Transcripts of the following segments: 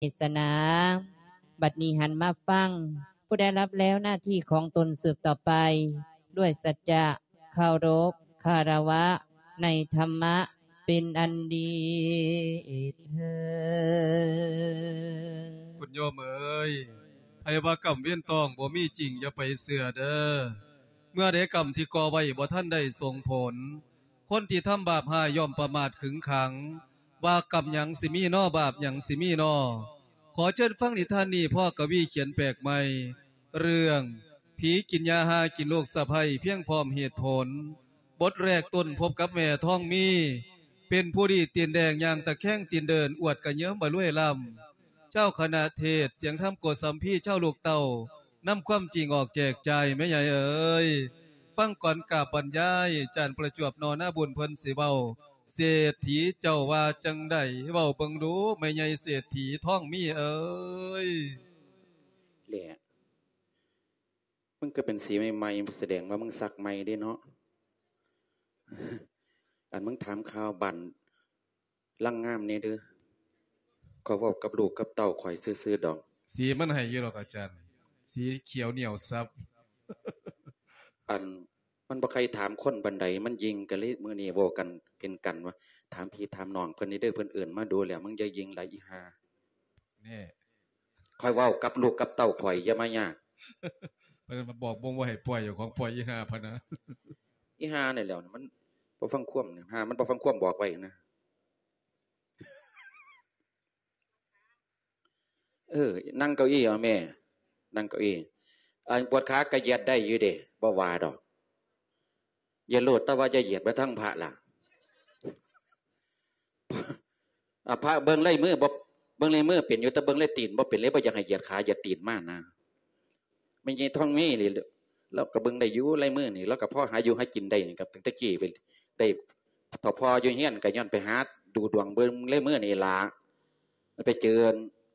ສະໜາ. ບັດນີ້ຫັນມາຟັງຜູ້ໄດ້ຮັບແລ້ວໜ້າທີ່ຂອງຕົນສືບຕໍ່ໄປ ດ້ວຍສັດຈະເຄົາລົບຄາລະວະໃນທຳມະເປັນອັນດີເທີ້ນ. ຄຸນໂຍມເອີຍ, ໃຜວ່າກຳເວນຕ້ອງບໍ່ມີຈິງ ຢ່າໄປເຊື່ອເດີ. ເມື່ອໃດກຳທີ່ກໍ່ໄວ້ບໍ່ທັນໄດ້ສົ່ງຜົນ, ຄົນທີ່ທຳບາບຮ້າຍຍ່ອມປະໝາດຂຶງຂັງ ວ່າກຳຫຍັງຊິມີນໍ ບາບຫຍັງຊິມີນໍ. ຂໍເຊີນຟັງນິທານນີ້ ພໍ່ກະວີຂຽນແປກໃໝ່ ເລື່ອງ ຜີກິນຢາຮ້າຍກິນລູກສະໃພ້ ພຽງພ້ອມເຫດຜົນ. ບົດແລກຕົ້ນພົບກັບແມ່ທອງມີ ເປັນຜູ້ດີຕີນແດງ ຍ່າງຕະແຄງຕີນເດີນ ອວດກະເຍີ້າມາລວຍລ້ຳ. ເຈົ້າຄະນະເທດ ສຽງທຳໂກສຳພີ ເຈົ້າລູກເຕົ້າ ນຳຄວາມຈິງອອກແຈກຈ່າຍ ແມ່ໃຫຍ່ເອີຍ. ຟັງກ່ອນກາບບັນຍາຍ ຈານປະຈວບນໍ ນາບຸນເພິ່ນຊິເວົ້າ ເສດຖີເຈົ້າວ່າຈັ່ງໃດ ເວົ້າເບິ່ງດູ ແມ່ໃຫຍ່ເສດຖີທອງມີເອີຍ. ແຫຼະ ມຶງກໍເປັນສີໃໝ່ໆ ສະແດງວ່າມຶງສັກໃໝ່ເດ້ເນາະ. ອັນ ມຶງຖາມຂ່າວບ້ານ ລາງງາມແດ່ເດີ. ຂ້ອຍເວົ້າກັບລູກກັບເຕົ້າຂ້ອຍຊື່ໆດອກ. ສີມັນໃຫ້ຢູ່ດອກອາຈານ, ສີຂຽວໜຽວສັບ. ອັນ ມັນບໍ່ໃຄ່ຖາມຄົນປານໃດ, ມັນຍິງ ກໍເລີຍມື້ນີ້ເວົ້າກັນເປັນກັນວ່າ ຖາມພີ່ຖາມນ້ອງເພິ່ນນີ້ເດີ, ເພິ່ນເອີ້ນມາດູແລ້ວ, ມຶງຢ່າຍິງຫຼາຍອີ່ຫ່າ. ແນ່ ຂ້ອຍເວົ້າກັບລູກກັບເຕົ້າຂ້ອຍ, ຢ່າມາຍາກ. ເພິ່ນມາບອກບົ່ງວ່າໃຫ້ປ່ອຍເຈົ້າຂອງ, ປ່ອຍອີ່ຫ່າພະນະ. ອີ່ຫ່ານີ້ແຫຼ້ວ, ມັນບໍ່ຟັງຄວາມ, ຫ່າມັນບໍ່ຟັງຄວາມບອກໄວ້ນະ. ເອີ ນັ່ງເກົ້າอี้ເອົາແມ່, ນັ່ງເກົ້າอี้. ອັນ ປວດຂາກະຢຽດໄດ້ຢູ່ເດ້, ບໍ່ວ່າດອກ. ຢຽດໂລດ, ແຕ່ວ່າຢ່າຢຽດໄປທາງພະລະ. ອາ ພະເບິ່ງລາຍມືບໍ່, ເບິ່ງລາຍມືເປັນຢູ່, ແຕ່ເບິ່ງລາຍຕີນບໍ່ເປັນເລີຍ, ບໍ່ຢາກໃຫ້ຢຽດຂາຢຽດຕີນມານະ. ແມ່ໃຫຍ່ທອງມີນີ້ ລາວກໍເບິ່ງໄດ້ຢູ່ລາຍມືນີ້, ລາວກໍພໍຫາຢູ່ຫາກິນໄດ້ນີ້ ກໍຕັ້ງແຕ່ກີ້ໄປໄດ້, ຖ້າພໍ່ຢູ່ເຮືອນກໍຍ້ອນໄປຫາດູດວງເບິ່ງລາຍມືນີ້ລະ. ໄປເຈີ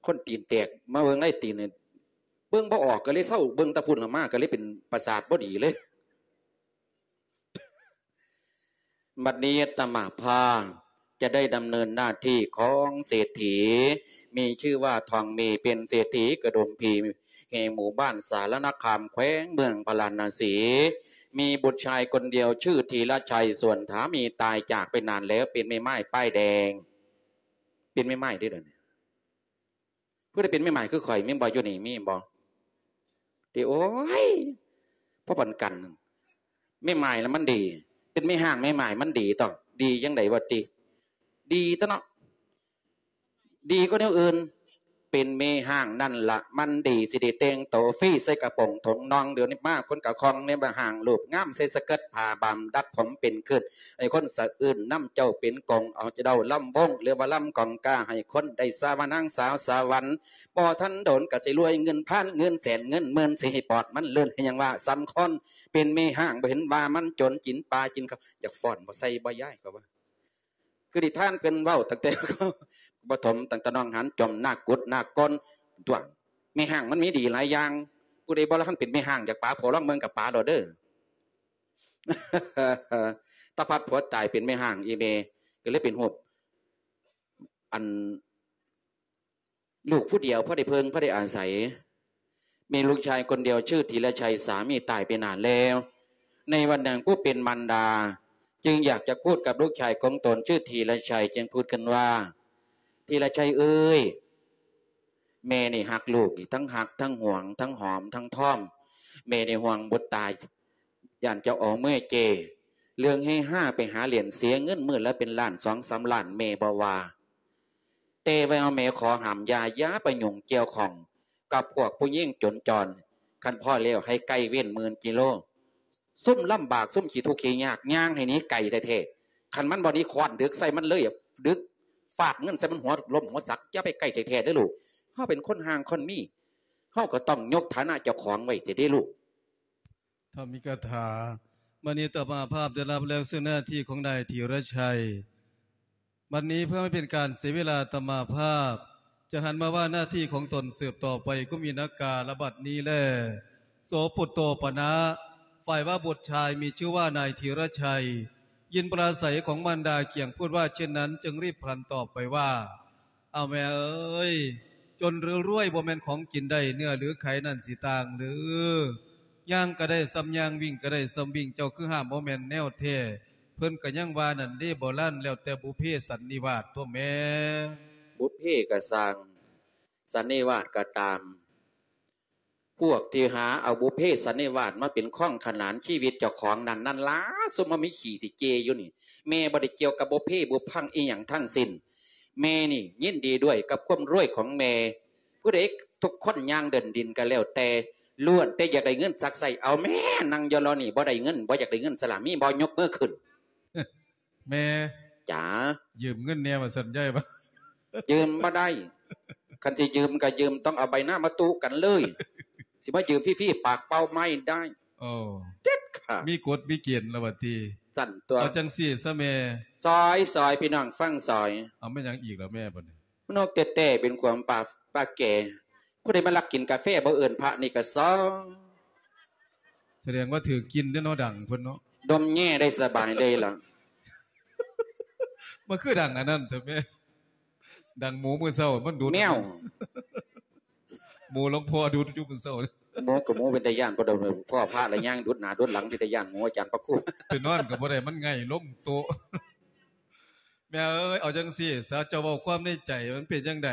ຄົນຕີນແຕກມາເບິ່ງລາຍຕີນນີ້ ເບິ່ງບໍ່ອອກ ກໍເລີຍເຊົາເບິ່ງແຕ່ພຸ້ນລະມາ, ກໍເລີຍເປັນປະສາດບໍ່ດີເລີຍ. ບັດນີ້ອາດຕະມາພາບຈະໄດ້ດຳເນີນໜ້າທີ່ຂອງເສດຖີ ມີຊື່ວ່າທອງມີ ເປັນເສດຖີກະດຸມພີ ແຫ່ງໝູ່ບ້ານສາລະນະຄາມ ແຂວງເມືອງພາລານະສີ ມີບຸດຊາຍຄົນດຽວຊື່ທີລະໄຊ ສ່ວນສາມີຕາຍຈາກໄປນານແລ້ວ ເປັນແມ່ໝ້າຍປ້າຍແດງ ເປັນແມ່ໝ້າຍເດ້ດຽວນີ້. ຜູ້ໃດເປັນແມ່ໝ້າຍຄືຂ້ອຍ ມີບໍ່? ຢູ່ນີ້ມີບໍ່? ຕິ ໂອ້ຍ ພໍປານກັນ. ແມ່ໝ້າຍລະມັນດີ, ເປັນແມ່ຮ້າງແມ່ໝ້າຍມັນດີຕໍ່. ດີຈັ່ງໃດວະຕິ? ດີຕົວະເນາະ, ດີກວ່າແນວອື່ນ. ເປັນແມ່ຮ້າງນັ້ນລະມັນດີ, ຊິໄດ້ແຕ່ງໂຕຟຣີ ໃສ່ກະໂປງຖົງໜ່ອງ. ດຽວນີ້ມາຄົນກະຄ່ອງໃນແມ່ຮ້າງ ຮູບງາມ ໃສ່ສະເກີດຜ້າບາງ ດັດຜົມເປັນຄືນ ໃຫ້ຄົນສະອືນນຳເຈົ້າເປັນກົງ ເອົາເຈົ້າລຳວົງ ຫຼືວ່າລຳກອງກາ ໃຫ້ຄົນໄດ້ສາວານາງສາວສະຫວັນ. ບໍ່ທັນດົນກໍຊິລວຍເງິນພັນເງິນແສນເງິນໝື່ນ ຊິໃຫ້ປອດມັນລື່ນ ໃຫ້ຫຍັງວ່າສ່ຳຄົນເປັນແມ່ຮ້າງ ບໍ່ເຫັນວ່າມັນຈົນ ກິນປາກິນເຂົ້າ. ຢາກຟ້ອນບໍ່ໃສ່ບໍ່ຍ້າຍ ເຂົາວ່າ ຄືນິທານເພິ່ນເວົ້າຕັ້ງແຕ່ປະຖົມ ຕັ້ງແຕ່ໜອງຫັນ ຈອມນາກກຸດນາກກົນຕົວະ. ແມ່ຮ້າງມັນມີດີຫຼາຍຢ່າງ, ຜູ້ໃດບໍ່ທັນເປັນແມ່ຮ້າງ ຢາກປາຜົວລອງເບິ່ງກໍປາໂລດເດີ. ຕາພັດຜົວຕາຍເປັນແມ່ຮ້າງ ອີ່ແມ່ກໍເລີຍເປັນຮູບ ອັນ ລູກຜູ້ດຽວ ພໍໄດ້ເພິ່ງ ພໍໄດ້ອາໄສ. ມີລູກຊາຍຄົນດຽວຊື່ທີລະໄຊ ສາມີຕາຍໄປນານແລ້ວ. ໃນວັນໜຶ່ງ ຜູ້ເປັນມານດາຈຶ່ງຢາກຈະພູດກັບລູກຊາຍຂອງຕົນຊື່ທີລະໄຊ ຈຶ່ງພູດຂຶ້ນວ່າ ທີລະໄຊເອີຍ, ແມ່ນີ້ຮັກລູກນີ້ ທັງຮັກ ທັງຫວງ ທັງຫອມ ທັງທອມ. ແມ່ນີ້ຫ່ວງບຸດຕາ ຢ້ານເຈົ້າເອົາເມືອເຈ. ເລື່ອງເຮຮາໄປຫາຫຼິ້ນ ເສຍເງິນມື້ລະເປັນລ້ານສອງສາມລ້ານ ແມ່ບໍ່ວ່າ. ແຕ່ວ່າແມ່ຂໍຫ້າມຢ່າ, ຢ່າໄປຫຍຸ້ງກ່ຽວຂ້ອງກັບພວກຜູ້ຍິງຈົນຈອນ. ຄັນພໍແລ້ວໃຫ້ໄກເວັ້ນໝື່ນກິໂລ. ຊຸມລຳບາກ ຊຸມຂີ້ທຸກຂີ້ຍາກ ຍ່າງໃຫ້ໜີໄກແທ້ໆ. ຄັນມັນບໍ່ໜີ ຄ້ອນດຶກໃສ່ມັນເລີຍ, ດຶກຟາດເງິນໃສ່ມັນຫົວລົ້ມຫົວສັກ. ຢ່າໄປໃກ້ແທ້ໆເດີລູກ. ເຮົາເປັນຄົນຮ່າງຄົນມີ, ເຮົາກໍຕ້ອງຍົກຖານະເຈົ້າຂອງໄວ້ແທ້ເດ້ລູກ. ທຳອິກະຖາ. ບັດນີ້ອາດຕະມາພາບໄດ້ຮັບແລ້ວເຊິ່ງໜ້າທີ່ຂອງນາຍທີລະໄຊ. ບັດນີ້ເພື່ອບໍ່ໃຫ້ເປັນການເສຍເວລາ ອາດຕະມາພາບຈະຫັນມາວ່າໜ້າທີ່ຂອງຕົນສືບຕໍ່ໄປ ກຸມມິນາກາລະບັດນີ້ແລ. ໂສປຸດໂຕປະນະ, ຝ່າຍວ່າບຸດຊາຍມີຊື່ວ່ານາຍທີລະໄຊ ຍິນປາລາໄສຂອງມານດາກຽງພູດວ່າເຊັ່ນນັ້ນ ຈຶ່ງຣີບພລັນຕອບໄປວ່າ ເອົາແມ່ເອີຍ, ຈົນຫຼືລວຍບໍ່ແມ່ນຂອງກິນໄດ້ ເນື້ອຫຼືໄຂນັ້ນຊິຕ່າງເດີ. ຍ່າງກໍໄດ້ສ່ຳຍ່າງ ວິ່ງກໍໄດ້ສ່ຳວິ່ງ ເຈົ້າຄືຫ້າມບໍ່ແມ່ນແນວແທ້. ເພິ່ນກໍຍັງວ່ານັ້ນເດ້ ໂບລານ ແລ້ວແຕ່ບຸບເພສັນນິວາດຕົວະແມ່. ບຸບເພກໍຊ່າງ ສັນນິວາດກໍຕາມ ພວກທີ່ຫາເອົາບຸບເພສັນນິວາດມາເປັນຂອງຂະໜານຊີວິດເຈົ້າຂອງນັ້ນ ນັ້ນລະ ຊຸມມາມີຂີ້ຊິເຈຢູ່ນີ້. ແມ່ບໍ່ໄດ້ກ່ຽວກັບບຸບເພບຸບພັງອີ່ຫຍັງທັງສິ້ນ. ແມ່ນີ້ຍິນດີດ້ວຍກັບຄວາມລວຍຂອງແມ່. ຜູ້ໃດ ທຸກຄົນຍ່າງເດີນດິນກໍແລ້ວແຕ່ ລ້ວນແຕ່ຢາກໄດ້ເງິນຊັກໄສ້. ເອົາແມ່ ນັ່ງຢູ່ລາວນີ້ ບໍ່ໄດ້ເງິນ ບໍ່ຢາກໄດ້ເງິນສະລະ ມີບໍ່? ຍົກມືຂຶ້ນ. ແມ່ ຈ໋າ ຢືມເງິນແດ່ວ່າຊັ້ນ ຍາຍວ່າ ຢືມບໍ່ໄດ້. ຄັນຊິຢືມກໍຢືມ ຕ້ອງເອົາໃບນາມາຕູ້ກັນເລີຍ. ຊິມາຢືມຟຣີໆ ປາກເປົ່າໄມ້ໄດ້. ໂອ້ ເດັດຂາດ. ມີກົດມີເກນລະວ່າຕິ. ຊັ້ນຕົວະ. ເອົາຈັ່ງຊີ້ຊະແມ່. ຊອຍ ຊອຍ ພີ່ນ້ອງຟັງຊອຍ. ເອົາແມ່ນຫຍັງອີກລະແມ່ບັດນີ້? ນອກແຕ່ແຕ່ເປັນຄວາມປາ ປາແກ່. ຜູ້ໃດມາລັກກິນກາແຟບໍ່ເອີ້ນພະນີ້ກໍຊອຍ. ສະແດງວ່າຖືກກິ່ນເດ້ເນາະ ດັງເພິ່ນເນາະ. ດົມແຍ່ໄດ້ສະບາຍເລີຍລະ. ມັນຄືດັງອັນນັ້ນແທ້ແມ່. ດັງໝູມື້ເຊົ້າມັນດູດ ແມວ ໝູຫຼວງພໍ່ດູດຢູ່ມື້ເຊົ້າ. ໝູກໍໝູເປັນຕາຢ້ານ ພໍພໍພະລະຍ່າງດູດໜ້າດູດຫຼັງ ເປັນຕາຢ້ານໝູອາຈານພະຄູ. ໄປນອນກໍບໍ່ໄດ້ ມັນໄຫງ່ລົງໂຕະ. ແມ່ເອີຍ ເອົາຈັ່ງຊີ້ຊະ ເຈົ້າເວົ້າຄວາມໃນໃຈ ມັນເປັນຈັ່ງໃດ?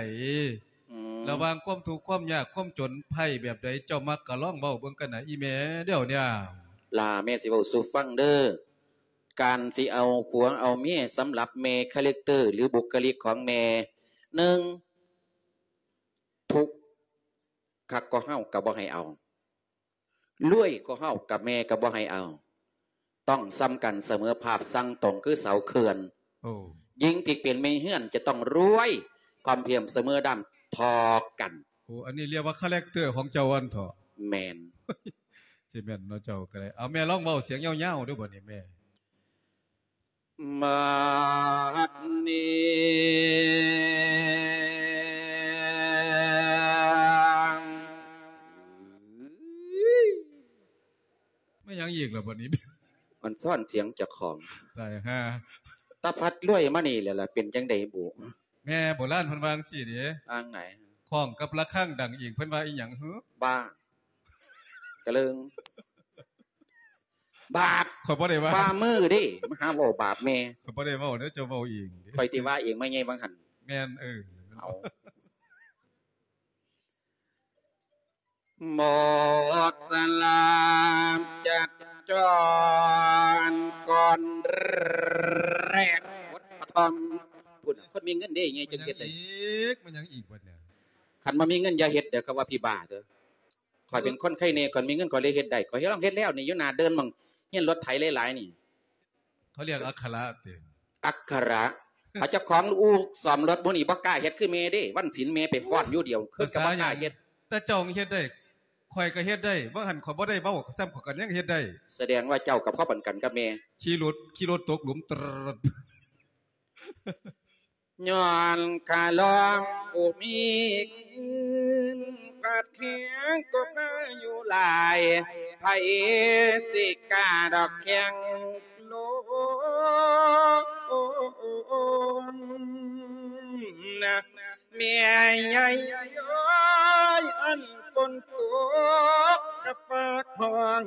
ອືມ ລະຫວ່າງຄວາມທຸກຄວາມຍາກຄວາມຈົນໄພ້ແບບໃດ ເຈົ້າມັກກະລອງເວົ້າເບິ່ງກັນນະ ອີ່ແມ່. ດຽວນີ້ ຫຼ້າ ແມ່ຊິເວົ້າສູ່ຟັງເດີ. ການຊິເອົາຜົວເອົາເມຍ ສຳລັບແມ່ ຄາແຣັກເຕີ ຫຼື ບຸກຄະລິກຂອງແມ່ ໜຶ່ງ ທຸກຄັກກວ່າເຮົາກໍບໍ່ໃຫ້ເອົາ. ລວຍກວ່າເຮົາກັບແມ່ກໍບໍ່ໃຫ້ເອົາ. ຕ້ອງສ່ຳກັນສະເໝີພາບ ສັ່ງຕົງຄືເສົາເຂື່ອນ. ໂອ້ ຍິງທີ່ເປັນແມ່ເຮືອນຈະຕ້ອງລວຍ ພ້ອມພຽງສະເໝີດຳທໍ່ກັນ. ໂອ້ ອັນນີ້ລຽກວ່າຄາແຣັກເຕີຂອງເຈົ້າອັນເທາະ. ແມ່ນ. ຊິແມ່ນເນາະ ເຈົ້າກໍໄດ້. ເອົາ ແມ່ລອງເວົ້າສຽງຍາວໆດູບັດນີ້ແມ່. ມາດນີ້ ແມ່ນຫຍັງອີກລະບັດນີ້? ມັນຊ້ອນສຽງເຈົ້າຂອງ. ຕາຍຫ່າ. ຕາພັດລວຍມານີ້ແຫຼະລະ ເປັນຈັ່ງໃດບຸ? ແມ່ໂບລານເພິ່ນວ່າຈັ່ງຊີ້ເດ້. ວ່າຈັ່ງໃດ? ຄ້ອງກັບລະຄັງດັງອີກ ເພິ່ນວ່າອີ່ຫຍັງຫື? ບ້າ. ກະເລີງ. ບາບ ຂ້ອຍບໍ່ໄດ້ວ່າ ວ່າມືເດ້ ມາຫາເວົ້າບາບແມ່. ຂ້ອຍບໍ່ໄດ້ເວົ້າເດີ ເຈົ້າເວົ້າເອງເດ້. ຂ້ອຍຕິວ່າເອງ ມາໃຫຍ່ວ່າງຫັ້ນ. ແມ່ນ ເອີ ເອົາ. ໝົດສະລາມຈັກຈອນກ່ອນແລກ ບົດປະຖອມ. ພຸ້ນນະ ຄົນມີເງິນເດ້ ໃຫຍ່ຈຶ່ງເຮັດໄດ້. ແມ່ນຫຍັງອີກ? ແມ່ນຫຍັງອີກບັດນີ້? ຄັນບໍ່ມີເງິນຢ່າເຮັດເດີ ເຂົາວ່າຜີບ້າເດີ. ຂ້ອຍເປັນຄົນໄຄແນ່ ຂ້ອຍມີເງິນຂ້ອຍເລີຍເຮັດໄດ້. ຂ້ອຍເຮັດ ລອງເຮັດແລ້ວນີ້ ຢູ່ໜ້າເດີ່ນໝ່ອງຮຽນລົດໄຖຫຼາຍໆນີ້. ເຂົາເອີ້ນອັກຂະລະຕິ? ອັກຂະລະ. ເຂົາເຈົ້າຂອງອູ່ສ້ອມລົດໝູ່ນີ້ບໍ່ກ້າເຮັດຄືແມ່ເດ້. ວັນສິນແມ່ໄປຟ້ອນຢູ່ດຽວ ຄືນກໍບໍ່ກ້າເຮັດ. ແຕ່ເຈົ້າເຮັດໄດ້ ຂ້ອຍກໍເຮັດໄດ້. ວ່າຫັ້ນຂ້ອຍບໍ່ໄດ້ເວົ້າຊ້ຳ ຂ້ອຍກໍຍັງເຮັດໄດ້. ສະແດງວ່າເຈົ້າກໍພໍປານກັນກັບແມ່. ຂີ່ລົດ ຂີ່ລົດຕົກຫຼຸມ ຕຣດ. ຍ້ອນຂ້າລອງບໍ່ມີເງິນ ບາດແຂງກໍພາຢູ່ຫຼາຍ ໃຜຊິກ້າດອກແຂ່ງໂລນນະ ແມ່ໃຫຍ່ເອີຍ ອັນຝົນຕົກກະຟ້າຮ້ອງ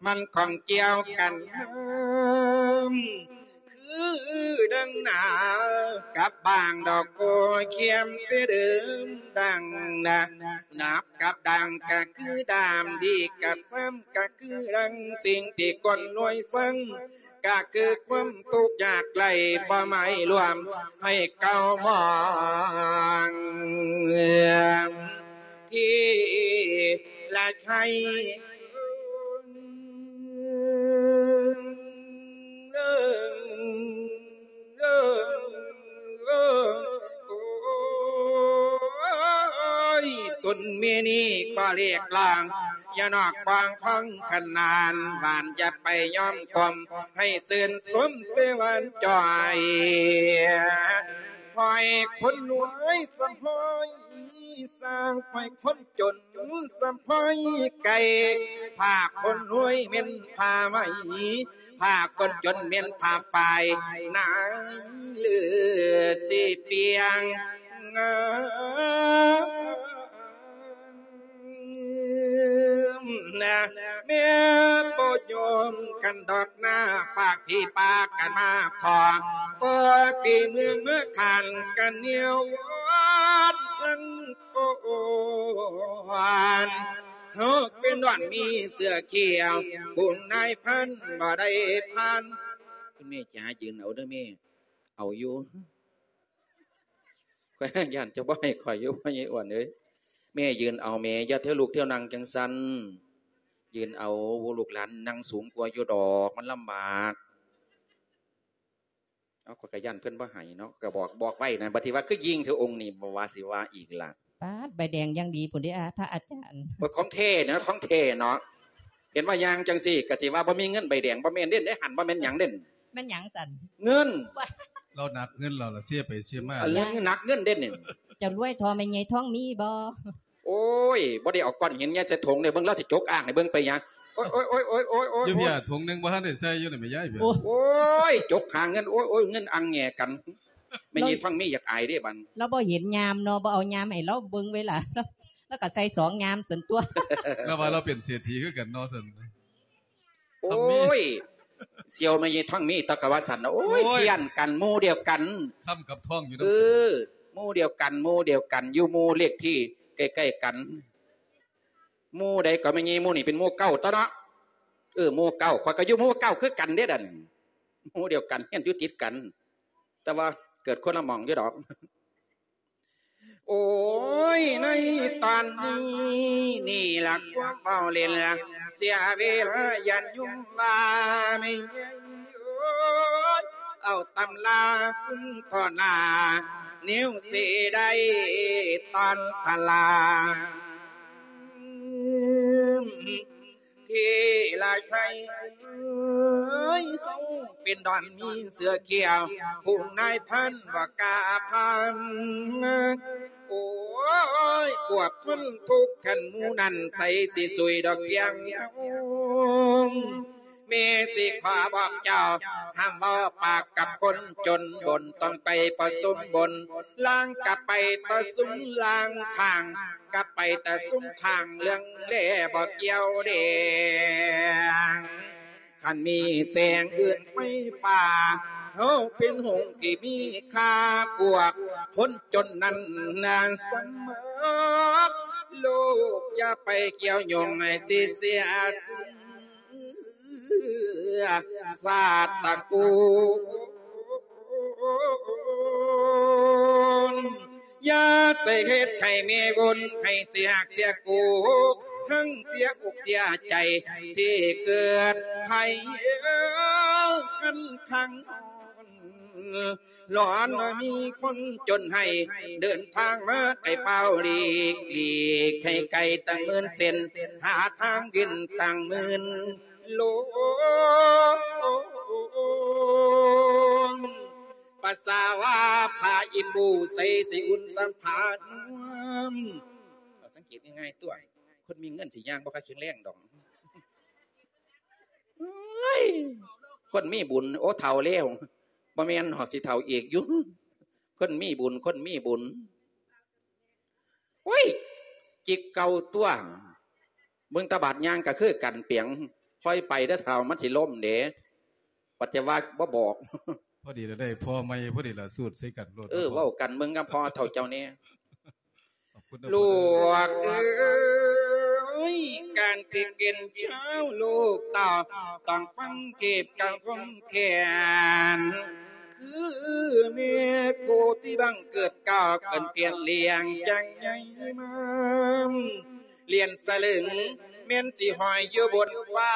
ມັນຂ້ອງກ່ຽວກັນນຳ ຄືດັ່ງໜາກັບບາງດອກໂກຂຽມແຕ່ເດີມ ດັ່ງນະ ໜາບກັບດ່າງກະຄືດ້າມ ດີກັບຊ້ຳກະຄືດັ່ງ ສິ່ງທີ່ຄົນລວຍຊັງກະຄືຄວາມທຸກຍາກໄຮ້ ບໍ່ໄໝລວມໃຫ້ເກົ່າມອງ ທີ່ລະໄຄ ໂອ້ຍ ຕົນແມ່ນີ້ກໍລຽກລາງ ຢ່ານອກບາງພັງຂະໜານ ຫວານຢ່າໄປຍອມຄວາມ ໃຫ້ຊື່ນຊົມແຕ່ຫວານຈ່ອຍ ຫ້ອຍຄົນລວຍສະຫ້ອຍ ສ້າງໄປຄົນຈົນສະພອຍໄກ່ ຜ້າຄົນລວຍແມ່ນຜ້າໄໝ ຜ້າຄົນຈົນແມ່ນຜ້າຝ້າຍ ນາຍເລືອຊິປ່ຽງ ນະ ແມ່ບໍ່ຍອມກັນດອກນາ ຝາກພີ່ປາກັນມາຂໍ ຕໍ່ປີເມືອງມາຂານກັນແນວວອນທັງກ່ອນ ເຮົາເປັນດອນມີເສື້ອຂຽວ ບຸນນາຍພັນບໍ່ໄດ້ຜ່ານ ຄຸນແມ່ຈ໋າ ຢືນເອົາເດີແມ່ ເອົາຢູ່ ຂ້ອຍຢ້ານເຈົ້າບໍ່ໃຫ້ຂ້ອຍຢູ່ ພໍ່ໃຫຍ່ອ້ວນເອີຍ ແມ່ຢືນເອົາແມ່ ຢ່າທຽວລຸກທຽວນັ່ງຈັ່ງຊັ້ນ ຢືນເອົາ ລູກຫຼານນັ່ງສູງກວ່າຢູ່ດອກ ມັນລຳບາກ ເອົາ ຂ້ອຍກໍຢ້ານເພິ່ນບໍ່ໃຫ້ເນາະ ກໍບອກ ບອກໄວ້ນະ ບັດທີ່ວ່າຄືຍິງເທື່ອອົງນີ້ ບໍ່ວ່າຊິວ່າອີກລະ ປາດ ໃບແດງຢ່າງດີພຸ້ນເດ້ ອາ ພະອາຈານ ໂອ້ຍ ຂອງແທ້ນະ ຂອງແທ້ເນາະ ເຫັນວ່າຍ່າງຈັ່ງຊີ້ ກໍຊິວ່າບໍ່ມີເງິນໃບແດງ ບໍ່ແມ່ນເດ້ ໃນຫັ້ນບໍ່ແມ່ນຫຍັງເດ້ ແມ່ນຫຍັງຊັ້ນ? ເງິນ ລາວໜັກເງິນລາວລະ ເຊໄປເຊມາ ອັນເລື່ອງໜັກເງິນເດ້ນີ້ ເຈົ້າລວຍທໍ່ແມ່ໃຫຍ່ທອງມີບໍ່? ໂອ້ຍ ບໍ່ໄດ້ເອົາກ້ອນຫີນໃຫຍ່ໃສ່ຖົງເດ້ ເບິ່ງລາວຊິຈົກອ່າງໃຫ້ເບິ່ງໄປຫຍັງ ໂອ້ຍ ໂອ້ຍ ໂອ້ຍ ໂອ້ຍ ໂອ້ຍ ໂອ້ຍ ຢູ່ເພີ້ ຖົງໜຶ່ງບໍ່ທັນໄດ້ໃສ່ຢູ່ນີ້ແມ່ຍາຍເພີ້ ໂອ້ຍ ໂອ້ຍ ຈົກຫາເງິນ ໂອ້ຍ ໂອ້ຍ ເງິນອ່າງແງ່ກັນ ແມ່ໃຫຍ່ທອງມີຢາກອາຍເດ້ບັດ ລາວບໍ່ເຫັນຍາມເນາະ ບໍ່ເອົາຍາມໃຫ້ລາວເບິ່ງເວລາ ລາວກໍໃສ່ສອງຍາມຊັ້ນຕົວະ ລາວວ່າລາວເປັນເສດຖີຄືກັນເນາະຊັ້ນ ໂອ້ຍ ສ່ຽວແມ່ໃຫຍ່ທອງມີ ຕະກະວ່າຊັ້ນ ໂອ້ຍ ໂອ້ຍ ພຽນກັນ ໝູ່ດຽວກັນ ຄ້ຳກັບທອງຢູ່ນຳ ເອີ ໝູ່ດຽວກັນ ໝູ່ດຽວກັນ ຢູ່ໝູ່ເລກທີ່ໃກ້ໆກັນ ໝູ່ໃດກໍແມ່ໃຫຍ່ ໝູ່ນີ້ເປັນໝູ່ເກົ້າຕົວະເນາະ ເອີ ໝູ່ເກົ້າ ຂ້ອຍກໍຢູ່ໝູ່ເກົ້າຄືກັນເດ້ນັ້ນ ໝູ່ດຽວກັນ ຮຽນຢູ່ຕິດກັນ ແຕ່ວ່າເກີດຄົນລະໝ່ອງຢູ່ດອກ. ໂອ້ຍ ໃນຕອນນີ້ນີ້ລະຄວາມເວົ້າຫຼິ້ນລະ ເສຍເວລາຢ້ານໂຍມວ່າແມ່ໃຫຍ່ໂອ້ຍ ເອົາຕຳລາຄຸນພໍ່ໜ້າ ແນວຊິໄດ້ຕອນພະລາ ເທລະໄຊເອີຍ ເຮົາເປັນດອນມີເສື້ອຂຽວ ຜູ້ນາຍພັນບໍ່ກ້າພັນ ໂອ້ຍ ພວກຄົນທຸກຂັ້ນໝູ່ນັ້ນ ໃຜຊິຊ່ວຍດອກພຽງເຮົາ ແມ່ຊິຂໍບອກເຈົ້າ ຫ້າມເວົ້າປາກກັບຄົນຈົນ ບົນຕ້ອງໄປປະຊຸມບົນ ລາງກະໄປປະຊຸມລາງ ຂ້າງ ກະໄປແຕ່ຊຸມຂ້າງເລື່ອງແລບໍ່ກ່ຽວແດງ ຄັນມີແສງເອື້ອນໄຟຟ້າ ເຮົາເປັນຫົງທີ່ມີຄ່າ ພວກຄົນຈົນນັ້ນນາສະໝັກ ໂລກຢ່າໄປກ່ຽວຫຍຸ້ງ ໃຫ້ຊິເສຍຊື່ ຊາດຕະກູນ ຢ່າໄປເຮັດໃຫ້ແມ່ວົນ ໃຫ້ເສຍຮັກເສຍໂກ ທັງເສຍອົກເສຍໃຈ ຊິເກີດໄພຄັນຄັງ ຮ້ອນວ່າມີຄົນຈົນໃຫ້ ເດີນທາງມາໃກ້ຟ້າວຫຼີກ ຫຼີກໃຫ້ໄກຕັ້ງໝື່ນເສັ້ນ ຫາທາງເວັ້ນຕັ້ງໝື່ນ ໂລນ ປາສາວ່າຜ້າອີ່ປູໃສ່ຊິອຸ່ນສຳຜານວມ ເອົາສັງເກດງ່າຍໆຕົວະ ຄົນມີເງິນຊິຍ່າງບໍ່ຄ່ອຍແຂງແຮງດອກ ເອີຍ ຄົນມີບຸນ ໂອ້ ເຖົ້າແລ້ວ ບໍ່ແມ່ນດອກ ຊິເຖົ້າອີກຢູ່ ຄົນມີບຸນ ຄົນມີບຸນ ໂອ້ຍ ຈິກເກົ່າຕົວະ ເບິ່ງຕາບາດຍ່າງກໍຄືກັນປຽງ ຄ່ອຍໄປເດີເຖົ້າ ມັນຊິລົ້ມເດ້ ປັດຈະວ່າບໍ່ບອກ ພໍດີລະໄດ້ພໍ່ໃໝ່ ພໍດີລະສູດໃສ່ກັນໂລດ ເອີ ເວົ້າກັນເບິ່ງກັບພໍ່ເຖົ້າເຈົ້າແດ່ ລູກເອີຍ ການທີ່ເປັນຊາວລູກເຕົ້າ ຕ້ອງຟັງເທດການຄວາມແຄ້ນ ຄືແມ່ຜູ້ທີ່ບັງເກີດກ້າວ ເກີດປ່ຽນລ້ຽງຈັ່ງໃຫຍ່ມາ ລ້ຽນສະລຶງແມ່ນຊິຫ້ອຍຢູ່ບົນຟ້າ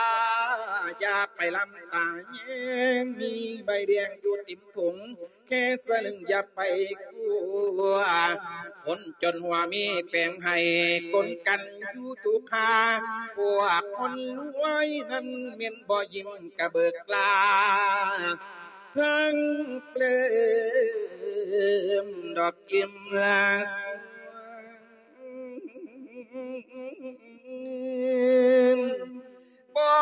ຢ່າໄປລຳຕາແຍງ ມີໃບແດງຢູ່ຕິມ ຖົງແຄ່ສະລຶງຢ່າໄປກົວ ຄົນຈົນຫົວມີແປງໃຫ້ ກົນກັນຢູ່ທຸກຄາ ພວກຄົນລວຍນັ້ນແມ່ນບໍ່ຍິ້ມກະເບີກລາ ທັງເປີມດອກກິມລາສວງ ບໍ່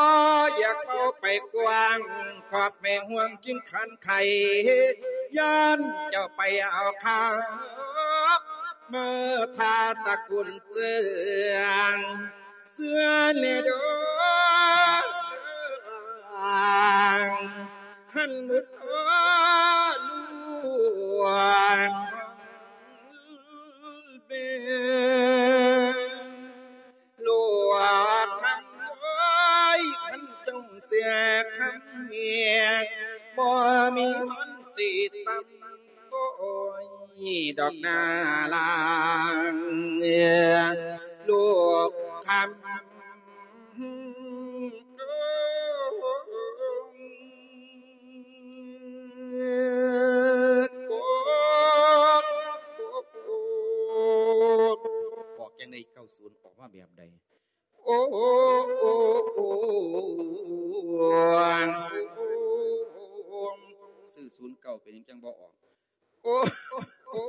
ຢາກເວົ້າໄປກວ້າງ ຂອບແມ່ຫ່ວງກິນຄານໄຂ່ ຢ້ານເຈົ້າໄປເອົາຄາ ເມື່ອຖ້າຕະກຸນເຊື່ອງ ເຊື່ອແນ່ດອກ ຫັ້ນໝົດໂອລວງ ແມ່ ຫຼວງຄຳເອີຍ ຄັນເຈົ້າເຊື່ອຄຳເມຍ ບໍ່ມີມັນຊິຕຳໂຕຍດອກນາລາງ ລູກຄຳ ອອກຈັ່ງໃດ ເກົ້າສິບ ອອກມາແບບໃດ? ໂອ້ ຊື້ ສູນເກົ້າ ເປັນຫຍັງຈັ່ງບໍ່ອອກ? ໂອ້ ໂອ້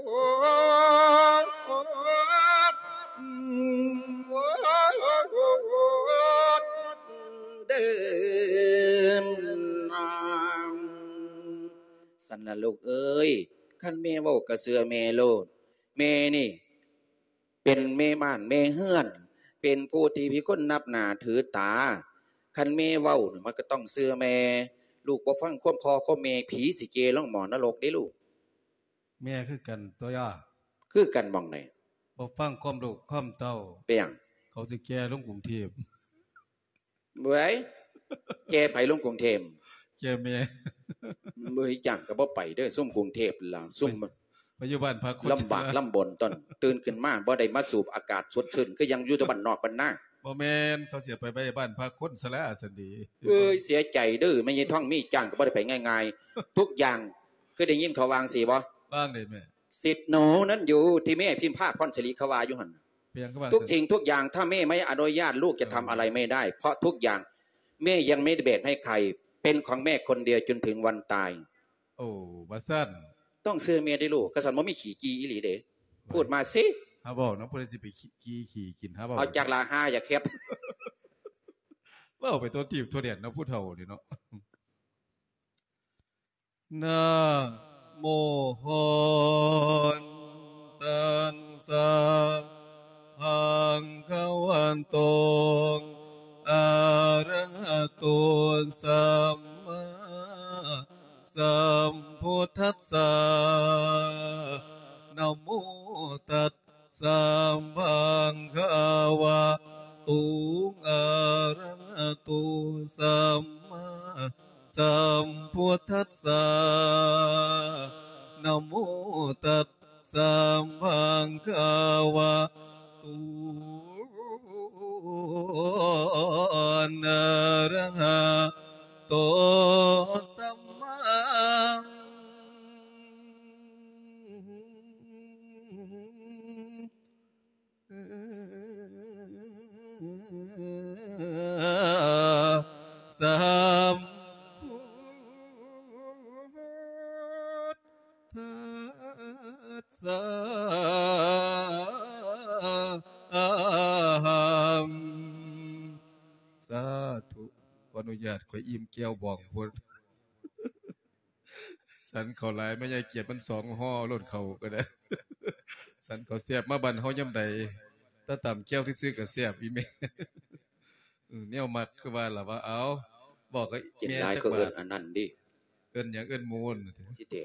ເດີ ຊັ້ນລະລູກເອີຍ ຄັນແມ່ເວົ້າກໍເຊື່ອແມ່ໂລດ ແມ່ນີ້ ເປັນແມ່ບ້ານແມ່ເຮືອນ ເປັນຜູ້ທີ່ມີຄົນນັບໜ້າຖືຕາ ຄັນແມ່ເວົ້ານີ້ ມັນກໍຕ້ອງເຊື່ອແມ່ ລູກບໍ່ຟັງຄວາມພໍ່ຄວາມແມ່ ຜີຊິເກລົງໝໍ້ນະລົກເດ້ລູກ. ແມ່ຄືກັນຕົວຍາ ຄືກັນໝ່ອງໃດ? ບໍ່ຟັງຄວາມລູກຄວາມເຕົ້າ ເປັນຫຍັງ? ເຂົາຊິແກ່ລົງກຸງເທບ. ເວີຍ ແກ່ໃຜລົງກຸງເທບ? ແກ່ແມ່. ເວີຍ ຈ້າງກໍບໍ່ໄປເດີ້ ຊຸມກຸງເທບລະ ຊຸມ ໄປຢູ່ບ້ານພັກຄົນ ລຳບາກລຳບົນ ຕອນຕື່ນຂຶ້ນມາບໍ່ໄດ້ມາສູບອາກາດສົດຊື່ນ ຄືຍັງຢູ່ແຕ່ບ້ານນອກບ້ານນາ. ບໍ່ແມ່ນ ເຂົາຊິໄປໄວ້ບ້ານພັກຄົນຊະລາຊັ້ນເດ. ເອີຍ ເສຍໃຈເດີ້ ແມ່ໃຫຍ່ທອງມີ ຈ້າງກໍບໍ່ໄດ້ໄປງ່າຍໆ ທຸກຢ່າງ ເຄີຍໄດ້ຍິນເຂົາວ່າຈັ່ງຊີ້ບໍ່? ວ່າຈັ່ງໃດແມ່? ສິດໜູນັ້ນຢູ່ທີ່ແມ່ພິມພາພອນສິລິ ເຂົາວ່າຢູ່ຫັ້ນ. ເປັນຫຍັງຄືວ່າ ทุกสิ่งทุกอย่าง ถ้าแม่ไม่อนุญาต ลูกจะทำอะไรไม่ได้ เพราะทุกอย่างแม่ยังไม่ได้แบ่งให้ใคร เป็นของแม่คนเดียวจนถึงวันตาย. ໂອ້ ວ່າຊັ້ນ ຕ້ອງເຊື່ອແມ່ເດ້ລູກ ຄັນຊັ້ນບໍ່ມີຂີ້ຈີ່ອີ່ຫຼີເດ້. ເອີຍ ພູດມາຊິ ຫາເວົ້າເນາະ ຜູ້ໃດຊິໄປຂີ້ ຂີ້ກິນ ຫາເວົ້າ. ເອົາຈັກລະ ຫາຢາກເຮັດ ເວົ້າໄປຕົວຕີບຕົວແດນເນາະ ຜູ້ເຖົ້ານີ້ເນາະ. ນະໂມ ຫົນຕັດສະ ພະຄະວະໂຕ ອະຣະຫະໂຕ ສຳມາສຳພຸດທັດສະ ນະໂມຕັດສະ ພະຄະວະໂຕ ອະຣະຫະໂຕ ສຳມາ ສຳພຸດທັດສະ ນະໂມຕັດສະ ພະຄະວະໂຕ ອະຣະຫະໂຕ ສຳມາ ສຳພຸດທັດສະ ສາທຸ ຂໍອະນຸຍາດ ຂ້ອຍອີ່ມແກ້ວບອງໂພດ. ສັນເຂົ້າຫຼາຍ ແມ່ຍາຍກຽດມັນສອງຫໍ່ໂລດ ເຂົ້າກໍໄດ້ ສັນເຂົ້າແຊບ ມາບ້ານເຮົາຍາມໃດ ແຕ່ຕຳແຈ່ວຊື່ໆກໍແຊບອີ່ແມ່. ອື ແນວມັກຄືວ່າລະວ່າ ເອົາ ບອກກັບອີ່ແມ່ຈັກບາດ ກິນຫຼາຍກໍເອີ້ນອັນນັ້ນເດ້ ເອີ້ນຫຍັງ ເອີ້ນໝູນ ທີ່ແທ້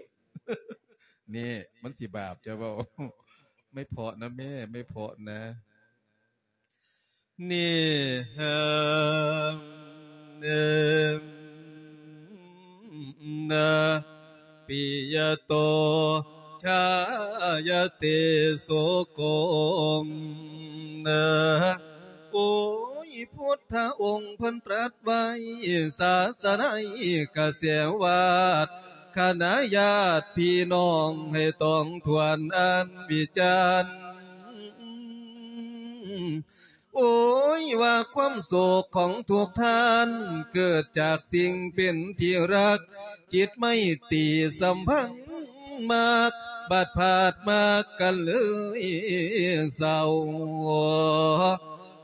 ນີ້ມັນຊິບາບ ຈະເວົ້າ ໄມ່ເພາະນະແມ່ ໄມ່ເພາະນະ. ນິຫັງ ເນ ນະ ປິຍະໂຕ ຊາຍະເຕ ໂສໂກ ນະ ໂອ້ຍ ພຸດທະອົງເພິ່ນຕລັດໄວ້ ສາສະໄນກະແສວາດ ຄະນະຍາດພີ່ນ້ອງ ໃຫ້ຕ້ອງທວນອັນວິຈານ ໂອ້ຍ ວ່າຄວາມໂສກຂອງທຸກທ່ານ ເກີດຈາກສິ່ງເປັນທີ່ຮັກ ຈິດໄມຕີສຳພັນມັກ ບາດພາດມາກັນເລີຍເສົ້າ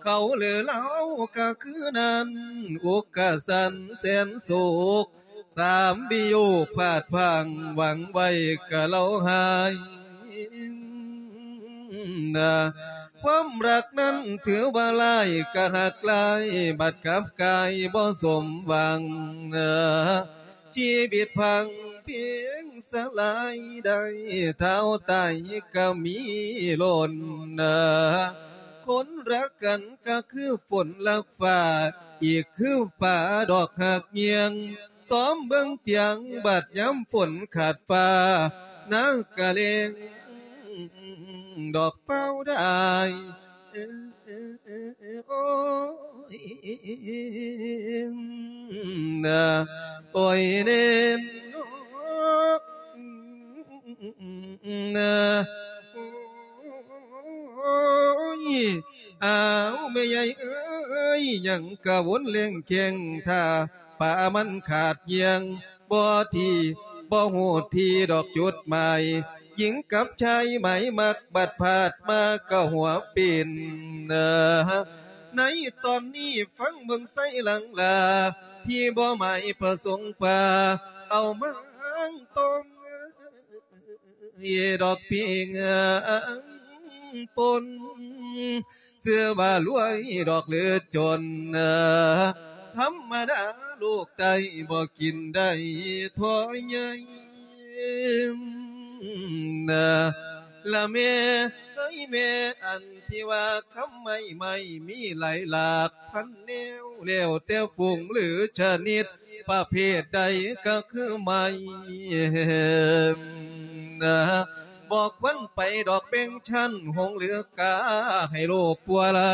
ເຂົາຫຼືເລົ່າກະຄືນັ້ນ ອົກກະສັນແສນໂສກ ສາມວິໂຍກພາດພາງ ຫວັງໄວ້ກະເລົ່າຫາຍ ນະ ຄວາມຮັກນັ້ນຖືວ່າຫຼາຍກະຮັກຫຼາຍ ບັດກັບກາຍບໍ່ສົມຫວັງນະ ຊີວິດພັງເພງສະຫຼາຍ ໄດ້ທ້າວຕາຍກະມີລົ້ນນະ ຄົນຮັກກັນກະຄືຝົນຮັກຟ້າ ອີກຄືຟ້າດອກຮັກຍ່ຽງ ຊອມເບິ່ງປຽງ ບາດຍາມຝົນຂາດຟ້າ ນາກະແລ້ງດອກເປົ່າດາຍ ໂອ້ຍ ນະ ໂອ້ຍເນນ ນະ ໂອ້ຍ ອ້າວ ແມ່ໃຫຍ່ເອີຍ ຍັງກະວົນແລ່ນແຂ່ງຖ້າ ປາມັນຂາດຍ່ຽງ ບໍ່ທີ່ ບໍ່ຮູ້ທີ່ດອກຈຸດໝາຍ ຍິງກັບຊາຍໝາຍມັກ ບັດພາດມາກະຫົວປິ່ນ ໃນຕອນນີ້ຟັງເບິ່ງໄຊຫຼັງລາ ທີ່ບໍ່ໝາຍປະສົງວ່າ ເອົາມາຫາງຕ້ອງ ດອກປີງປົນ ເຊື່ອວ່າລວຍດອກຫຼືຈົນ ທຳມະດາໂລກໃຕ້ບໍ່ກິນໄດ້ທໍ່ໃຫຍ່ ລະແມ່ເອີຍແມ່ ອັນທີ່ວ່າຄຳໄມ້ ໄມ້ມີຫຼາຍຫຼາກພັນແນວ ແລ້ວແຕ່ຝູງຫຼືຊະນິດ ປະເພດໃດກະຄືໄມ້ ນະ ບໍ່ຄວນໄປດອກແບ່ງຊັ້ນ ຫົງຫຼືກາໃຫ້ໂລກປົວລະ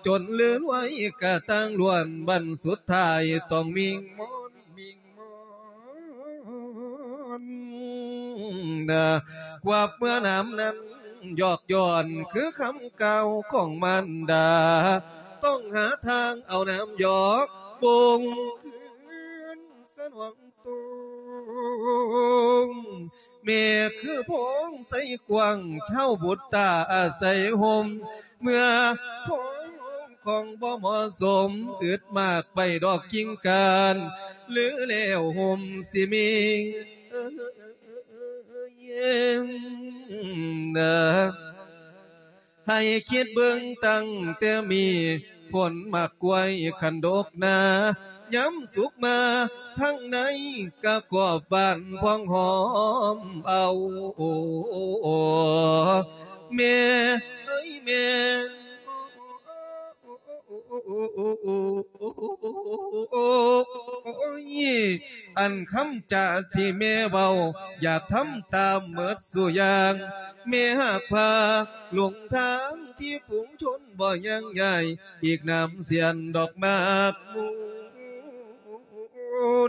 ຈົນຫຼືລວຍກະຕ່າງລ້ວນ ບັ້ນສຸດທ້າຍຕ້ອງມິງມອນ ມິງມອນ ນະ ກວາບເມື່ອນຳນັ້ນ ຍອກຍ້ອນຄືຄຳກ່າວຂອງມານດາ ຕ້ອງຫາທາງເອົານ້ຳຢອກ ບົງຄືນສະໜອງ ຕົງ ແມ່ຄືໂພງໄຊກວ້າງ ເຖົ້າບຸດຕາອາໄສຮົ່ມ ເມື່ອໂພງຂອງບໍ່ເໝາະສົມ ອຶດໝາກໃບດອກກິ່ງກ້ານ ຫຼືແລ້ວຮົ່ມຊິມີ ເອີຍ ເອີຍ ເອີຍ ເອີຍ ໃຫ້ຄິດເບິ່ງຕັ້ງແຕ່ມີ ຜົນໝາກກ້ວຍຄັນດົກໜາ ຍາມສຸກມາທາງໃນກະກອບບານພອງຫອມເອົາ ແມ່ເອີຍແມ່ ໂອ້ຍ ອັນຄຳຈາທີ່ແມ່ເວົ້າ ຢາກທຳຕາມໝົດສູ່ຢ່າງ ແມ່ຫາກພາຫຼົງທາງທີ່ຝູງຊົນບໍ່ຍັງຍ້າຍ ອີກນຳສຽນດອກໝາກມູ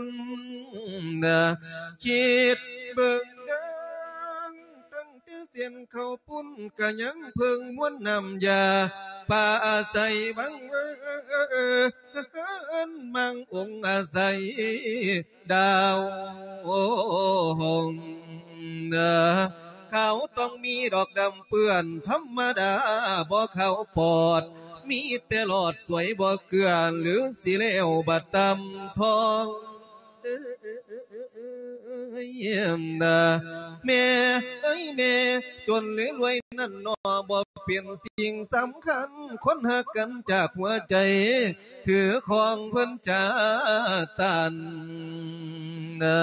ນ ນະ ຄິດເບິ່ງນາງ ຕັ້ງແຕ່ເສັ້ນເຂົ້າປຸ້ນ ກະຍັງເພິ່ງມວນນ້ຳຢາ ປາອາໄສວັງເວີນ ມັງອົງອາໄສ ດາວ ຂາວຕ້ອງມີດອກດຳເປື້ອນ ທຳມະດາບໍ່ຂາວປອດ ມີແຕ່ຫຼອດສວຍບໍ່ເກືອນ ຫຼືຊິແລ້ວບັດຕຳທອງ ເອີຍ ນະ ແມ່ເອີຍແມ່ ຈົນຫຼືລວຍນັ້ນໜໍ ບໍ່ເປັນສິ່ງສຳຄັນ ຄົນຮັກກັນຈາກຫົວໃຈ ຖືຄອງເພິ່ນຈາຕັນ ນະ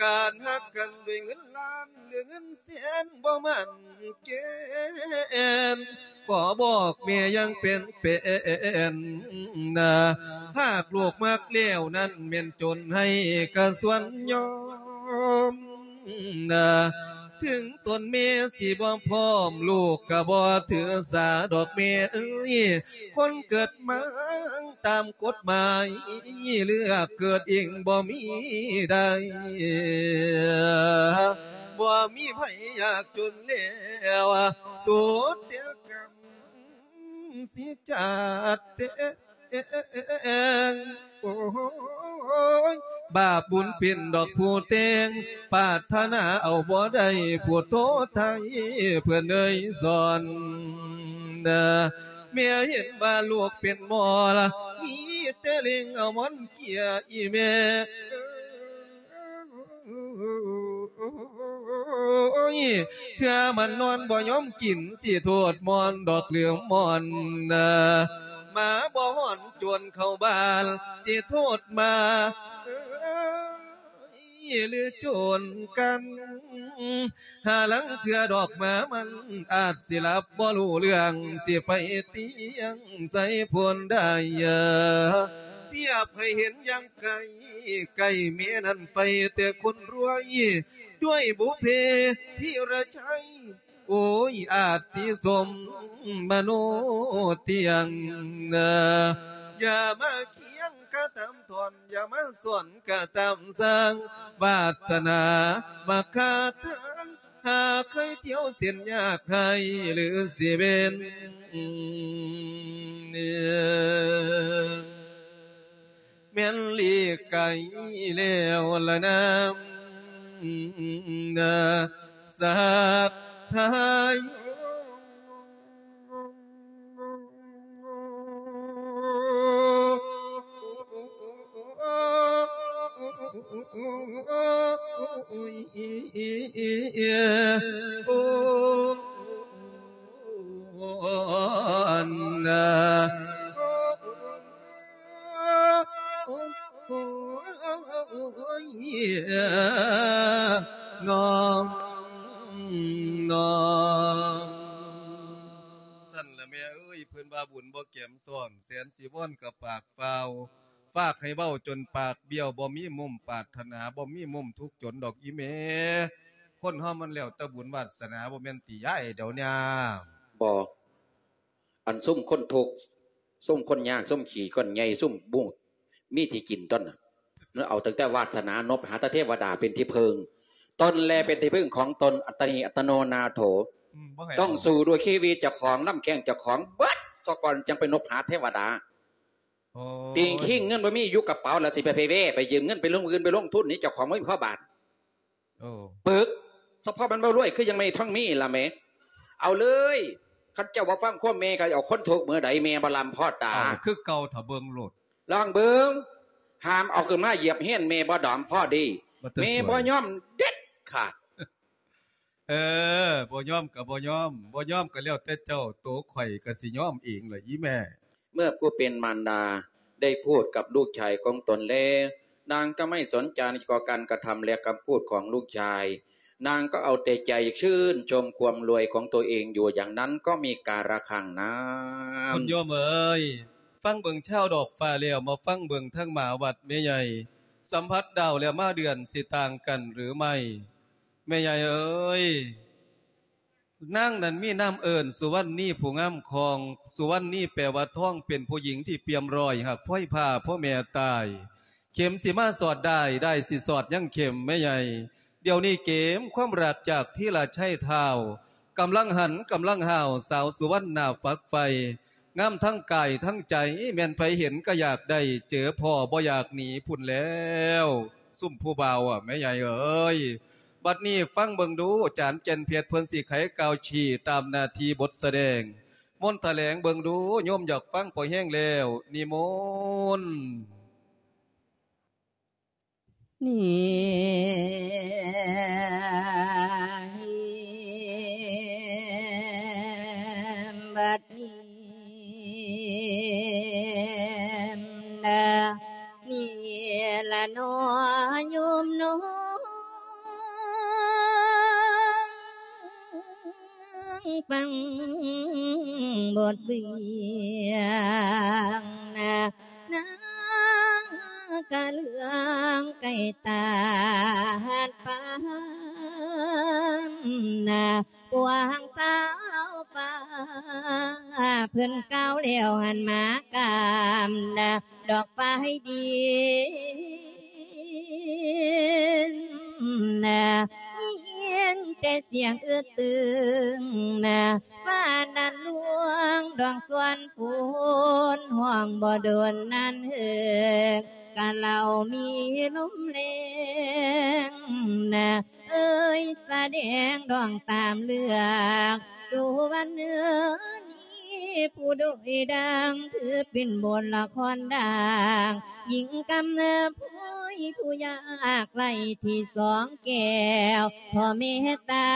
ການຮັກກັນດ້ວຍເງິນລ້ານ ຫຼືເງິນແສນບໍ່ໝັ້ນແກ່ນ ຂໍບອກແມ່ຢ່າງເປັນແປນນະ ຫາກລູກມັກແລ້ວນັ້ນ ແມ່ນຈົນໃຫ້ກະສ່ວນຍອມນະ ເຖິງຕົນແມ່ຊິບໍ່ພ້ອມ ລູກກະບໍ່ຖືສາດອກແມ່ເອີຍ ຄົນເກີດມາຕາມກົດໝາຍ ເລືອກເກີດເອງບໍ່ມີໄດ້ ບໍ່ມີໃຜຢາກຈົນແລ້ວ ສຸດແຕ່ກຳ ຊິຈາດແຕ່ງ ໂອ້ຍ ບາບບຸນເປັນດອກຜູ້ແຕ່ງ ປາດຖະໜາເອົາບໍ່ໄດ້ ຜູ້ໂທໄທເພິ່ນເອີຍສອນ ແມ່ເຫັນວ່າລູກເປັນໝໍລະ ມີແຕ່ເລັ່ງເອົາໝອນເກຍອີແມ່ ໂອ້ຍ ເທື່ອມັນນອນບໍ່ຍອມກິນ ຊິໂທດມ່ອນດອກລືມມ່ອນນາ ໝາບໍ່ຮ້ອນໂຈນເຂົ້າບ້ານ ຊິໂທດໝາ ຫຼືໂຈນກັນ ຫາລາງເທື່ອດອກໝາມັນອາດຊິຫຼັບບໍ່ຮູ້ເລື່ອງ ຊິໄປຕຽງໃສ່ໂພນໄດ້ ທຽບໃຫ້ເຫັນຢ່າງໄກ ໃກ້ແມ່ນັ້ນໄຟແຕ່ຄົນລວຍ ດ້ວຍບຸບເພທີລະໄຊ ໂອ້ຍ ອາດຊິສົມມະໂນຕຽງນາ ຢ່າມາຄຽງກະຕາມທ່ອນ ຢ່າມາສອນກະຕາມສ້າງ ວາດສະໜາມາຄາທາງ ຫາເຄີຍທ່ຽວເສັ້ນຍາກໄຮ້ ຫຼືຊິເປັນ ແມ່ນຫຼີກໄກແລ້ວລະນາ ນາ ສັດທາໂຍ. ຊັ້ນລະແມ່ເອີຍ ເພິ່ນວ່າບຸນບໍ່ແກມຊ້ອນ ແສນສີວອນກະປາກຟ້າວ ຟາກໃຫ້ເວົ້າຈົນປາກບ້ຽວ ບໍ່ມີມຸມປາດຖະໜາ ບໍ່ມີມຸມທຸກຈົນດອກອີ່ແມ່. ຄົນເຮົາມັນແລ້ວແຕ່ບຸນວາດສະໜາ ບໍ່ແມ່ນຕິຍາຍດຽວນີ້. ບໍ່ ອັນຊຸມຄົນທຸກ ຊຸມຄົນຍາກ ຊຸມຂີ້ກ້ອນໃຫຍ່ ຊຸມບູດ ມີທີ່ກິນຕົນນະ ເອົາຕັ້ງແຕ່ວາດສະໜາ ນົບຫາແຕ່ເທວະດາເປັນທີ່ເພິ່ງ ຕົນແລເປັນທີ່ເພິ່ງຂອງຕົນ ອັດຕະນີອັດຕະໂນນາໂຖ ອືມ ຕ້ອງສູ້ດ້ວຍຊີວິດເຈົ້າຂອງ ລຳແຂ້ງເຈົ້າຂອງເບິດ ສາກ່ອນຈັ່ງໄປນົບຫາເທວະດາ. ໂອ້ຍ ຕີງຄີງເງິນບໍ່ມີຢູ່ກະເປົາ ແລ້ວຊິໄປ ໄປແວ່ໄປຢືມເງິນໄປລົງທຶນ ໄປລົງທຶນນີ້ ເຈົ້າຂອງບໍ່ມີພໍບາດ. ໂອ້ ປຶກ ສະເພາະມັນບໍ່ລວຍ ຄືຍັງແມ່ທອງມີລະແມ່. ເອົາເລີຍ ຄັນເຈົ້າບໍ່ຟັງຄວາມແມ່ ກໍເອົາຄົນທຸກມື້ໃດແມ່ບໍ່ລຳພໍຕາ. ເອົາຄືເກົ່າ ຖ້າເບິ່ງໂລດ ລອງເບິ່ງ ຫ້າມເອົາຂຶ້ນມາຢຽບຮຽນແມ່ບໍ່ດອມພໍດີ. ແມ່ບໍ່ຍອມເດັດຂາດ. ເອີ ບໍ່ຍອມກໍບໍ່ຍອມ ບໍ່ຍອມກໍແລ້ວແຕ່ເຈົ້າ ໂຕຂ້ອຍກໍຊິຍອມເອງລະອີ່ແມ່. ເມື່ອຜູ້เป็นมารดาได้พูดกับลูกชายของตนแล้ว นางก็ไม่สนใจต่อการกระทำและคำพูดของลูกชาย นางก็เอาแต่ใจชื่นชมความรวยของตัวเองอยู่อย่างนั้นก็มีกาละครั้งนั้น ຄຸນໂຍມເອີຍ ຟັງເບິ່ງຊາວດອກຟ້າແລ້ວ ມາຟັງເບິ່ງທາງໝາວັດແມ່ໃຫຍ່ ສຳຜັດດາວແລ້ວມາເດືອນ ຊິຕ່າງກັນຫຼືໄໝ? ແມ່ໃຫຍ່ເອີຍ ນາງນັ້ນມີນາມເອີ້ນສຸວັນນີຜູ້ງາມຄອງ ສຸວັນນີແປວ່າທອງ ເປັນຜູ້ຍິງທີ່ປ່ຽມລອຍ ຫາກພອຍພາພໍ່ແມ່ຕາຍ ເຂັມຊິມາສອດດ້າຍ ດ້າຍຊິສອດຍັງເຂັມ ແມ່ໃຫຍ່. ດຽວນີ້ເກມຄວາມລັກຈາກທີລະໄຊທ້າວ ກຳລັງຫັນກຳລັງຫ້າວ ສາວສຸວັນໜ້າຝັກໃຝ່ ງາມທັງກາຍທັງໃຈ ແມ່ນໃຜເຫັນກໍຢາກໄດ້ ເຈີພໍ່ບໍ່ຢາກໜີພຸ້ນແລ້ວ ຊຸມຜູ້ບ່າວ ແມ່ໃຫຍ່ເອີຍ. ບັດນີ້ຟັງເບິ່ງດູ ຈານແກ່ນເພັດເພິ່ນຊິໄຂກ່າວຊີ້ຕາມໜ້າທີ່ບົດສະແດງ ມົນຖະແຫຼງເບິ່ງດູ ໂຍມຢາກຟັງພໍແຮງແລ້ວ ນິມົນ. ນີ້ ບັດນີ້ ນີ້ລະເນາະໂຍມເນາະ ຟັງບົດເລື່ອງນະ ນາກະເລື່ອງໃກ້ຕາຫັດປານນະ ພວກສາວປ່າເພິ່ນກ່າວແລ້ວຫັນມາກາມນະ ດອກປາຍດິນນະ ຍິນແຕ່ສຽງອຶດຕຶງນະ ຟ້ານັ້ນລວງດອງສວນຝົນ ຮ້ອງບໍ່ດົນນັ້ນເຮີ ກະເຫຼົ່າມີລົມແລງນະ ເອີຍ ສະແດງດອງຕາມເລື່ອງ ສຸວັນເອີຍ ຜູ້ໂດຍດັ່ງ ຖືເປັນບົດລະຄອນດັງ ຍິງກຳນາພອຍຜູ້ຍາກໄຮ້ ທີ່ສອງແກ້ວພໍ່ເມດຕາ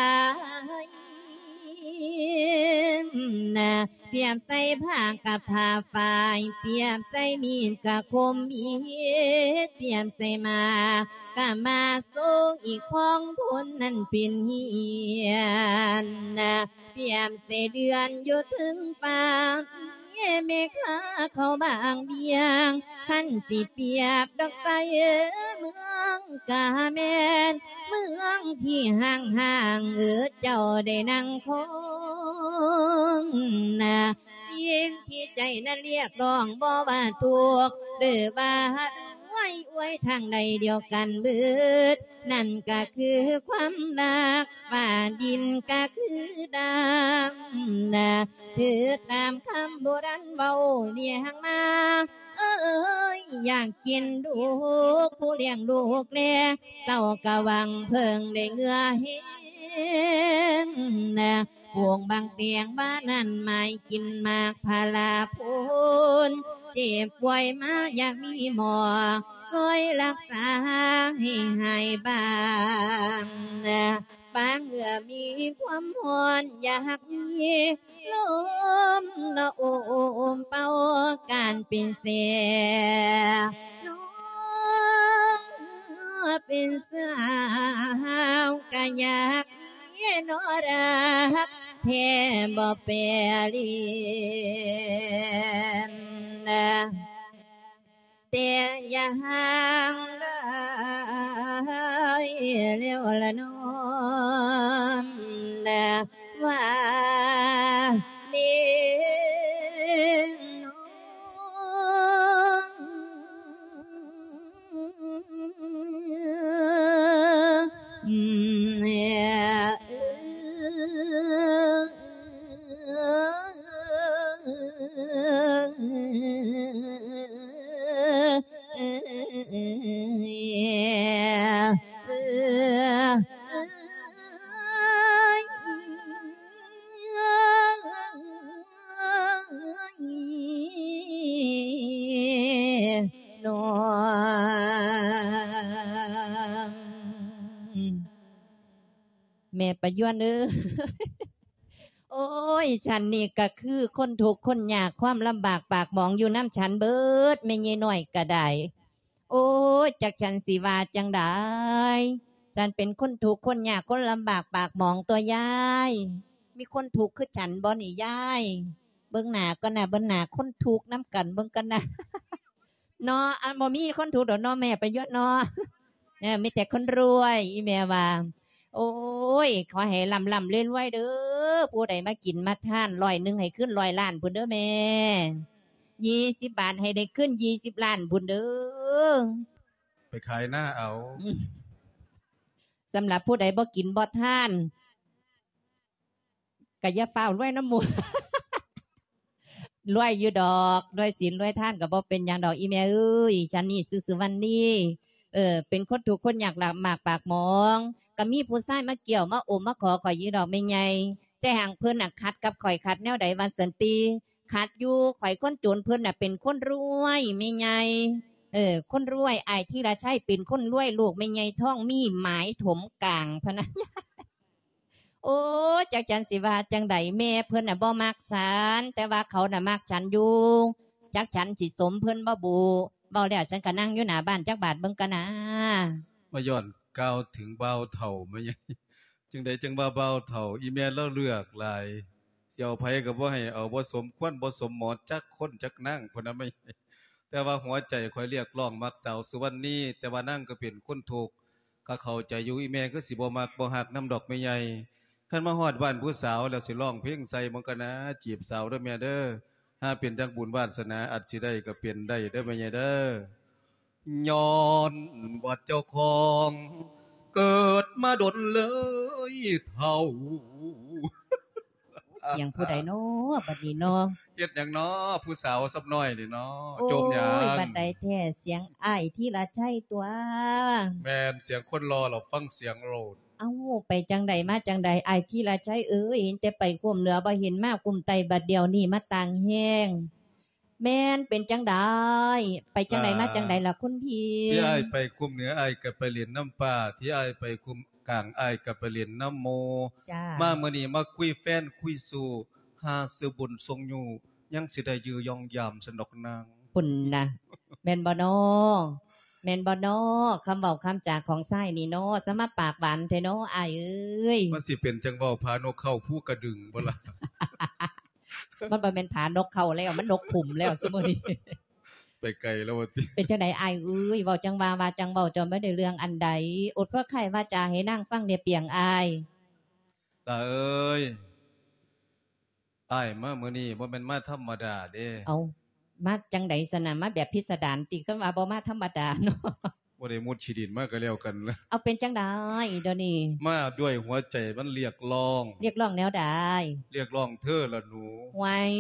ນະ ປຽບໃສ່ຜ້າກັບຜ້າຝ້າຍ ປຽບໃສ່ມີດກະຄົມມີດ ປຽບໃສ່ໝາກກະມາໂຊ ອີກຂອງຄົນນັ້ນເປັນຮຽນນະ ປຽບໃສ່ເດືອນຢູ່ເທິງຟ້າ ແມ່ຄ້າເຂົ້າບາງບຽງ ຄັນຊິປຽບດອກໃສເມືອງກະແມ່ນ ເມືອງທີ່ຮ້າງໆ ເອີ ເຈົ້າໄດ້ນັ່ງຄົງນະ ສິ່ງທີ່ໃຈນັ້ນຮຽກຮ້ອງ ບໍ່ວ່າທຸກ ຫຼືວ່າຮວຍ ອວຍທາງໃດດຽວກັນເບີດ ນັ້ນກະຄືຄວາມຮັກ ຟ້າດິນກະຄືດຳນະ ຖືກຕາມຄຳໂບລານເວົ້າລຽງມາ ເອີຍ ຢາກກິນລູກ ຜູ້ລ້ຽງລູກແລ ເຕົ້າກະຫວັງເພິ່ງໄດ້ເຫື່ອແຮງນະ ປູກບັກແຕງບານນັ້ນ ໝາຍກິນໝາກພາລາໂພນ ເຈັບປ່ວຍມາຢາກມີໝໍ ຊ່ວຍລັກສາໃຫ້ຫາຍບາງນະ ປາງເອື້ອມີຄວາມຮ້ອນ ຢາກມີລົມລະໂອມເປົ່າ ການເປັນແສ ນ້ອງເປັນສາວກະຢາກ ເນາະ ຮັກແທ້ບໍ່ແປລຽນ ແຕ່ຢ່າຫ່າງຫຼາຍແລ້ວລະນ້ອງນະ ວ່າເນາະ. ແມ່ປາຍວນເອີຍ ໂອ້ຍ ສັນນີ້ກະຄືຄົນທຸກຄົນຍາກ ຄວາມລຳບາກປາກໝອງຢູ່ນຳສັນເບີດ ແມ່ໃຫຍ່ນ້ອຍກະໄດ້ ໂອ້ຍ ຈັກສັນຊິວ່າຈັ່ງໃດ ສັນເປັນຄົນທຸກຄົນຍາກ ຄົນລຳບາກປາກໝອງຕົວຍາຍ ມີຄົນທຸກຄືສັນບໍ່ນີ້ຍາຍ ເບິ່ງໜ້າກ່ອນນະ ເບິ່ງໜ້າຄົນທຸກນຳກັນເບິ່ງກ່ອນນະ. ເນາະ ອັນບໍ່ມີຄົນຖືກດອກເນາະແມ່ປະຍວນເນາະ ເອີ ມີແຕ່ຄົນລວຍ ອີແມ່ວ່າ ໂອ້ຍ ຂໍໃຫ້ລ່ຳໆລວຍໆເດີ ຜູ້ໃດມາກິນມາທານຮ້ອຍໜຶ່ງໃຫ້ຄືນຮ້ອຍລ້ານພຸ້ນເດີແມ່ ຍີ່ສິບບາດໃຫ້ໄດ້ຄືນຍີ່ສິບລ້ານພຸ້ນເດີ ໄປຂາຍນາເອົາ ສຳລັບຜູ້ໃດບໍ່ກິນບໍ່ທານ ກະຢ່າຟ້າວລວຍນຳໝູ່ ລວຍຢູ່ດອກ ລວຍສິນລວຍທານກະບໍ່ເປັນຫຍັງດອກ ອີແມ່ເອີຍ ສັນນີ້ຊື່ສຸວັນນີ ເອີ ເປັນຄົນທຸກຄົນຍາກລຳບາກປາກໝອງ ກະມີຜູ້ຊາຍມາກ່ຽວມາໂອມມາຂໍຂ້ອຍຢູ່ດອກແມ່ໃຫຍ່ ແຕ່ຫາງເພິ່ນນະຂັດກັບຂ້ອຍ ຂັດແນວໃດວ່າຊັ້ນຕິ ຂັດຢູ່ ຂ້ອຍຄົນຈົນ ເພິ່ນນະເປັນຄົນລວຍແມ່ໃຫຍ່ ເອີ ຄົນລວຍ ອ້າຍທີລະໄຊເປັນຄົນລວຍ ລູກແມ່ໃຫຍ່ທອງມີໝາຍຖົມກາງ ພະນະ ໂອ້ ຈັກສັນຊິວ່າຈັ່ງໃດ ແມ່ເພິ່ນນະບໍ່ມັກສັນ ແຕ່ວ່າເຂົານະມັກສັນຢູ່ ຈັກສັນຊິສົມເພິ່ນບໍ່ບຸ ເວົ້າແລ້ວສັນກະນັ່ງຢູ່ໜ້າບ້ານຈັກບາດເບິ່ງກະນາ ມາຍ້ອນກ່າວເຖິງບ່າວເຖົ້າແມ່ໃຫຍ່ ຈັ່ງໃດຈັ່ງວ່າບ່າວເຖົ້າ ອີແມ່ລາວເລືອກຫຼາຍ ຊິເອົາໃຜກະບໍ່ໃຫ້ເອົາ ບໍ່ສົມຄວນ ບໍ່ສົມໝໍຈັກຄົນຈັກນາງ ພຸ້ນນະແມ່ໃຫຍ່ ແຕ່ວ່າຫົວໃຈຂ້ອຍຮຽກຮ້ອງມັກສາວສຸວັນນີ ແຕ່ວ່ານາງກະເປັນຄົນທຸກ ກະເຂົ້າໃຈຢູ່ ອີແມ່ຄືຊິບໍ່ມັກບໍ່ຮັກນຳດອກແມ່ໃຫຍ່ ຄັນມາຮອດບ້ານຜູ້ສາວແລ້ວຊິຮ້ອງເພງໃສ່ເບິ່ງກະນາ ຈີບສາວເດີແມ່ເດີ ຫາເປັນຈັກບຸນວາດສະໜາອາດຊິໄດ້ກະເປັນໄດ້ເດີແມ່ໃຫຍ່ເດີ ຍ້ອນວ່າເຈົ້າຂອງເກີດມາດົນເລີຍເຖົ້າ ສຽງຜູ້ໃດເນາະ ບັດນີ້ເນາະ ເຮັດຫຍັງເນາະ ຜູ້ສາວຊຳນ້ອຍນີ້ເນາະ ໂອ້ຍ ໂຈມຫຍັງ ບັດໃດແທ້ ສຽງອ້າຍທີລະໄຊຕົວະ ແມ່ນ ສຽງຄົນຫຼໍ່ລະຟັງສຽງໂລດ ເອົ້າ ໄປຈັ່ງໃດມາຈັ່ງໃດ ອ້າຍທີລະໄຊເອີຍ? ເຫັນແຕ່ໄປຄຸ້ມເໜືອ ບໍ່ເຫັນມາຄຸ້ມໃຕ້ ບັດດຽວນີ້ມາຕ່າງແຮງ. ແມ່ນເປັນຈັ່ງໃດ? ໄປຈັ່ງໃດມາຈັ່ງໃດລະຄຸນພີ່? ທີ່ອ້າຍໄປຄຸ້ມເໜືອ ອ້າຍກໍໄປຫຼິ້ນນຳປ້າ, ທີ່ອ້າຍໄປຄຸ້ມກາງ ອ້າຍກໍໄປຫຼິ້ນນຳໝູ່. ຈ້າ. ມາມື້ນີ້ມາຄຸຍແຟນຄຸຍຊູ້ ຫາຊື້ບຸນສົ່ງຍູ້ ຍັງຊິໄດ້ຢູ່ຢ່ອງຢາມຊັ້ນດອກນາງ. ພຸ້ນນະ ແມ່ນບໍ່ນໍ? ແມ່ນບໍ່ນໍ? ຄຳເວົ້າຄຳຈາຂອງຊາຍນີ້ນໍ ສະມາປາກຫວານແທ້ນໍອ້າຍເອີຍ. ມັນຊິເປັນຈັ່ງເວົ້າຜານົກເຂົ້າພູກະດຶງບໍ່ລະ? ມັນບໍ່ແມ່ນຜານົກເຂົ້າແລ້ວ ມັນນົກຂຸມແລ້ວຊຸມື້ນີ້. ໄປໄກແລ້ວວ່າຕິ. ເປັນຈັ່ງໃດອ້າຍເອີຍ? ເວົ້າຈັ່ງວ່າ ວ່າຈັ່ງເວົ້າ ເຈົ້າບໍ່ໄດ້ເລື່ອງອັນໃດ. ອົດພະໄຂ້ວາຈາໃຫ້ນາງຟັງແດ່ປຽງອ້າຍ. ຫຼ້າເອີຍ ອ້າຍມາມື້ນີ້ບໍ່ແມ່ນມາທຳມະດາເດ້. ເອົ້າ ມາຈັ່ງໃດຊັ້ນນະ? ມາແບບພິດສະດານຕິ? ຄັນວ່າບໍ່ມາທຳມະດາເນາະ. ບໍ່ໄດ້ມຸດຂີ້ດິນມາກໍແລ້ວກັນລະ. ເອົາ ເປັນຈັ່ງໃດດຽວນີ້? ມາດ້ວຍຫົວໃຈມັນລຽກຮ້ອງ. ລຽກຮ້ອງແນວໃດ? ລຽກຮ້ອງເທີລະໜູ. ຫວຍ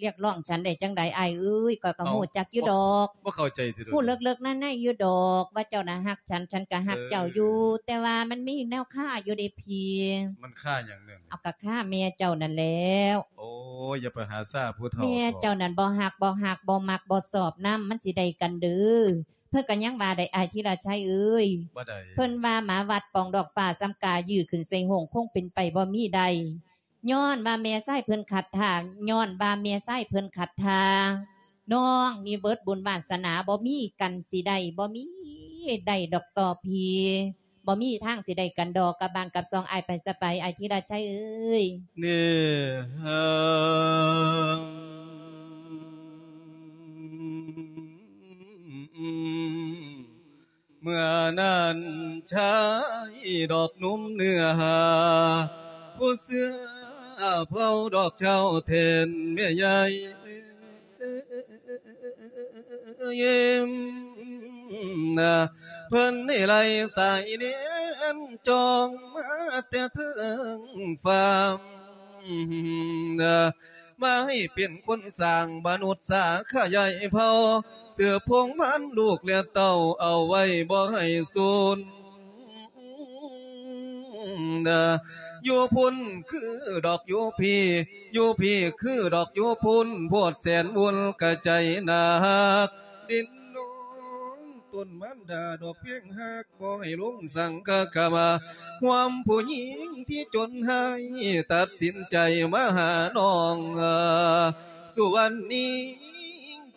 ລຽກຮ້ອງສັນໄດ້ຈັ່ງໃດອ້າຍເອີຍ? ຂ້ອຍກໍ ເອົ້າ ຮູ້ຈັກຢູ່ດອກ. ບໍ່ເຂົ້າໃຈຕິດອກ? ຮູ້ເລິກໆໃນໆຢູ່ດອກວ່າເຈົ້ານະຮັກ ສັນ ສັນກະຮັກເຈົ້າຢູ່ ເອີ ແຕ່ວ່າມັນມີແນວຄາຢູ່ເດ້ພີ່. ມັນຄາຫຍັງແນວນີ້? ເອົາ ກະຄາແມ່ເຈົ້ານັ້ນແລ້ວ. ໂອ້ ຢ່າໄປຫາຊາຜູ້ເຖົ້າ. ແມ່ເຈົ້ານັ້ນບໍ່ຮັກ ບໍ່ຮັກ ບໍ່ມັກ ບໍ່ຊອບນຳ ມັນຊິໄດ້ກັນເດີ. ເພິ່ນກະຍັງວ່າໄດ້ ອ້າຍທີລະໄຊເອີຍ. ວ່າໃດ? ເພິ່ນວ່າ ໝາວັດປ່ອງດອກຟ້າ ສ່ຳກາຍື່ຂຶ້ນໃສ່ໂຮງ ຄົງເປັນໄປບໍ່ມີໄດ້. ຍ້ອນວ່າແມ່ຊາຍເພິ່ນຂັດທ່າ ຍ້ອນວ່າແມ່ຊາຍເພິ່ນຂັດທ່າ. ນ້ອງນີ້ເບິດບຸນວາສະໜາ ບໍ່ມີກັນຊິໄດ້ ບໍ່ມີໄດ້ດອກຕໍ່ພີ່ ບໍ່ມີທາງຊິໄດ້ກັນດອກ ກັບບ້ານກັບຊ່ອງອ້າຍໄປຊະໄປ ອ້າຍທີລະໄຊເອີຍ. ນີ້ ເມື່ອນັ້ນຊາຍດອກໜຸ່ມເນື້ອຫາ ຜູ້ເສື້ອເຜົາດອກເຈົ້າແທນແມ່ໃຫຍ່ ເພິ່ນໃຫ້ໄລ່ສາຍແດນຈອງມາແຕ່ເທິງຟ້າ ມາໃຫ້ເປັນຄົນສ້າງມະນຸດສາຂະຫຍາຍເຜົ່າ ສືບພົງພັນລູກແລະເຕົ້າເອົາໄວ້ບໍ່ໃຫ້ສູນ. ຢູ່ພຸ້ນຄືດອກຢູ່ພີ້ ຢູ່ພີ້ຄືດອກຢູ່ພຸ້ນ ໂພດແສນບຸນກະໃຈໜັກ ດິນນ້ອງຕົ້ນມານດາດອກແພງຮັກ ບໍ່ໃຫ້ລົງສັງຄະກະມາ ຮ່ວມຜູ້ຍິງທີ່ຈົນຮ້າຍ ຕັດສິນໃຈມາຫານ້ອງ ສຸວັນນີ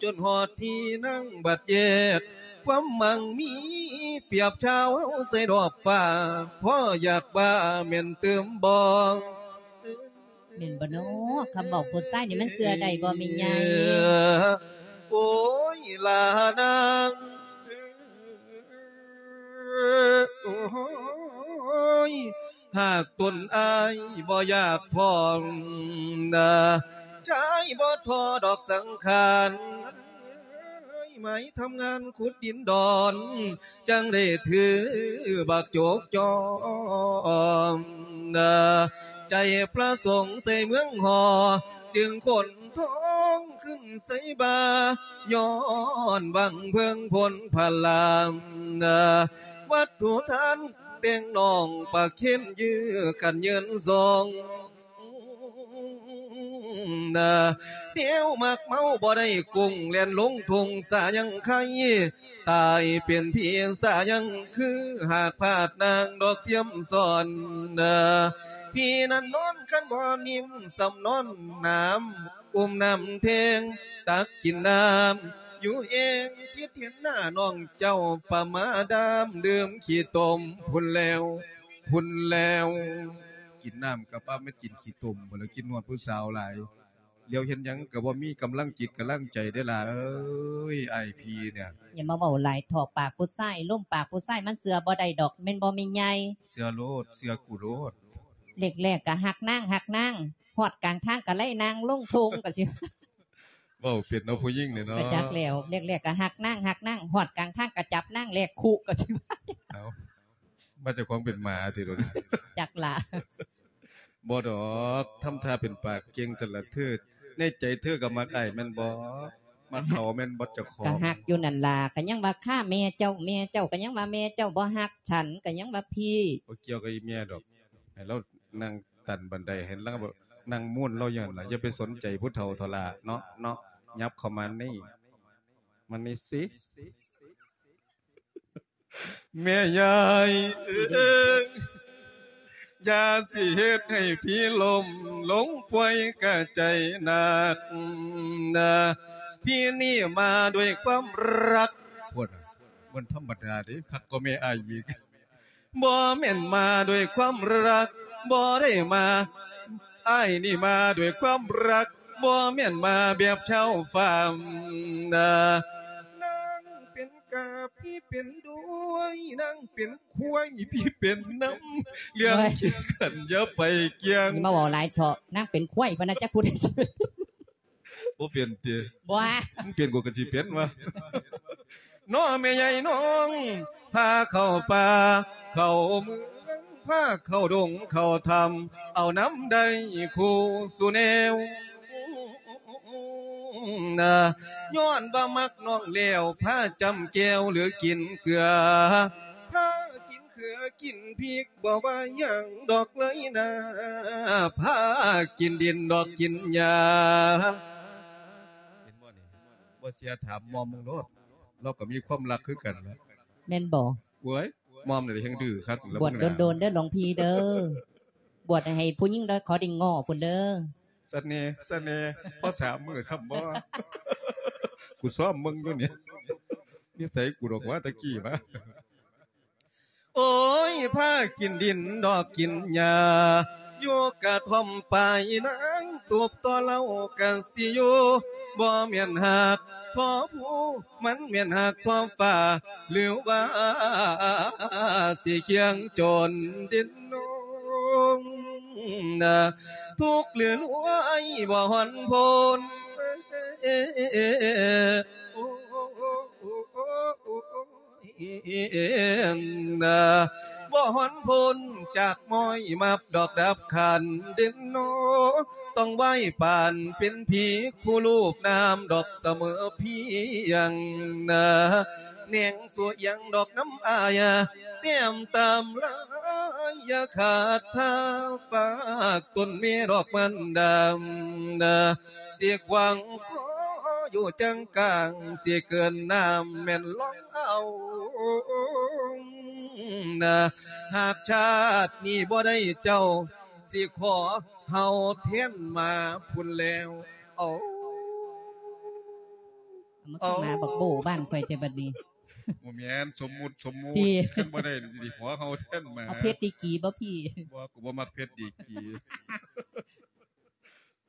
ຈົນຮອດທີ່ນາງບັດແຍກ ຄວາມໝັ້ງມີປຽບຊາວເຮົາໃສ່ດອກຟ້າ ພໍຢາກວ່າແມ່ນຕື່ມບໍ່? ແມ່ນບໍ່ນໍ? ຄຳເວົ້າຜູ້ຊາຍນີ້ມັນເຊື່ອໄດ້ບໍ່ແມ່ໃຫຍ່? ໂອ້ຍ ລານາງ ໂອ້ຍ ຫາກຕົນອ້າຍບໍ່ຢາກພ້ອງນາ ຊາຍບໍ່ທໍ້ດອກສັງຂານ ໄມ້ທຳງານຂຸດດິນດອນ ຈັ່ງໄດ້ຖືບັກໂຈກຈອມນາ ໃຈປະສົງໃສ່ເມືອງຫໍ ຈຶ່ງຂົນທອງຂຶ້ນໃສ່ບ່າ ຍ້ອນຫວັງເພິ່ງພົນພະລາມນາ ວັດຖຸທານແຕ່ງນ້ອງປະເຄນ ຢື້ກັນເຍີນສອງ ແນວມັກເມົາບໍ່ໄດ້ກຸ້ງ ແລ່ນລົງທົ່ງສາຍັງໄຄ ຕາຍເປັນຜີສາຍັງຄື ຫາກພາດນາງດອກທຽມສອນ ຜີນັ້ນນອນຄັນບໍ່ນິ້ມ ສ່ຳນອນໜາມ ອຸ້ມນ້ຳແທງ ຕັກກິນນ້ຳຢູ່ແອ່ງ ຄິດເຫັນໜ້ານ້ອງເຈົ້າປະມາດາມ ດື່ມຂີ້ຕົມພຸ້ນແລ້ວ ພຸ້ນແລ້ວ ກິນນ້ຳກະປະແມ່ນກິນຂີ້ຕົມພຸ້ນແລ້ວ ຄິດຮອດຜູ້ສາວຫຼາຍ ຫຼຽວເຫັນຫຍັງກະບໍ່ມີກຳລັງຈິດກຳລັງໃຈເດ້ຫຼ້າເອີຍ ອ້າຍພີ່ເນຍ. ຢ່າມາເວົ້າຫຼາຍເຖາະ ປາກຜູ້ຊາຍ ລົມປາກຜູ້ຊາຍມັນເຊື່ອບໍ່ໄດ້ດອກ ແມ່ນບໍ່ແມ່ໃຫຍ່? ເຊື່ອໂລດ ເຊື່ອກູໂລດ. ແລກໆກະຮັກນາງ ຮັກນາງ ຮອດກາງທາງກະໄລ່ນາງລົງທົ່ງ ກະຊິ ເວົ້າເປັນເນາະ ຜູ້ຍິງນີ້ເນາະ. ກະຈັກແລ້ວ ແລກໆກະຮັກນາງ ຮັກນາງ ຮອດກາງທາງກະຈັບນາງແລກຄຸ ກະຊິວ່າ ເອົາ ວ່າເຈົ້າຂອງເປັນໝາຕິໂດນ ຈັກລະ. ບໍ່ດອກ ທຳທ່າເປັນປາກເກັ່ງຊັ້ນລະເທີ ໃນໃຈເທີກະມັກອ້າຍແມ່ນບໍ່? ມັກເຂົາແມ່ນບໍ່ເຈົ້າຂອງ? ກໍຮັກຢູ່ນັ້ນລະ ກໍຍັງວ່າຂ້າແມ່ເຈົ້າ ແມ່ເຈົ້າ ກໍຍັງວ່າແມ່ເຈົ້າບໍ່ຮັກ ສັນກໍຍັງວ່າພີ່ ບໍ່ກ່ຽວກັບອີແມ່ດອກ ໃຫ້ລາວນັ່ງຕັນບັນໄດ ໃຫ້ລາວນັ່ງມູນລາວຢູ່ຫັ້ນລະ ຢ່າໄປສົນໃຈຜູ້ເຖົ້າເຖົ້າຫຼ້າເນາະ ເນາະ ຫຍັບເຂົ້າມານີ້ ມານີ້ຊິ ແມ່ຍາຍເອີຍ ຢ່າຊິເຮັດໃຫ້ພີ່ລົ້ມລົງປ່ວຍກະໃຈໜັກນະ ພີ່ນີ້ມາດ້ວຍຄວາມຮັກ ພຸ້ນ ບໍ່ທຳມະດາເດ້ ຄັກກວ່າແມ່ອ້າຍອີກ ບໍ່ແມ່ນມາດ້ວຍຄວາມຮັກ ບໍ່ໄດ້ມາ ອ້າຍນີ້ມາດ້ວຍຄວາມຮັກ ບໍ່ແມ່ນມາແບບຊາວຟາມນະ ນາງເປັນກາ ພີ່ເປັນດ້ວຍ ນາງເປັນຄວາຍ ພີ່ເປັນນຳ ເລື່ອງ ໂອ້ຍ ຂີ້ຂັນຢ່າໄປກ່ຽງ ຢ່າມາເວົ້າຫຼາຍເຖາະ ນາງເປັນຄວາຍ ພະນະ ຈັກຜູ້ໃດ ບໍ່ເປັນຕິ? ບໍ່ ມັນເປັນ ກູກໍຊິເປັນວະ ນ້ອແມ່ໃຫຍ່ນ້ອງ ພາເຂົ້າປ່າເຂົ້າເມືອງ ພາເຂົ້າດົງເຂົ້າຖ້ຳ ເອົານຳໄດ້ຄູ່ສູ່ແນວ ນະ ຍ້ອນວ່າມັກນ້ອງແລ້ວ ພາຈ້ຳແຈ່ວຫຼືກິນເກືອ ພາກິນເຂືອກິນພິກ ບໍ່ວ່າຫຍັງດອກເລີຍນາ ພາກິນດິນດອກກິນຫຍ້າ ເຫັນບໍ່ນີ້? ບໍ່ເຊື່ອຖາມໝ່ອມເບິ່ງໂລດ ລາວກໍມີຄວາມລັກຄືກັນນະ ແມ່ນບໍ່? ໂອ້ຍ ໝ່ອມນີ້ແຫຼະແຮ່ງດື້ຄັກ ລະ ບວດດົນໆເດີຫຼວງພີ່ເດີ ບວດໃຫ້ຜູ້ຍິງເດີ ຂໍໄດ້ງໍພຸ້ນເດີ ສະເໜ່ ສະເໜ່ ພໍສາມມື້ຊ້ຳບໍ່? ກູຊ້ອມເບິ່ງຢູ່ນີ້ ນິໄສກູດອກວ່າຕະກີ້ມາ ໂອ້ຍ ພາກິນດິນດອກກິນຫຍ້າ ຢູ່ກະທ່ອມປາຍນາງ ຕູບຕໍ່ເຫຼົ້າກະຊິຢູ່ ບໍ່ແມ່ນຮັກທໍ່ພູ ມັນແມ່ນຮັກທໍ່ຟ້າ ຫຼືວ່າຊິຄຽງຈົນດິນໂນງ ທຸກຫຼືລວຍບໍ່ຮ້ອນພົ້ນ ບໍ່ຮ້ອນພົ້ນຈາກມ້ອຍມັບດອກດັບຂັນເດັ່ນໂນ ຕ້ອງໄຫວ້ປານເປັນຜີຄູ່ລູບນາມດອກສະເໝີພຽງນາ ແໜງສວຍຍັງດອກນຳອາຍ ແຕ້ມຕາມລາຍຢ່າຂາດທ່າ ຝາກຕົ້ນເມດອກມັນດຳນາ ຊິຂວາງຂໍຢູ່ຈັ່ງກາງ ຊິເກີນນ້ຳແມ່ນລອງເອົານາ ຫາກຊາດນີ້ບໍ່ໄດ້ເຈົ້າ ຊິຂໍເຫົ່າແທນໝາພຸ້ນແລ້ວ ເອົາ ມາຄືໝາບັກໂບ້ບ້ານຂ້ອຍແທ້ບັດນີ້ ບໍ່ແມ່ນ ສົມມຸດ ສົມມຸດ ຄັນບໍ່ໄດ້ຊິໄດ້ຫົວເຫົ່າແທນໝາ ເອົາເພັດດີກີບໍ່ພີ່? ບໍ່ ກູບໍ່ມັກເພັດດີກີ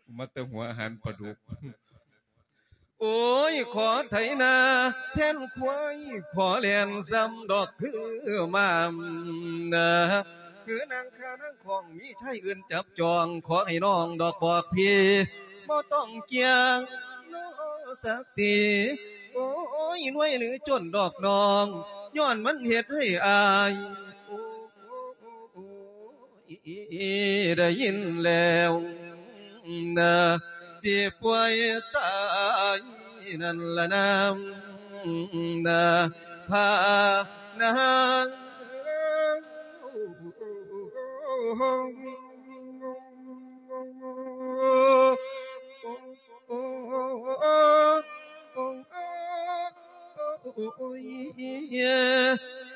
ກູມັກແຕ່ຫົວອາຫານປາດຸກ ໂອ້ຍ ຂໍໄຖນາແທນຄວາຍ ຂໍແລ່ນຊ້ຳດອກຄືໝານາ ຄືນາງຄານາງຂອງ ມີຊາຍອື່ນຈັບຈອງ ຂໍໃຫ້ນ້ອງດອກບອກພີ່ ບໍ່ຕ້ອງກ່ຽງນອສັກສີ ໂອ້ຍ ລວຍຫຼືຈົນດອກນ້ອງ ຍ້ອນມັນເຮັດໃຫ້ອາຍ ໂອ້ຍ ໄດ້ຍິນແລ້ວນາ ຊິປ່ວຍຕາຍນັ້ນລະນາ ນາ ພານາງ ໂອ້ຍ ໂອ້ຍ ໂ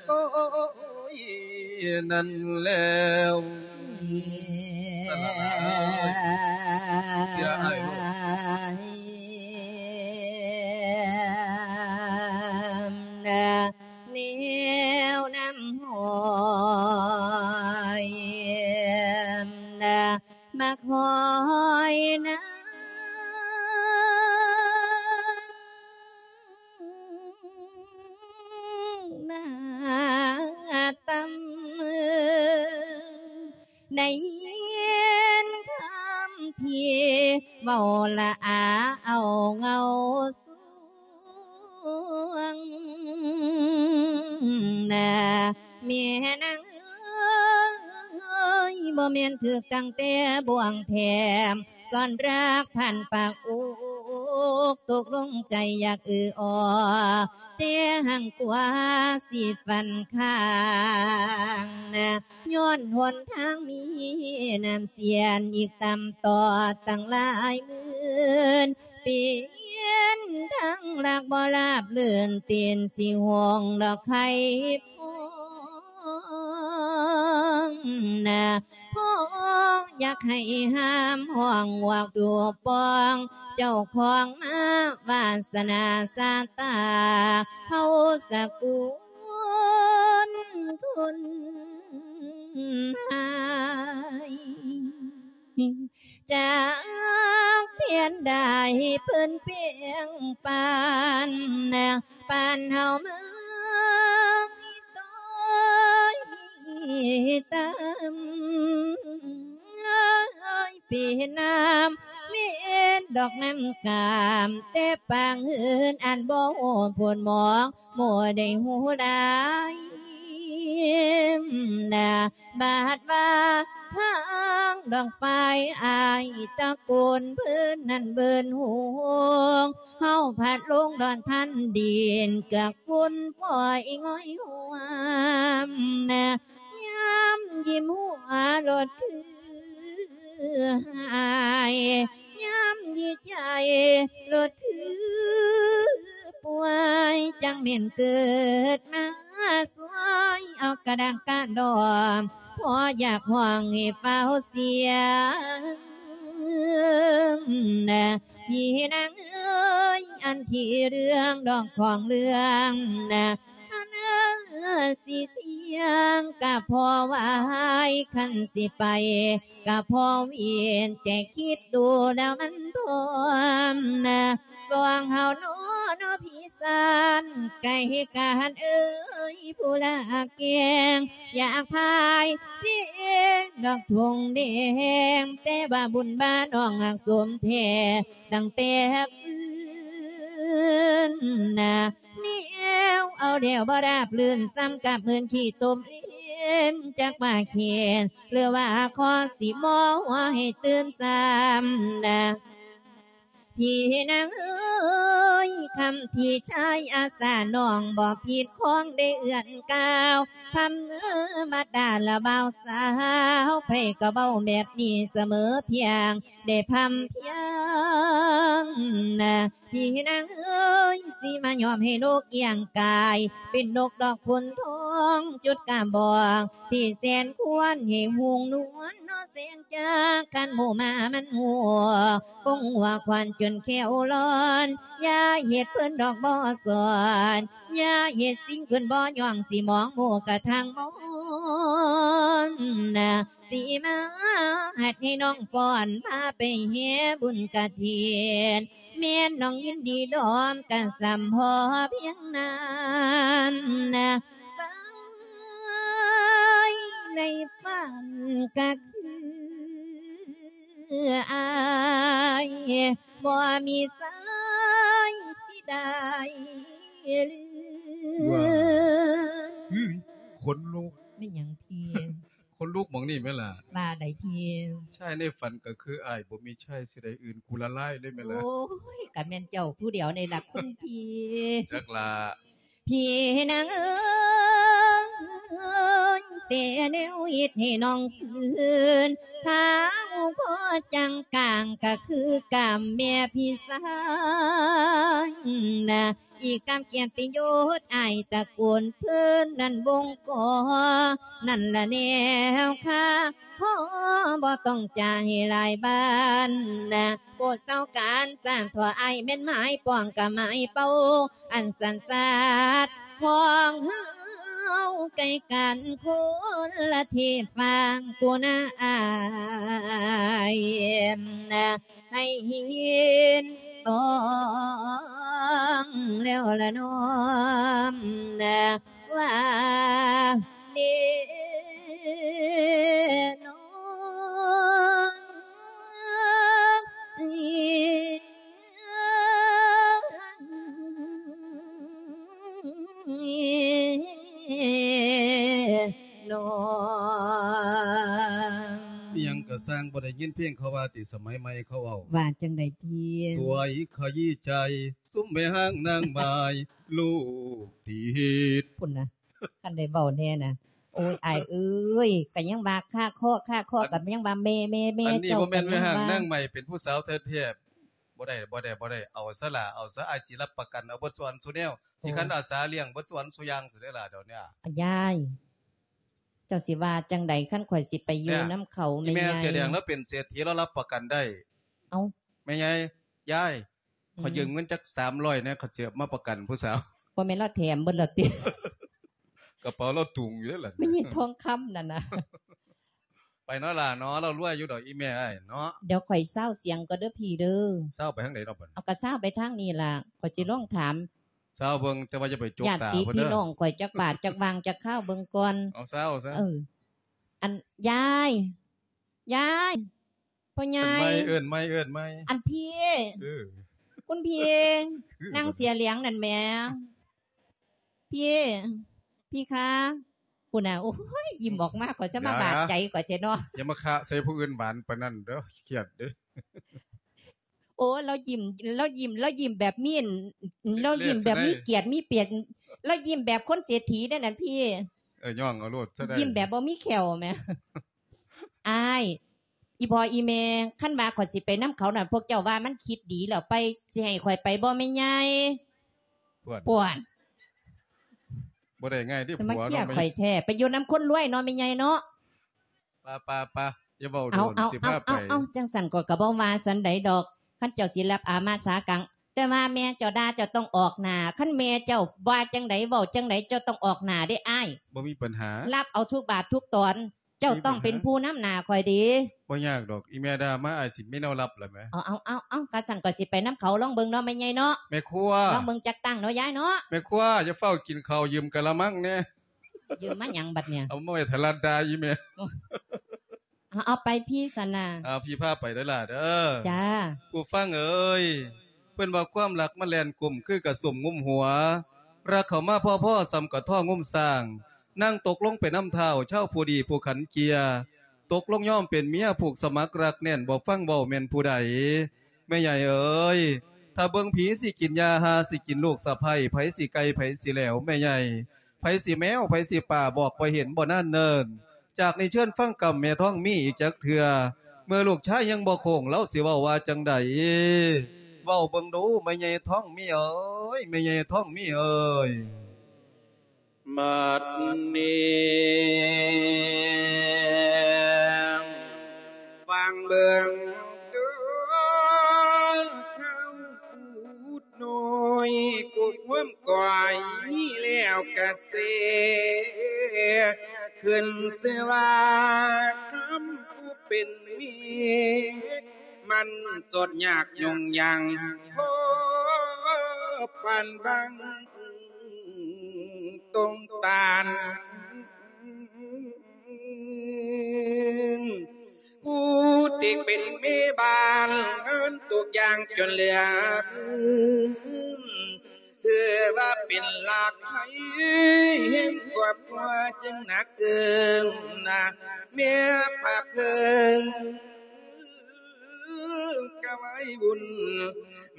ອ້ຍ ນັ້ນແລ້ວ ສະຫຼະລາຍ ເສຍອ້າຍໂລດ ແນວນ້ຳຫ້ອຍ ນະ ມັກຫ້ອຍນາ ໜ້າຕ່ຳ ໄດ້ຍິນຄຳພີ່ເວົ້າລະອາເອົາເງົາສວງ ນະ ແມ່ນາງເອີຍ ບໍ່ແມ່ນຖືກຕັ້ງແຕ່ບ່ວງແຖມ ສອນຮັກພັນປາກອົກ ຕົກລົງໃຈຢາກອືອອ ແຕ່ຮັ່ງກວ່າຊິຝັນຄ້າງນະ ຍ້ອນຫົນທາງມີນ້ຳສຽນ ອີກຕ່ຳຕໍ່ຕັ້ງຫຼາຍໝື່ນ ເປັນທາງລັກບໍ່ລາບລື່ນ ຕີນຊິຫົ່ງດອກໄຂ່ພອງນະ ພໍຢາກໃຫ້ຫ້າມຮ້ອງຫວກດູປອງ ເຈົ້າຂອງມາວາສະໜາຊາຕາ ເຮົາສະກຸນຄົນຮ້າຍ ຈັກພຽນໃດເພິ່ນປ່ຽງປານ ປານເຮົາມາມີຕ້ອຍຕາມ ເປັນນ້ຳເມັນດອກນ້ຳກາມ ແຕ່ປາງເຮືອນອັນບໍ່ຮູ້ໂພດໝອງ ບໍ່ໄດ້ຮູ້ຫຼາຍນະ ບາດວ່າທາງດອກໄຟອ້າຍຕະໂກນເພິ່ນນັ້ນເບິ່ນຫວງ ເຮົາພັດລົງດອນທັນດິນ ເກືອກຝຸ່ນຝອຍງ່ອຍຫວມນະ ຍາມຍິ້ມຫົວໂລດຄື ຫາຍ ຍາມດີໃຈໂລດຄືປ່ວຍ ຈັ່ງແມ່ນເກີດມາຊ່ວຍ ເອົາກະດາກກະດອມ ພໍຢາກຮ້ອງໃຫ້ຟ້າວສຽງນະ ພີ່ນາງເອີຍ ອັນທີ່ເລື່ອງດອກຂອງເລື່ອງນະ ຄັນເອີຍຊິສຽງກະພໍໄຫວ ຄັນຊິໄປກະພໍເວນ ແຕ່ຄິດດູແລ້ວມັນພ້ອມນະ ຊ່ວງເຮົານອນເນາະພີ່ຊານ ໄກ່ການເອີຍ ຜູ້ລາກແກງ ຢາກພາຍເພງດອກທົ່ງແດງ ແຕ່ວ່າບຸນບານ້ອງຮັກສົມແທ້ ຕັ້ງແຕ່ຟື້ນນະ ແນວເອົາແລ້ວບໍ່ລາບລື່ນ ສ່ຳກັບເງິນຂີ້ຕົມເລນ ຈັກວ່າແຄ້ນ ຫຼືວ່າຂໍຊິໝໍຫົວໃຫ້ຕື່ມຊ້ຳນະ ພີ່ນາງເອີຍ ຄຳທີ່ຊາຍອາສາ ນ້ອງບໍ່ຜິດຂອງໄດ້ເອື້ອນກ່າວ ພຳເນີມາດາລະບ່າວສາວ ໃຜກໍເວົ້າແບບນີ້ສະເໝີພຽງ ໄດ້ພຳພຽງນະ ພີ່ນາງເອີຍ ຊິມາຍອມໃຫ້ນົກກ້ຽງກາຍ ເປັນນົກດອກຂຸນທອງ ຈຸດກາບອງທີ່ແສນຄວນໃຫ້ຮຸ່ງນວນ ເນາະແສງຈາກ ຄັນໝູ່ມາມັນຮູ້ ຄົງຫົວຄວັນຈົນແຂ້ວລອນ ຢ່າເຮັດເພິ່ນດອກບໍ່ສອນ ຢ່າເຮັດສິ່ງເພິ່ນບໍ່ຍ້ອງ ຊິມອງໝູ່ກະທັງມອນນະ ຊິມາຮັດໃຫ້ນ້ອງຟ້ອນ ພາໄປແຫ່ບຸນກະຖິນ ແມ່ນນ້ອງຍິນດີດອມ ກະສ່ຳພໍພຽງນັ້ນນະ ໃນຝັນກະຄືອ້າຍ ບໍ່ມີສາຍຊິໄດ້ລືມ ວ້າ ອື ຂົນລຸກ ແມ່ນຫຍັງພີ່? ຂົນລຸກໝ່ອງນີ້ແມ່ນລະ ວ່າໃດພີ່? ຊາຍໃນຝັນກໍຄືອ້າຍ ບໍ່ມີຊາຍຊິໄດ້ອື່ນ ກູລະລາຍເລີຍແມ່ນລະ ໂອ້ຍ ກະແມ່ນເຈົ້າຜູ້ດຽວນີ້ລະຄຸນພີ່ ຈັກລະ ພີ່ນາງເອີຍ ແຕ່ແນວເຮັດໃຫ້ນ້ອງຟື້ນ ທ້າວພໍຈັງກາງ ກະຄືກາມແມ່ພີ່ຊາຍນະ ອີກກາມກຽດຕິຍົດອ້າຍຕະໂກນເພິ່ນນັ້ນບົ່ງກໍ ນັ້ນລະແນວຄ່າ ພໍບໍ່ຕ້ອງຈ່າຍຫຼາຍບານນະ ໂປດເຊົາການສ້າງ ເພາະອ້າຍແມ່ນໝາຍປ້ອງກະໝາຍເປົ້າ ອັນສັນຊາດຂອງເຮົາໃກ້ກັນຄົນລະເທຟາງ ຜູ້ນາອ້າຍນະ ໃຫ້ເຫັນຕ້ອງແລ້ວລະນ້ອມນະ ວ່າເດນ້ອງ ນ້ອງ ຊ່າງບໍ່ໄດ້ຍິນເພງເຂົາວ່າຕິ ສະໄໝໃໝ່ເຂົາເວົ້າ ວ່າຈັ່ງໃດພີ່? ສວຍຂະຢີ້ໃຈ ຊຸມແມ່ຮ້າງນາງໝ້າຍ ລູກຕິດ ພຸ້ນນະ ຄັນໄດ້ເວົ້າແດ່ນະ. ໂອ້ຍ ອ້າຍເອີຍ ກະຍັງວ່າຄາຄໍ ຄາຄໍ ກະຍັງວ່າແມ່ ແມ່ ແມ່ ອັນນີ້ບໍ່ແມ່ນແມ່ຮ້າງນາງໝ້າຍ ເປັນຜູ້ສາວແທ້ໆ ບໍ່ໄດ້ ບໍ່ໄດ້ ບໍ່ໄດ້ ເອົາຊະລະ ເອົາຊະ ອ້າຍຊິຮັບປະກັນ ເອົາເບິດສູ່ອັນສູ່ແນວ ຊິຄັນອາສາລ້ຽງເບິດສູ່ອັນສູ່ຢ່າງ ຊິໄດ້ລະ ດຽວນີ້ ຍາຍ ເຈົ້າຊິວ່າຈັ່ງໃດ ຄັນຂ້ອຍຊິໄປຢູ່ນຳເຂົາ ແມ່ໃຫຍ່ ແມ່ເສືອແດງລາວເປັນເສດຖີ ລາວຮັບປະກັນໄດ້. ເອົ້າ ແມ່ໃຫຍ່ ຍາຍ ອືມ ຂໍຢືມເງິນຈັກສາມຮ້ອຍແດ່ ຂ້ອຍຊິເອົາມາປະກັນຜູ້ສາວ. ບໍ່ແມ່ນລາວແຖມເບິດແລ້ວຕິ? ກະເປົາລາວຕຸງຢູ່ເດ້ລະ ແມ່ໃຫຍ່ທອງຄຳນັ້ນນະ. ໄປເນາະຫຼ້າເນາະ ລາວລວຍຢູ່ດອກ ອີ່ແມ່ອ້າຍເນາະ. ດຽວຂ້ອຍຊາວສຽງກ່ອນເດີພີ່ເດີ. ຊາວໄປທາງໃດເນາະບັດ? ເອົາ ກະຊາວໄປທາງນີ້ລະ ຂ້ອຍຊິລອງຖາມ ຊາວເບິ່ງ ແຕ່ວ່າຢ່າໄປຈົກຕາເພິ່ນເດີ ຍາດຕິພີ່ນ້ອງຂ້ອຍ ຈັກບາດຈັກຫວ່າງຈັກຄາວເບິ່ງກ່ອນ. ເອົາ ຊາວຊະ ເອີ ອັນ ຍາຍ ຍາຍ ພໍ່ໃຫຍ່ ເອີ້ນໃໝ່ ເອີ້ນໃໝ່ ເອີ້ນໃໝ່ ອັນພີ່ ເອີ ຄຸນພີ່ ຄື ນາງເສືອຫຼຽງນັ້ນແໝ ພີ່ ພີ່ຄະ ພຸ້ນນະ. ໂອ້ຍ ຍິ້ມອອກມາ ຂ້ອຍຈະມາບາດໃຈຂ້ອຍແທ້ເນາະ. ຢ່າມາຄະໃສ່ຜູ້ອື່ນຫວານປານນັ້ນເດີ ຄຽດເດີ. ໂອ້ ລາວຍິ້ມ ລາວຍິ້ມ ລາວຍິ້ມແບບມີ ລາວຍິ້ມແບບມີກຽດມີປຽດ ລາວຍິ້ມແບບຄົນເສດຖີເດ້ນັ້ນພີ່. ເອີ ຍ້ອງເອົາໂລດຊະໄດ້ ຍິ້ມແບບບໍ່ມີແຂ້ວແໝ. ອ້າຍ ອີ່ພໍ່ອີ່ແມ່ ຄັນວ່າຂ້ອຍຊິໄປນຳເຂົານັ້ນ ພວກເຈົ້າວ່າມັນຄິດດີແລ້ວໄປ ຊິໃຫ້ຂ້ອຍໄປບໍ່ແມ່ໃຫຍ່? ປວດ ປວດ ບໍ່ໄດ້ງ່າຍເດ້ ມາເຄຍຂ້ອຍແທ້ ໄປຢູ່ນຳຄົນລວຍເນາະແມ່ໃຫຍ່ເນາະ. ປະ ປະ ປະ ຢ່າເວົ້າໂດນ ເອົາ ຊິພາໄປ ເອົາ ຈັ່ງຊັ້ນຂ້ອຍກະບໍ່ວ່າຊັ້ນໃດດອກ ຄັນເຈົ້າຊິຮັບອາມາສາກັງ. ແຕ່ວ່າແມ່ເຈົ້າດ່າ ເຈົ້າຕ້ອງອອກໜ້າ ຄັນແມ່ເຈົ້າວ່າຈັ່ງໃດ ເວົ້າຈັ່ງໃດ ເຈົ້າຕ້ອງອອກໜ້າເດ້ອ້າຍ. ບໍ່ມີບັນຫາ ຮັບເອົາທຸກບາດທຸກຕອນ. ເຈົ້າຕ້ອງເປັນຜູ້ນຳໜ້າຂ້ອຍເດ້. ບໍ່ຍາກດອກ ອີ່ແມ່ດ່າມາ ອ້າຍຊິມີແນວລັບແລ້ວແໝ. ເອົາ ເອົາ ເອົາ ເອົາ ຄັນຊັ້ນຂ້ອຍຊິໄປນຳເຂົາ ລອງເບິ່ງເນາະແມ່ໃຫຍ່ເນາະ. ແມ່ຄົວ ລອງເບິ່ງຈັກຕັ້ງເນາະຍາຍເນາະ. ແມ່ຄົວ ຢ່າຟ້າວກິນເຂົ້າ ຢືມກະລະມັງແດ່. ຢືມມາຫຍັງບັດນີ້? ເອົາມາໄວ້ຖ້າລັດດ່າອີ່ແມ່. ເອົາ ເອົາໄປພີ່ຊັ້ນນະ. ເອົາ ພີ່ພາໄປເດີຫຼ້າເດີ. ຈ້າ. ຜູ້ຟັງເອີຍ ເພິ່ນວ່າຄວາມຮັກມັນແລ່ນກົມຄືກະສົມງຸມຫົວ ລັກເຂົ້າມາພໍໆສ່ຳກະທໍ່ງຸມຊ້າງ ນາງຕົກລົງໄປນຳທ້າວ ຊາວຜູ້ດີຜູ້ຂັນເກຍ ຕົກລົງຍອມເປັນເມຍ ຜູກສະໝັກລັກແໜ້ນ ບໍ່ຟັງເວົ້າແມ່ນຜູ້ໃດ? ແມ່ໃຫຍ່ເອີຍ ຖ້າເບິ່ງຜີຊິກິນຢາ ຫ່າຊິກິນລູກສະໃພ້ ໃຜຊິໄກ່ໃຜຊິແຫຼວ ແມ່ໃຫຍ່ ໃຜຊິແມວ ໃຜຊິປາ ບອກບໍ່ເຫັນບໍ່ນານເນີນ. ຈາກນີ້ເຊີນຟັງກຳແມ່ທອງມີອີກຈັກເທື່ອ ເມື່ອລູກຊາຍຍັງບໍ່ໂຄ້ງ ລາວຊິເວົ້າວ່າຈັ່ງໃດ? ເວົ້າເບິ່ງດູ ແມ່ໃຫຍ່ທອງມີເອີຍ ແມ່ໃຫຍ່ທອງມີເອີຍ. ບັດນີ້ຟັງເບິ່ງເດີ ເຂົາ ນ້ອຍກຸກຫວມກ້ອຍແລ້ວກະເຊ ຂຶ້ນຊື່ວ່າຄຳຜູ້ເປັນເມຍ ມັນສົດຍາກຫຍຸ້ງຍາງພໍປານບັງຕົງຕານ. ຜູ້ທີ່ເປັນແມ່ບ້ານງານທຸກຢ່າງຈົນເຫຼືອພື້ນ ຖືວ່າເປັນລາກໄພແຫ່ງຄອບຄົວຈຶ່ງໜັກເກີນນະ ແມ່ພາເພິ່ນກະໄວ້ວຸ່ນ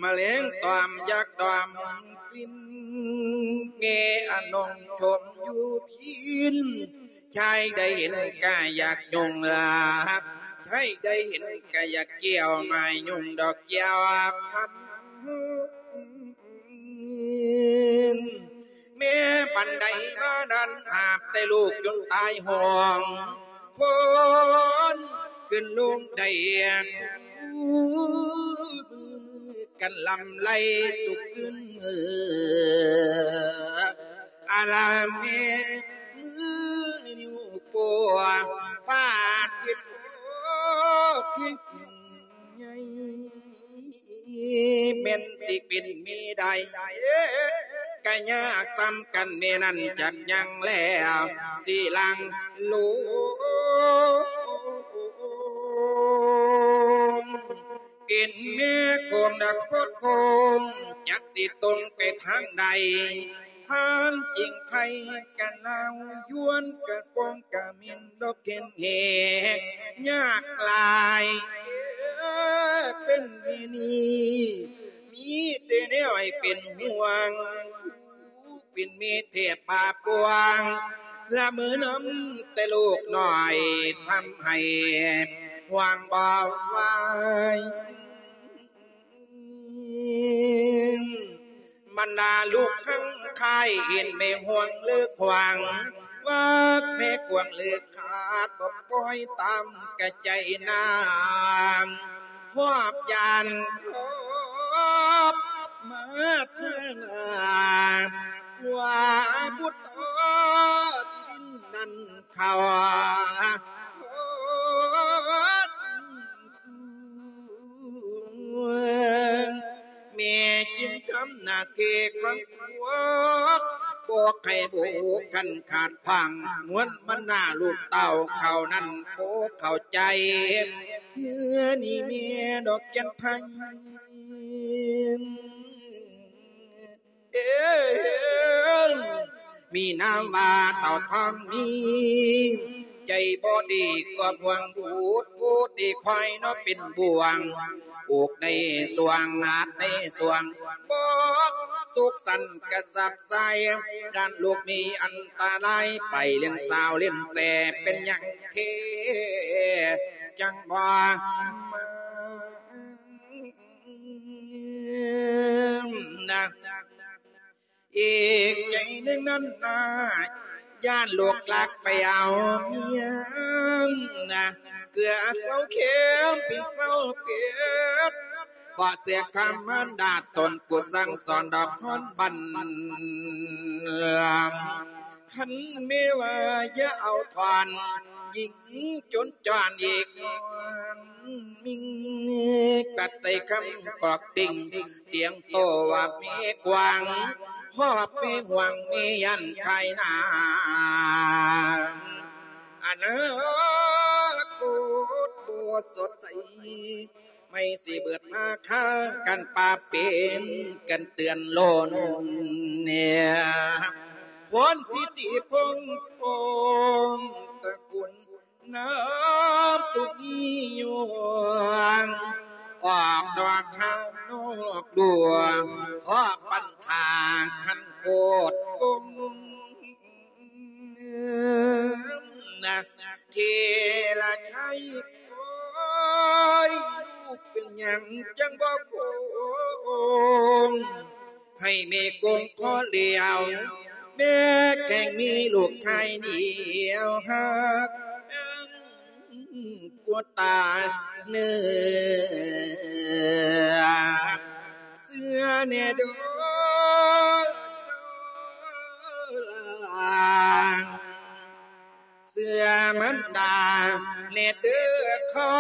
ມະແລງຕອມຢາກດອມ ກິນແກ່ອານົງຊົມຢູ່ພີນ ຊາຍໃດເຫັນກະຢາກຍົງລາ ຊາຍໃດເຫັນກະຢາກກ່ຽວ ມາຍຸງດອກແກ້ວຄຳ ແມ່ບັນໄດມານັ້ນ ຫາບແຕ່ລູກຈົນຕາຍຫ້ອງ ຄົນຂຶ້ນລົງໄດ້ ກັນລຳໄລທຸກຄືນມື້ ອາລາແມ່ມືນິ້ວໂປ້ ປາດເຮັດໂພກໃຫຍ່ ແມ່ນຊິເປັນແມ່ໃດ ກະຍາກສ່ຳກັນແນ່ນັ້ນຈັກຍັງແລ້ວ ຊິຫຼັງໂລງ ເປັນແມ່ໂຄມດັກໂຄດໂຄມ ຈັກຊິຕົງໄປທາງໃດ ທ່ານຈິງໄພກັນລາວ ຍວນກັນຟອງກະເໝັນດອກເຫັນແຮງຍາກຫຼາຍ ເອີ ເປັນແມ່ນີ້ມີແຕ່ແນວໃຫ້ເປັນຫ່ວງ ເປັນແມ່ແທບປາປວງ ລະເມີນຳແຕ່ລູກນ້ອຍ ທຳໃຫ້ຫ່ວງບໍ່ໄຫວ. ບັນດາລູກທັງຄ້າຍເຫັນແມ່ຫ່ວງເລີກຫວັງ ວ່າແມ່ກວາງເລີກຂາດບໍ່ປ່ອຍຕາມກະໃຈນາງ ຮອບຢ້ານຮອບມາເທື່ອໜ້າ ວ່າບຸດຕໍ່ທີ່ດິນນັ້ນເຂົາທອດ ແມ່ຈຶ່ງທຳໜ້າທີ່ຂອງຕົວ ບໍ່ໃຫ້ບຸກຄັນຂາດພັງ ມວນບັນດາລູກເຕົ້າເຂົານັ້ນບໍ່ເຂົ້າໃຈ ເຮືອນີ້ແມ່ດອກຈັນໄພ ເອີ ມີນາມວ່າເຕົ້າທອງມີ ໃຈບໍ່ດີກວ່າພວງບູດ ຜູ້ທີ່ຄອຍເນາະເປັນບ່ວງ ອອກໃນສວງ ຫາດໃນສວງ ບໍ່ສຸກສັນກະສັບໃສ ດ້ານລູກມີອັນຕະລາຍ ໄປຫຼິ້ນສາວຫຼິ້ນແສ ເປັນຫຍັງເທ ຈັ່ງບໍ່ມາ ນະ ອີກໃຈໜຶ່ງນັ້ນນາ ຢ້ານລູກລັກໄປເອົາເມຍນະ ເກືອເຊົາເຄັມ ພິກເຊົາເຜັດ ບໍ່ເສຍຄຳມານດາຕົນ ກູສັ່ງສອນດອກຮອນບັນ ຄັນແມ່ວ່າຢ່າເອົາທອນ ຍິງຈົນຈອນອີກ ມິງ ກັດໃສ່ຄຳກອກຕິ່ງ ຕຽງໂຕວ່າແມ່ກວາງ ຮອບແມ່ຫ່ວງແມ່ຢ້ານຂາຍໜ້າ ອະນາຄົດບໍ່ສົດໃສ ໄມ້ຊິເບີດມາຄາກັນປາເປັນກັນເຕືອນໂລນ ພອນພິທີພົງພົງຕະກຸນ ນ້ຳຕຸກນິຍົງ ອອກດອກທາງນອກດວງ ເພາະປັນທາງຄັນໂຄດກົງ ນະ ເທລະໄຊ ໂອ້ຍ ລູກເປັນຫຍັງຈັ່ງບໍ່ຄົງ ໃຫ້ແມ່ກົງຂໍຫຼຽວ ແມ່ແຂ່ງມີລູກຊາຍດຽວ ຮັກກວ່າຕາເນື້ອ ເຊື່ອແດ່ເດີຫຼານ ເຊື່ອມັນດາແດ່ເດີຄອ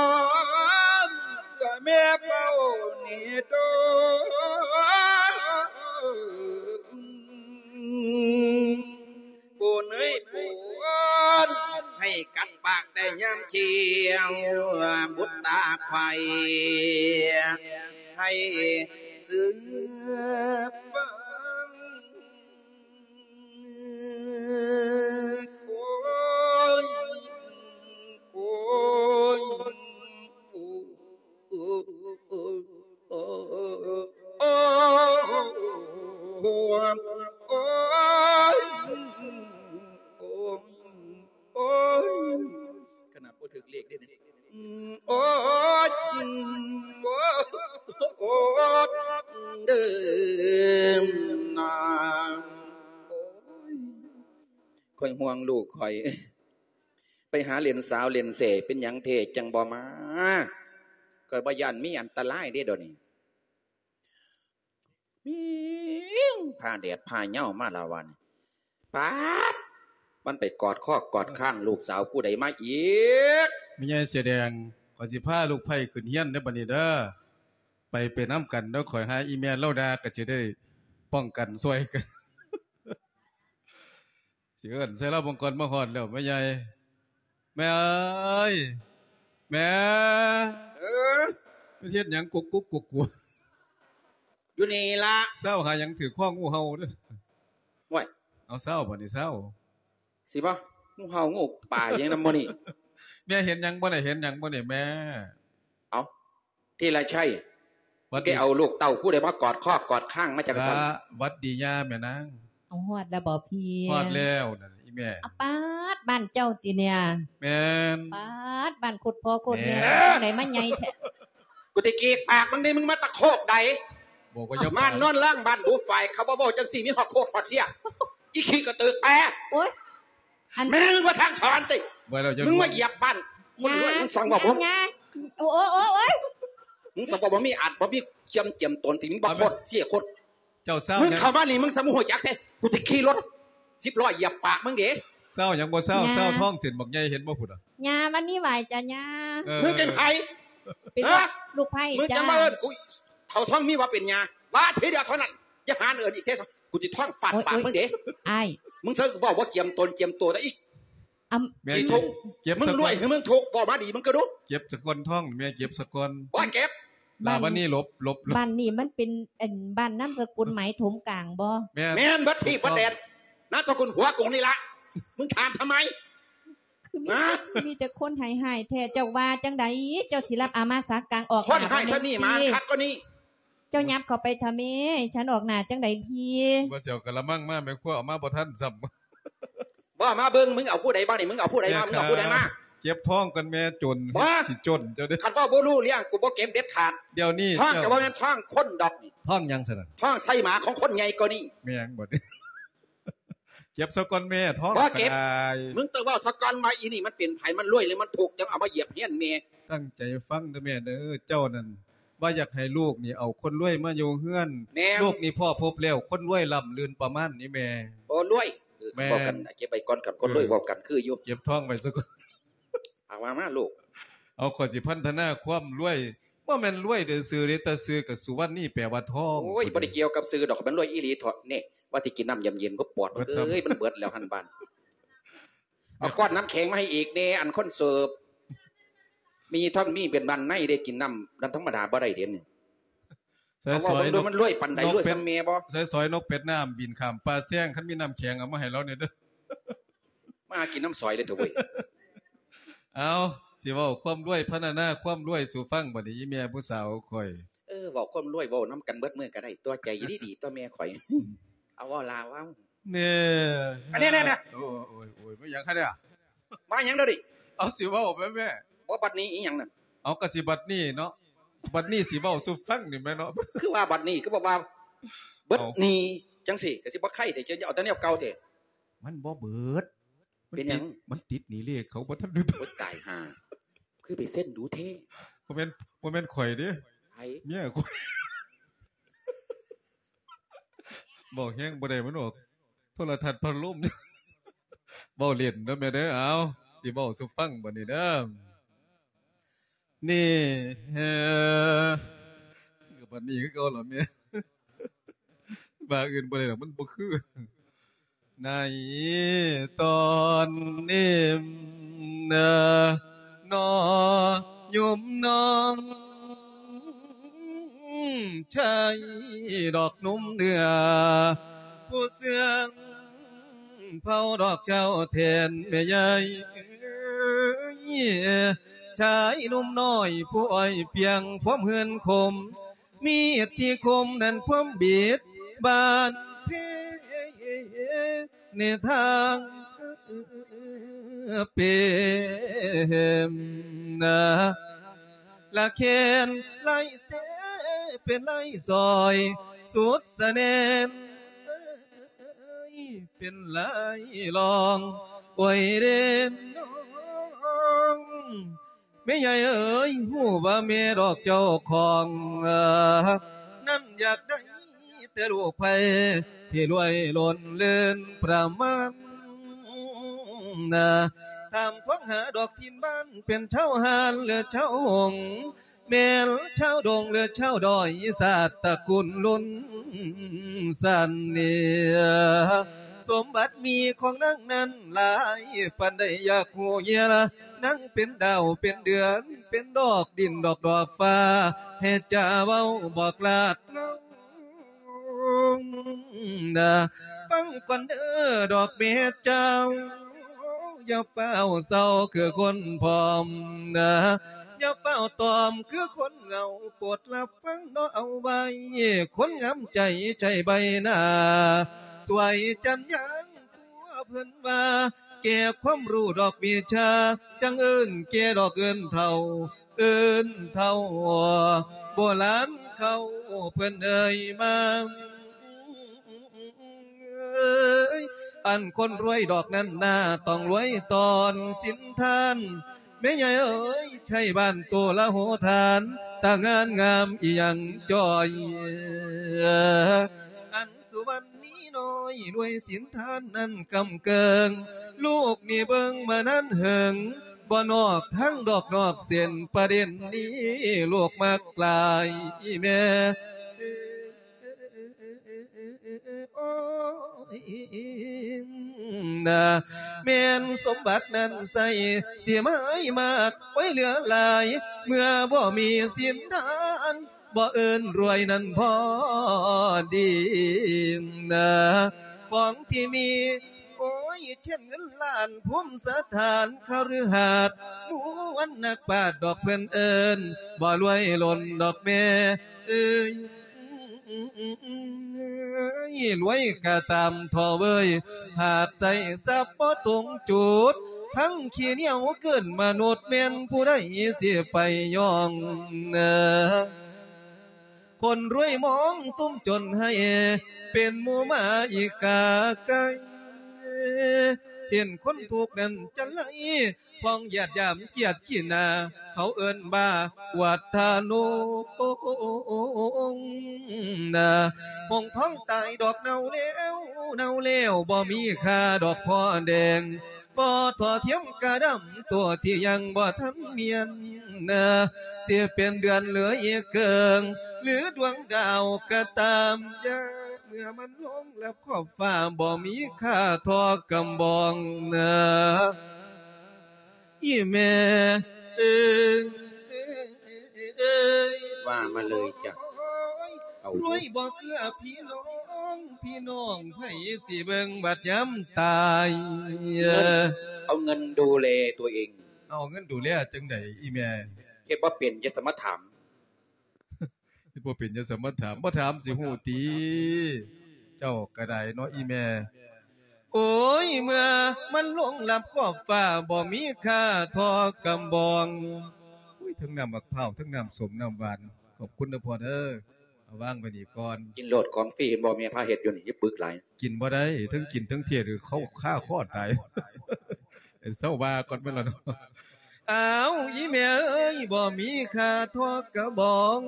ນ ເຊື່ອແມ່ເປົ້າແດ່ເດີ ປູເນີຍປູເອີຍ ໃຫ້ກັດປາກແຕ່ຍາມທ່ຽວ ບຸດຕາໄຂໃຫ້ເຊື່ອຟັງ. ໂອ້ຍ ໂອ້ຍ ໂອ້ຍ ໂອ້ຍ ໂອ້ຍ ໂອ້ຍ ໂອ້ຍ ຂະໜາດບໍ່ຖືກເລກເດ້ນີ້. ອືມ ໂອ້ຍ ອືມ ໂອ້ ໂອ້ ເດີມນາ ໂອ້ຍ ຂ້ອຍຫ່ວງລູກຂ້ອຍ ໄປຫາຫຼິ້ນສາວຫຼິ້ນແສ້ ເປັນຫຍັງແທ້ຈັ່ງບໍ່ມາ? ຂ້ອຍບໍ່ຢ້ານມີອັນຕະລາຍເດ້ດຽວນີ້. ມີ້ງ ຟ້າແດດຟ້າເຫຍົາມາລະວັນ ປາດ ມັນໄປກອດຄໍກອດຄ້າງລູກສາວຜູ້ໃດມາອີກ? ແມ່ໃຫຍ່ເສືອແດງ ຂ້ອຍຊິພາລູກໃພ້ຂຶ້ນເຮືອນເດີບັດນີ້ເດີ ໄປ ໄປນຳກັນເດີ ຂ້ອຍຫາອີ່ແມ່ລາວດ່າ ກໍຊິໄດ້ປ້ອງກັນຊ່ວຍກັນ. ຊິເອີ້ນໃສ່ລາວເບິ່ງກ່ອນ ມາຮອດແລ້ວແມ່ໃຫຍ່ ແມ່ເອີຍ ແມ່ ເອີ ໄປເຮັດຫຍັງກຸກກຸກກຸກກຸກ ຢູ່ນີ້ລະ ຊາວຫາຫຍັງຖືກຄໍງູເຫົ່າເດີ. ໂອ້ຍ ເອົາເຊົາ ບັດນີ້ເຊົາ ຊິບໍ່ ງູເຫົ່າງູປ່າຫຍັງນຳມື້ນີ້ ແມ່ເຫັນຫຍັງບໍ່ນີ້ ເຫັນຫຍັງບໍ່ນີ້ແມ່? ເອົ້າ ທີລະໄຊ ຫວັດດີ ແກເອົາລູກເຕົ້າຜູ້ໃດມາກອດຄໍກອດຄາງມາຈັ່ງຊັ້ນ? ຫວັດດີຍ່າແມ່ນາງ. ເອົາ ຮອດແລ້ວບໍ່ພີ່? ຮອດແລ້ວນັ້ນອີ່ແມ່. ອາ ປາດ ບ້ານເຈົ້າຕິເນຍ? ແມ່ນ. ປາດ ບ້ານໂຄດພໍ່ໂຄດແມ່ ແມ່ນ ຈັ່ງໃດມາໃຫຍ່ແທ້? ກູຊິກີກປາກມຶງເດ້ ມຶງມາຕະໂຄກໃດ? ບອກວ່າຢ່າ ບ້ານນອນລ້າງ ບ້ານດູຝ້າຍ ເຂົາບໍ່ເວົ້າຈັ່ງຊີ້ ມີຮອດໂຄກຮອດເຊຍ ອີຂີ້ກະຕືແປ. ໂອ້ຍ ອັນ ແມ່ມຶງວ່າທາງສອນຕິ ບໍ່ແລ້ວ ມຶງມາຢຽບບ້ານຄົນລວຍ ມຶງສັ່ງວ່າບໍ່ ຢ່າ ໂອ້ ໂອ້ ໂອ້ຍ ມຶງສັ່ງວ່າບໍ່ມີອາດ ບໍ່ມີຄວາມຈຽມຕົນ ທີ່ມຶງບໍ່ ບໍ່ແມ່ນ ໂຄດເຊຍໂຄດ ເຈົ້າເຊົາ ມຶງເຂົ້າມານີ້ ມຶງສະມາຮູ້ຈັກແທ້ ກູຊິຂີ່ລົດສິບລໍ້ຢຽບປາກມຶງເດ້. ເຊົາຫຍັງບໍ່ເຊົາ ເຊົາທ້ອງເສັ້ນບັກໃຫຍ່ ເຫັນບໍ່ພຸ້ນນະ? ຍ່າ ມັນມີຫວາຍຈ້າຍ່າ. ເອີ ມຶງເປັນໃຜ? ເປັນລູກໃຜ? ມຶງຈະມາເອີ້ນກູເຖົ້າທອງມີວ່າເປັນຍ່າ ວ່າທີດຽວເທົ່ານັ້ນ ຢ່າຫາເອີ້ນອີກເທື່ອ ກູຊິທ້ອງຟາດປາກມຶງເດ້. ອ້າຍ ມຶງເຊິ່ງເວົ້າບໍ່ຈຽມຕົນຈຽມຕົວໄດ້ອີກ. ອຳ ແມ່ ຂີ້ທຸກ ເກັບ ມຶງລວຍ ສະກ່ອນ ຄືມຶງທຸກ ເວົ້າມາດີມຶງກໍດູ. ເກັບສະກ່ອນທ້ອງ ແມ່ເກັບສະກ່ອນ. ບໍ່ເກັບ ລາ ບັດນີ້ຫຼົບ ຫຼົບ ຫຼົບ. ບ້ານນີ້ມັນເປັນ ອັນ ບ້ານນາມສະກຸນໄໝຖົມກາງບໍ່? ແມ່ນ ແມ່ນເບິດທີ່ເບິດແດນ ນາມສະກຸນຫົວກົງນີ້ລະ ມຶງຖາມທຳໄມ? ຄືມີ ຮະ? ມີແຕ່ຄົນຮ້າຍໆແທ້ ເຈົ້າວ່າຈັ່ງໃດ? ເຈົ້າຊິຮັບອາມາສັກກາງອອກ ຄົນຮ້າຍຊຳນີ້ ມາຄັກກວ່ານີ້ ເຈົ້າຫຍັບເຂົ້າໄປທຳເມ ໃຫ້ສັນອອກໜ້າຈັ່ງໃດພີ້? ວ່າຊິເອົາກະລະມັງມາ ແມ່ຄົວເອົາມາບໍ່ທັນຊ້ຳ. ບໍ່ມາເບິ່ງ ມຶງເອົາຜູ້ໃດມານີ້ ມຶງເອົາຜູ້ໃດມາ ມຶງເອົາຜູ້ໃດມາ? ເກັບທ້ອງກ່ອນແມ່ ຈົນ ບໍ່ ຊິຈົນເຈົ້າເດ້. ຄັນເວົ້າບໍ່ຮູ້ເລື່ອງ ກູບໍ່ເກັບເດັດຂາດ. ດຽວນີ້ທ້ອງກໍບໍ່ແມ່ນທ້ອງຄົນດອກນີ້. ທ້ອງຫຍັງຊັ້ນນະ? ທ້ອງໄສ້ໝາຂອງຄົນໃຫຍ່ກວ່ານີ້. ແມ່ນບໍ່ນີ້? ເກັບສາກ່ອນແມ່ ທ້ອງ ບໍ່ເກັບ ກໍໄດ້. ມຶງຕ້ອງເວົ້າສາກ່ອນວ່າອີນີ້ມັນເປັນໃຜ ມັນລວຍ ຫຼື ມັນທຸກ ຈັ່ງເອົາມາຢຽບຮຽນແມ່. ຕັ້ງໃຈຟັງເດີແມ່ເດີ ເຈົ້ານັ້ນ ວ່າຢາກໃຫ້ລູກນີ້ເອົາຄົນລວຍມາຢູ່ເຮືອນ. ແມ່ນ. ລູກນີ້ພໍ່ພົບແລ້ວ ຄົນລວຍລ້ຳລື່ນປະມານນີ້ແມ່. ໂອ້ ລວຍ. ເອີ ແມ່ນ. ເວົ້າກັນ ເກັບໄວ້ກ່ອນ ຄັນຄົນລວຍ ເອີ ເວົ້າກັນຄືຢູ່. ເກັບທ້ອງໄວ້ຊະກ່ອນ. ເອົາວ່າມາລູກ. ເອົາ ຂ້ອຍຊິພັນທະນາຄວາມລວຍ. ບໍ່ແມ່ນລວຍຊື່ໆເດ້ ແຕ່ຊື່ກໍສຸວັນນີ ແປວ່າທອງ. ໂອ້ຍ ບໍ່ໄດ້ກ່ຽວກັບຊື່ດອກ ມັນລວຍອີ່ຫຼີເທາະ. ນີ້ ວ່າຊິກິນນ້ຳຢາມເຢັນ ບໍ່ປອດ ເບິດຊ້ຳ. ເອີຍ ມັນເບິດແລ້ວຫັ້ນບາດ. ເອົາກ້ອນນ້ຳແຂງມາໃຫ້ອີກແດ່ ອັນຄົນເສີບ. ມີທັງມີເປັນບ້ານໃນເດ້ ກິນນ້ຳນັ້ນທຳມະດາບໍ່ໄດ້ເດ້ນີ້. ໃສ່ ເອົາ ສອຍ ເວົ້າເບິ່ງດູ ນົກ ມັນລວຍປານໃດ ນົກເປັດ ລວຍສ່ຳແມ່ບໍ່? ໃສ່ສອຍນົກເປັດນ້ຳບິນຂ້າມປ່າແຊງ ຄັນມີນ້ຳແຂງເອົາມາໃຫ້ລາວແດ່ເດີ. ມາຫາກິນນ້ຳສອຍເລີຍເຖາະເວີຍ. ເອົາ ຊິເວົ້າຄວາມລວຍ ພັນທະນາຄວາມລວຍສູ່ຟັງບັດນີ້ ອີ່ແມ່ຜູ້ສາວຂ້ອຍ. ເອີ ເວົ້າຄວາມລວຍ ເວົ້ານຳກັນເບິດມື້ກໍໄດ້ຕົວະ ໃຈດີໆຕົວະແມ່ຂ້ອຍ. ເອົາ ເວົ້າລາວເວົ້າ. ແນ່ ອັນນີ້ ແນ່ໆ ໂອ້ຍ ໂອ້ຍ ມາຫຍັງຄັນນີ້? ມາຫຍັງເດີນີ້? ເອົາ ຊິເວົ້າແມ່ ບໍ່ ບັດນີ້ອີ່ຫຍັງນັ້ນ? ເອົາ ກໍຊິບັດນີ້ເນາະ ບັດນີ້ຊິເວົ້າສູ່ຟັງນີ້ແມ່ເນາະ. ຄືວ່າບັດນີ້ ຄືບອກວ່າເບິດນີ້ ເອົ້າ ຈັ່ງຊີ້ ກໍຊິບໍ່ໄຄແທ້ ເຈົ້າເອົາແຕ່ແນວເກົ່າແທ້. ມັນບໍ່ເບິດ. ມັນ ເປັນຫຍັງ? ຕິດ ມັນຕິດໜີ້ເລກ ເຂົາບໍ່ທັນໄດ້ເບີດ. ໂອ້ຍ ຕາຍຫ່າ ຄືໄປເຊັນດູແທ້. ບໍ່ແມ່ນ ບໍ່ແມ່ນຂ້ອຍເດ້. ໃຜ? ເມຍຂ້ອຍ. ເວົ້າແຮງບໍ່ໄດ້ ມັນອອກໂທລະທັດພັດລົມ. ເວົ້າຫຼິ້ນເດີແມ່ເດີ. ເອົາ ຊິເວົ້າສູ່ຟັງບັດນີ້ເດີ. ນີ້ ເອີ ກໍບັດນີ້ຄືເກົ່າລະແມ່. ວ່າອື່ນບໍ່ໄດ້ດອກ ມັນບໍ່ຄື. ໃນຕອນນີ້ນະ ນ້ອຍໂຍມນ້ອງ ຊາຍດອກໜຸ່ມເໜືອ ຜູ້ເຊື່ອງ ເຜົ່າດອກເຈົ້າແທນແມ່ໃຫຍ່ເອີຍ ຊາຍໜຸ່ມນ້ອຍຜູ້ອ້ອຍປຽງຄວາມເຮືອນຄົມ ມີດທີ່ຄົມນັ້ນພວມບິດບາດແຜໃນທາງເປັນນາ ລະແຂນໄຫຼເຊເປັນໄຫຼສອຍສຸດສະແໜ້ນ ເອີຍ ເປັນໄລລອງ ໂອຍເດນນ້ອງ ແມ່ໃຫຍ່ເອີຍ ຮູ້ວ່າແມ່ດອກເຈົ້າຂອງ ນັ້ນຢາກໄດ້ແຕ່ລູກໃຜ ທີ່ລວຍລົ້ນເລີນປະມານ ຖາມທວງຫາດອກຖິ່ນບ້ານ ເປັນຊາວຮ້ານ ຫຼື ຊາວຫົງ ແມ່ນຊາວດົງ ຫຼື ຊາວດອຍ ຊາດຕະກຸນລຸນສັນເໜືອ ສົມບັດມີຂອງນາງນັ້ນຫຼາຍປານໃດ ຢາກຮູ້ເຫື່ອລະ ນາງເປັນດາວເປັນເດືອນ ເປັນດອກດິນດອກດອກຟ້າ ໃຫ້ຈາເວົ້າບອກລາດລາວ ນາ ຟັງ ກ່ອນເດີດອກເມດເຈົ້າ ຢ່າຟ້າວເສົ້າຄືຄົນພ້ອມນະ ຢ່າຟ້າວຕອມຄືຄົນເຫງົາ ໂປດຮັບຟັງເນາະເອົາໄວ້ ຄົນງາມໃຈໃຈໃບໜ້າ ສວຍຈັນຍາງຕົວເພິ່ນວ່າ ແກ່ຄວາມຮູ້ດອກວິຊາ ຈັ່ງເອີ້ນແກ່ດອກເອີ້ນເຖົ້າ ເອີ້ນເຖົ້າໂບລານເຂົາເພິ່ນເອີຍມາ ອັນຄົນລວຍດອກນັ້ນນາ ຕ້ອງລວຍຕອນສິນທານ ແມ່ໃຫຍ່ເອີຍ ໄທບ້ານໂຕລະໂຫຖານ ຕາງານງາມອີ່ຫຍັງຈ່ອຍ ອັນສຸວັນ ມີນ້ອຍລວຍສິນທານນັ້ນກຳເກີງ ລູກນີ້ເບິ່ງມານານເຫິງ ບໍ່ນອກທາງດອກນອກເສັ້ນ ປະເດັນນີ້ລູກມັກຫຼາຍ ອີ່ແມ່ ໂອ້ຍ ນາ ແມ່ນສົມບັດນັ້ນໃສ ຊິມາໃຫ້ມາກ ໂອ້ຍ ເຫຼືອຫຼາຍ ເມື່ອບໍ່ມີສິນທານ ບໍ່ເອີ້ນລວຍນັ້ນພໍດີນະ ຂອງທີ່ມີ ໂອ້ຍ ເຊັ່ນເງິນລ້ານ ພູມສະຖານຄະລືຫາດ ໝູ່ອັນນັກປາດດອກເພິ່ນເອີ້ນ ບໍ່ລວຍລົ້ນດອກແມ່ເອີຍ ລວຍກະຕາມທໍ່ເວີຍ ຫາກໃຊ້ຊັບບໍ່ຕົງຈຸດ ທັງຂີ້ໜຽວເກີນມະນຸດ ແມ່ນຜູ້ໃດຊິໄປຍ້ອງ ຄົນລວຍມອງຊຸມຈົນໃຫ້ ເປັນໝູ່ໝາອີກາໄກ່ ເຫັນຄົນທຸກນັ້ນຈະໄຫຼ ພ້ອງຢາດຢາມກຽດຂີ້ໜ້າ ເຂົາເອີ້ນວ່າອວດທານງ ນາ ຫົງທອງຕາຍດອກເນົ່າແລ້ວ ເນົ່າແລ້ວ ບໍ່ມີຄ່າດອກພໍ່ແດງ ບໍ່ທໍ່ທຽມກະດຳ ຕົວທີ່ຍັງບໍ່ທັນມຽນນາ ຊິເປັນເດືອນເຫຼືອອີກເກີງ ຫຼືດວງດາວກະຕາມຢ່າ ເມື່ອມັນລົງລັບຂອບຟ້າ ບໍ່ມີຄ່າທໍ່ກຳບອງນາ ອີ່ແມ່ເອີຍ ວ່າມາເລີຍຈ້ະ ເອົາ ລວຍບໍ່ເກືອພີ່ນ້ອງ ພີ່ນ້ອງໃຜຊິເບິ່ງບັດຍາມຕາຍ ເງິນ ເອົາເງິນດູແລຕົວເອງ ເອົາເງິນດູແລຈັ່ງໃດອີ່ແມ່ ເຮັດບໍ່ເປັນ ຢ່າສະມາຖາມ ເຮັດບໍ່ເປັນ ຢ່າສະມາຖາມ ບໍ່ຖາມຊິຮູ້ຕິ ເຈົ້າກະໄດ້ເນາະອີ່ແມ່ ໂອ້ຍ ເມື່ອມັນລົງລັບຂອບຟ້າ ບໍ່ມີຄ່າທໍ່ກຳບອງ ໂອ້ຍ ທັງນ້ຳໝາກພ້າວ ທັງນ້ຳສົ້ມ ນ້ຳຫວານ ຂອບຄຸນເດີພໍ່ເດີ ເອົາວາງໄວ້ນີ້ກ່ອນ ກິນໂລດ ຂອງຟຣີ ເຫັນບໍ່ແມ່ພາເຮັດຢູ່ນີ້ ຢ່າປຶກຫຼາຍ ກິນບໍ່ໄດ້ ເທິງກິນເທິງເທດ ເຂົາຄາຄໍຕາຍ ເຊົາວ່າກ່ອນແມ່ນລະເນາະ ອ້າວ ອີ່ແມ່ເອີຍ ບໍ່ມີຄ່າທໍ່ກະບອງ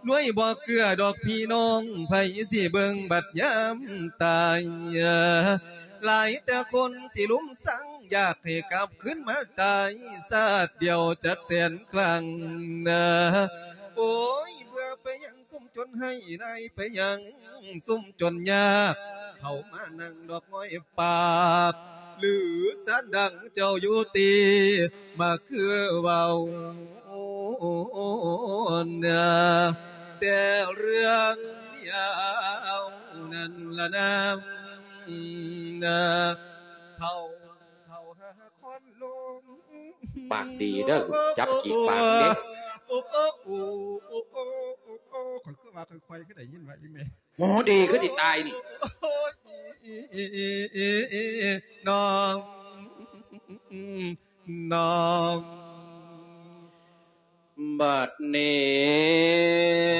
ລວຍບໍ່ເກືອດອກພີ່ນ້ອງ ໃຜຊິເບິ່ງບັດຍາມຕາຍ ຫຼາຍແຕ່ຄົນຊິລຸມສັງ ຢາກໃຫ້ກັບຄືນມາຕາຍ ຊາດດຽວຈັກແສນຄັ້ງ ໂອ້ຍ ເບື່ອໄປຫຍັງ ຊຸມຈົນໃຫ້ນາຍໄປຫຍັງ ຊຸມຈົນຍາກ ເຂົ້າມານັ່ງດອກງອຍປາກ ຫຼືສານດັງເຈົ້າຢູ່ຕິ ມາຄືເວົ້ານາ ແຕ່ເລື່ອງດຽວນັ້ນລະນາ ເຂົ້າ ເຂົ້າຫາຄອນລົງ ປາກດີເດີ ຈັບກີກປາກເດ້ ໂອ້ ໂອ້ ໂອ້ ໂອ້ ໂອ້ ໂອ້ ໂອ້ ໂອ້ ໂອ້ ຂ້ອຍຄືວ່າຂ້ອຍໆ ຄືໄດ້ຍິນວ່າອີ່ແມ່ ໂຫ ດີຄືຊິຕາຍນີ້ ໂອ້ຍ ນ້ອງ ນ້ອງ ບັດນີ້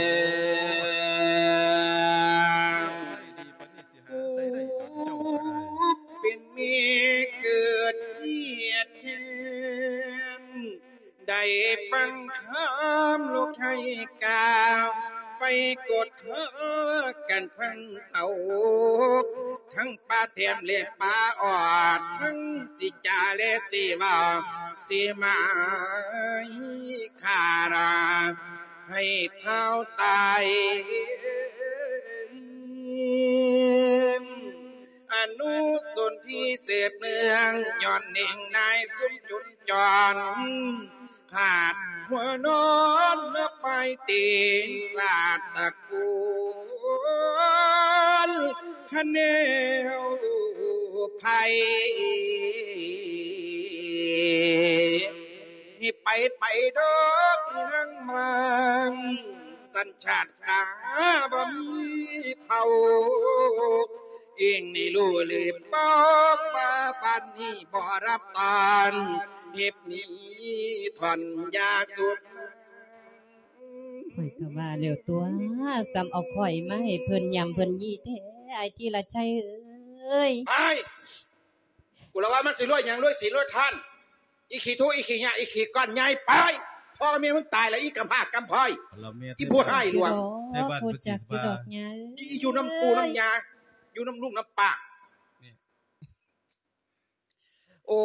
ເປັນແມ່ເກີດຄຽດແຄ້ນ ໄດ້ຟັງຄຳລູກໄທກ່າວ ໄຟກົດຫາກັນທັງເຕົາ ທັງປາແຖມແລະປາອອດ ທັງຊິຈາແລະຊິເວົ້າ ຊິໝາຍຂ້າລາ ໃຫ້ທ້າວຕາຍ ອະນຸສົນທີສືບເນື່ອງ ຍ້ອນເໜັງນາຍຊຸມຈົນຈອນ ພາດຫົວນອນມາປາຍຕີນ ຊາດຕະກູນ ນ ຄັນແນວໃຜ ໃຫ້ໄປໄປດອກນາງມາງ ສັນຊາດກາບໍ່ມີເຜົ່າ ເອງນີ້ຮູ້ຫຼືບໍ່ວ່າບ້ານນີ້ບໍ່ຮັບຕ້ອນ ເຮັດໜີຖອນຢາສູບ. ຂ້ອຍກໍວ່າແລ້ວຕົວະ ສ່ຳເອົາຂ້ອຍມາໃຫ້ເພິ່ນຫຍ້ຳເພິ່ນຢີ້ແທ້ ອ້າຍທີລະໄຊເອີຍ. ໄປ! ກູລະວ່າມັນຊິລວຍຫຍັງ ລວຍສີນລວຍທານ ອີຂີ້ທຸ ອີຂີ້ຫຍ້າ ອີຂີ້ກ້ອນໃຫຍ່ ໄປ! ພໍ່ແມ່ມຶງຕາຍແລ້ວ ອີກຳພ້າກຳພ້ອຍ ອີຜູ້ຮ້າຍຫຼວງ ໃນບ້ານເພິ່ນຊິວ່າ ອີຢູ່ນຳປູ່ນຳຍ່າ ຢູ່ນຳລຸງນຳປ້າ. ໂອ້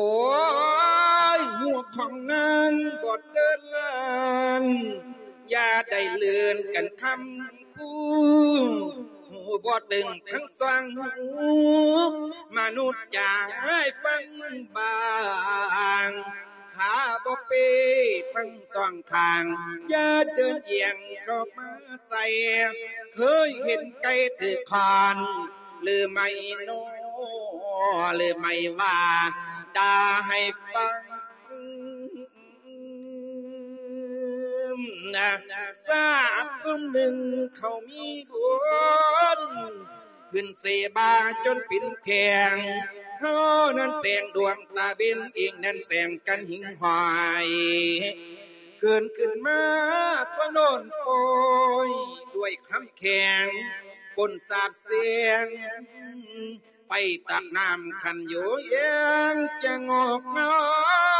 ຍ ຫົວຂອງນາງບໍ່ເຕີນລ້ານ ຢ່າໄດ້ເລີນກັນຄຳຄູ ຫູບໍ່ຕຶງທັງສອງຫູ ມະນຸດຢາກໃຫ້ຟັງບາງ ຖ້າບໍ່ເປ້ທັງສອງຂ້າງ ຢ່າເດີນອຽງເຂົ້າມາໃສ່ ເຄີຍເຫັນໄກ່ຖືກຄ້ອນ ຫຼືໄມ້ໂນ ຫຼືໄມ້ວ່າ ດ່າໃຫ້ຟັງ ຊາດຊຸມໜຶ່ງເຂົາມີບຸນ ຂຶ້ນເສບາຈົນເປັນແຂງ ເຮົານັ້ນແສງດວງຕາເວັນ ເອງນັ້ນແສງກັນຫິງຫ້ອຍ ເກີນຂຶ້ນມາຕົວໂນ້ນໂປຍ ດ້ວຍຄຳແຂງປົນສາບແຊ່ງ ໄປຕັກນ້ຳຂັນຢູ່ແຍງ ຈະງອກເງົ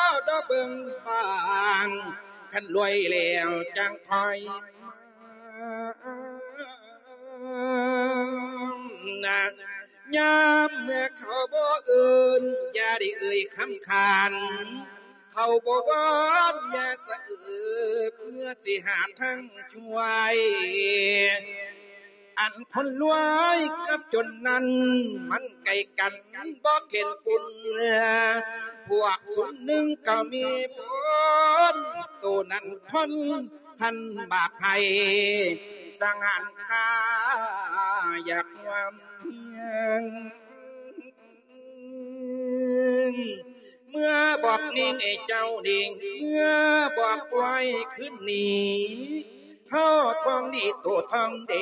າດອກເບິ່ງບາງ ຄັນລວຍແລ້ວຈັ່ງຄ່ອຍມາ ຍາມເມື່ອເຂົາບໍ່ເອີ້ນ ຢ່າໄດ້ເອີ່ຍຄຳຂານ ເຂົາບໍ່ວອນ ຢ່າສະເອີເພື່ອຊິຫາທາງຊ່ວຍ ອັນຄົນລວຍກັບຈົນນັ້ນ ມັນໃກ້ກັນບໍ່ເຂັນຝຸ່ນ ພວກຊຸມໜຶ່ງກໍມີຜົນ ໂຕນັ້ນຄົນ ທ່ານບາບໃຫ້ສັງຫານຂ້າ ຢາກຮ່ວມຮຽງ ເມື່ອບອກນີ້ເຈົ້ານີ້ ເມື່ອບອກໄວ້ຄືນນີ້ ເຮົາທອງດີໂຕທອງເດ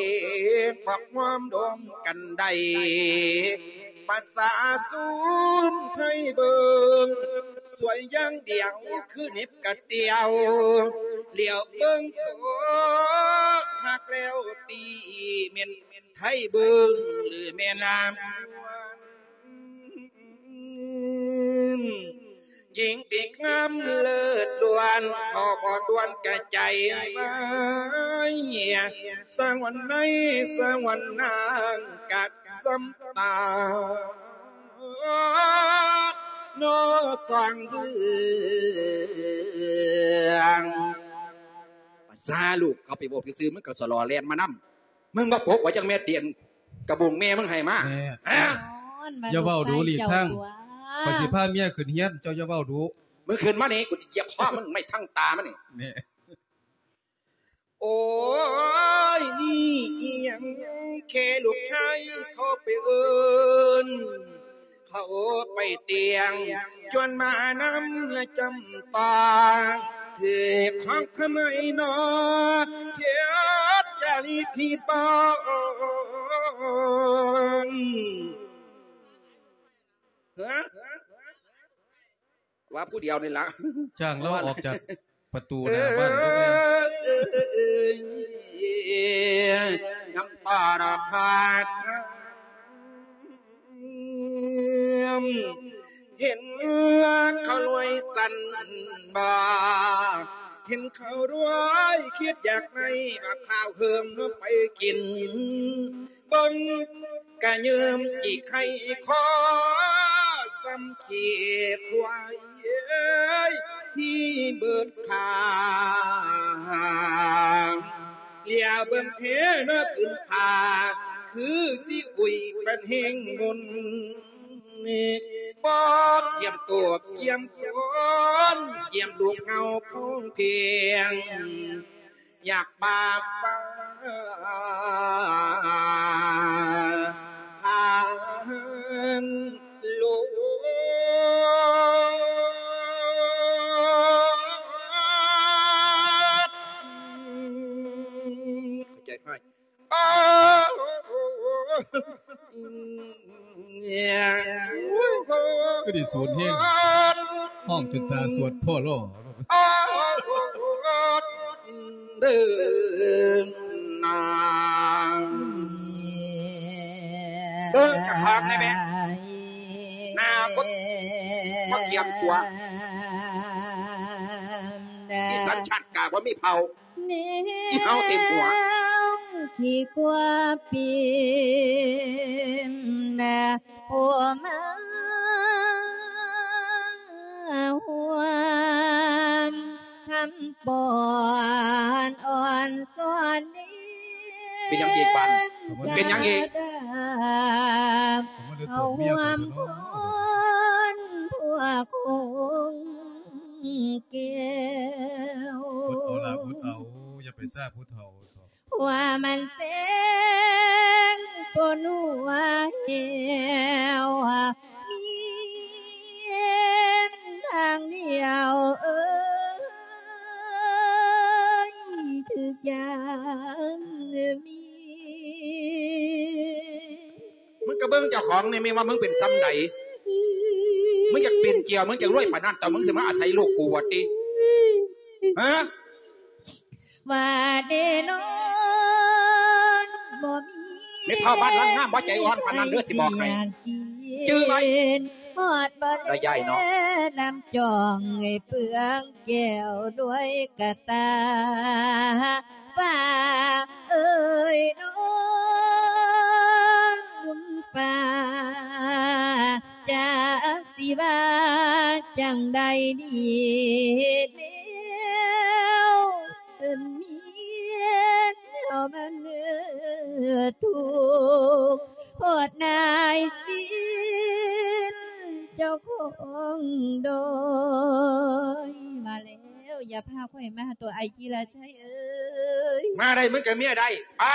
ພວກຮ່ວມດວມກັນໄດ້ ພາສາຊຸມໄທເບິ່ງ ສວຍຢ່າງດຽວຄືເນັບກະຕຽວ ຫຼຽວເບິ່ງໂຕຄັກແລ້ວຕິ ແມ່ນໄທເບິ່ງ ຫຼືແມ່ນລາວ ຍິງຕີງາມເລີດລ້ວນ ເຂົາບໍ່ດ່ວນກະໃຈໄວ້ ສະຫງວນໃນສະຫງວນນາງກະ ສຳຕານອສາງເບືອງ ພາສາລູກເຂົາໄປເວົ້າຊື່ໆ ມັນກໍສະຫຼໍ່ແລ່ນມານຳ ມຶງມາປົກຂ້ອຍຈັກແມ່ຕຽງ ກະບຸງແມ່ມຶງໃຫ້ມາ ແນ່ ຮະ ຢ່າເວົ້າດູ ຫຼີກທາງ ຂ້ອຍຊິພາເມຍຂຶ້ນເຮືອນ ເຈົ້າຢ່າເວົ້າດູ ມຶງຂຶ້ນມານີ້ ກູຊິຢຽບຄໍມຶງ ໄມ້ທັງຕາມັນນີ້ ແນ່. ໂອ້ຍ ນີ້ອີ່ຫຍັງ ແຄ່ລູກຊາຍເຂົາໄປເອີ້ນ ເຂົາໄປຕຽງ ຈວນມານຳລະຈຳປາ ຖືກຂອງພະໄມນອ ເຮັດຈາລີຜິດບາງ ຮະ? ວ່າຜູ້ດຽວນີ້ລະ ຈ້າງລາວອອກຈາກປະຕູໜ້າບ້ານ ເອີ ນ້ຳຕາລະພາດ ເຫັນລາເຂົາລວຍສັນບາ ເຫັນເຂົາລວຍຄິດຢາກໄດ້ ວ່າຂ້າວເຮີມເນາະໄປກິນ ເບິ່ງກະຍືມຈີກໄຂ່ຄໍ ສ່ຳຂີ້ຄວາຍທີ່ເບີດຂາ ຫຼຽວເບິ່ງແທ້ນະພື້ນຜາ ຄືຊິອຸຍປັນແຮງມົນ ບໍ່ກຽມໂຕກຽມໂຕນ ກຽມລູກເຫງົາພອງພຽງ ຢາກບາບຟ້າ ໃຈຮ້າຍ. ຄືໄດ້ສູນແຮງ ຮ້ອງຈົນຕາສວດພໍລໍ. ເດີນາ ເບິ່ງກະຄອງແດ່ແມ່ ໜ້າບໍ່ ບໍ່ກຽມຕົວ ອີສັນຊາດກາບໍ່ມີເຜົ່າ ອີເຫົ່າເຕັມຫົວ ທີ່ກວ່າປີນ ຜູ້ມາຮ່ວມຄຳປ້ອນອ່ອນສອນເດ ເປັນຫຍັງອີກບາດນີ້? ເປັນຫຍັງອີກ? ເອົາຮ່ວມຄົນພວກຄົງແກ້ວ ອົດເອົາລະ ອົດເອົາ ຢ່າໄປຊາຜູ້ເຖົ້າ. ວ່າມັນແສງປົນຫົວແຫ້ວ ມີທາງດຽວເອີຍ ຖືກຢາມມີ. ມຶງກະເບິ່ງເຈົ້າຂອງນີ້ແມ່ນວ່າມຶງເປັນຊ່ຳໃດ? ມຶງຢາກເປັນເຈ້ຍວ ມຶງຢາກລວຍປານນັ້ນ ແຕ່ມຶງຊິມາອາໄສລູກກູວ່າຕິ? ຮະ? ວ່າເດນອນບໍ່ມີ ແມ່ເຖົ້າບ້ານຫຼັງງາມບໍ່ໃຈອ່ອນປານນັ້ນເດີ ຊິບອກໃຫ້ ຈື່ໄວ້ ຮອດບໍ່ໄດ້ຍາຍເນາະ ນ້ຳຈອງເປືອງແກ້ວດ້ວຍກະຕາ ຟ້າເອີຍນ້ອງຟ້າ ຈັກຊິວ່າຈັ່ງໃດດີແລ້ວ ເປັນເມຍເຮົາມັນທຸກໂພດນາຍສິນເຈົ້າຂອງດອຍ. ມາແລ້ວ ຢ່າພາຂ້ອຍມາຕົວະ ອ້າຍກິລະໄຊເອີຍ ມາໄດ້ ມຶງກະເມຍໄດ້ ໄປ.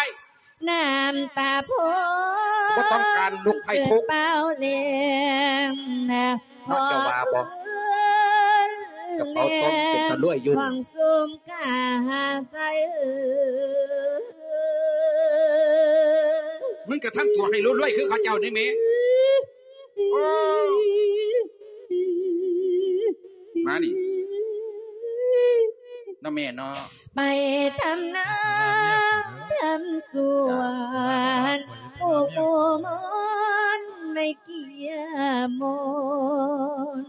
ນ້ຳຕາໂພ ບໍ່ຕ້ອງການລູກໃຜທຸກ ເກີດເປົ່າແລງນະ ເນາະ ເຈົ້າວ່າບໍ່? ກະເປົາຕົງເປັນຕາລວຍຢູ່ ຂອງຊຸມກາຫາໃສເອີຍ ມຶງກະທຳຕົວໃຫ້ລວຍໆ ຄືເຂົາເຈົ້ານີ້ແມ. ໂອ້ ມານີ້ ເນາະແມ່ເນາະ ໄປທຳນາທຳສວນ ຜູ້ໝູ່ມອນໄວ້ກຽມອນ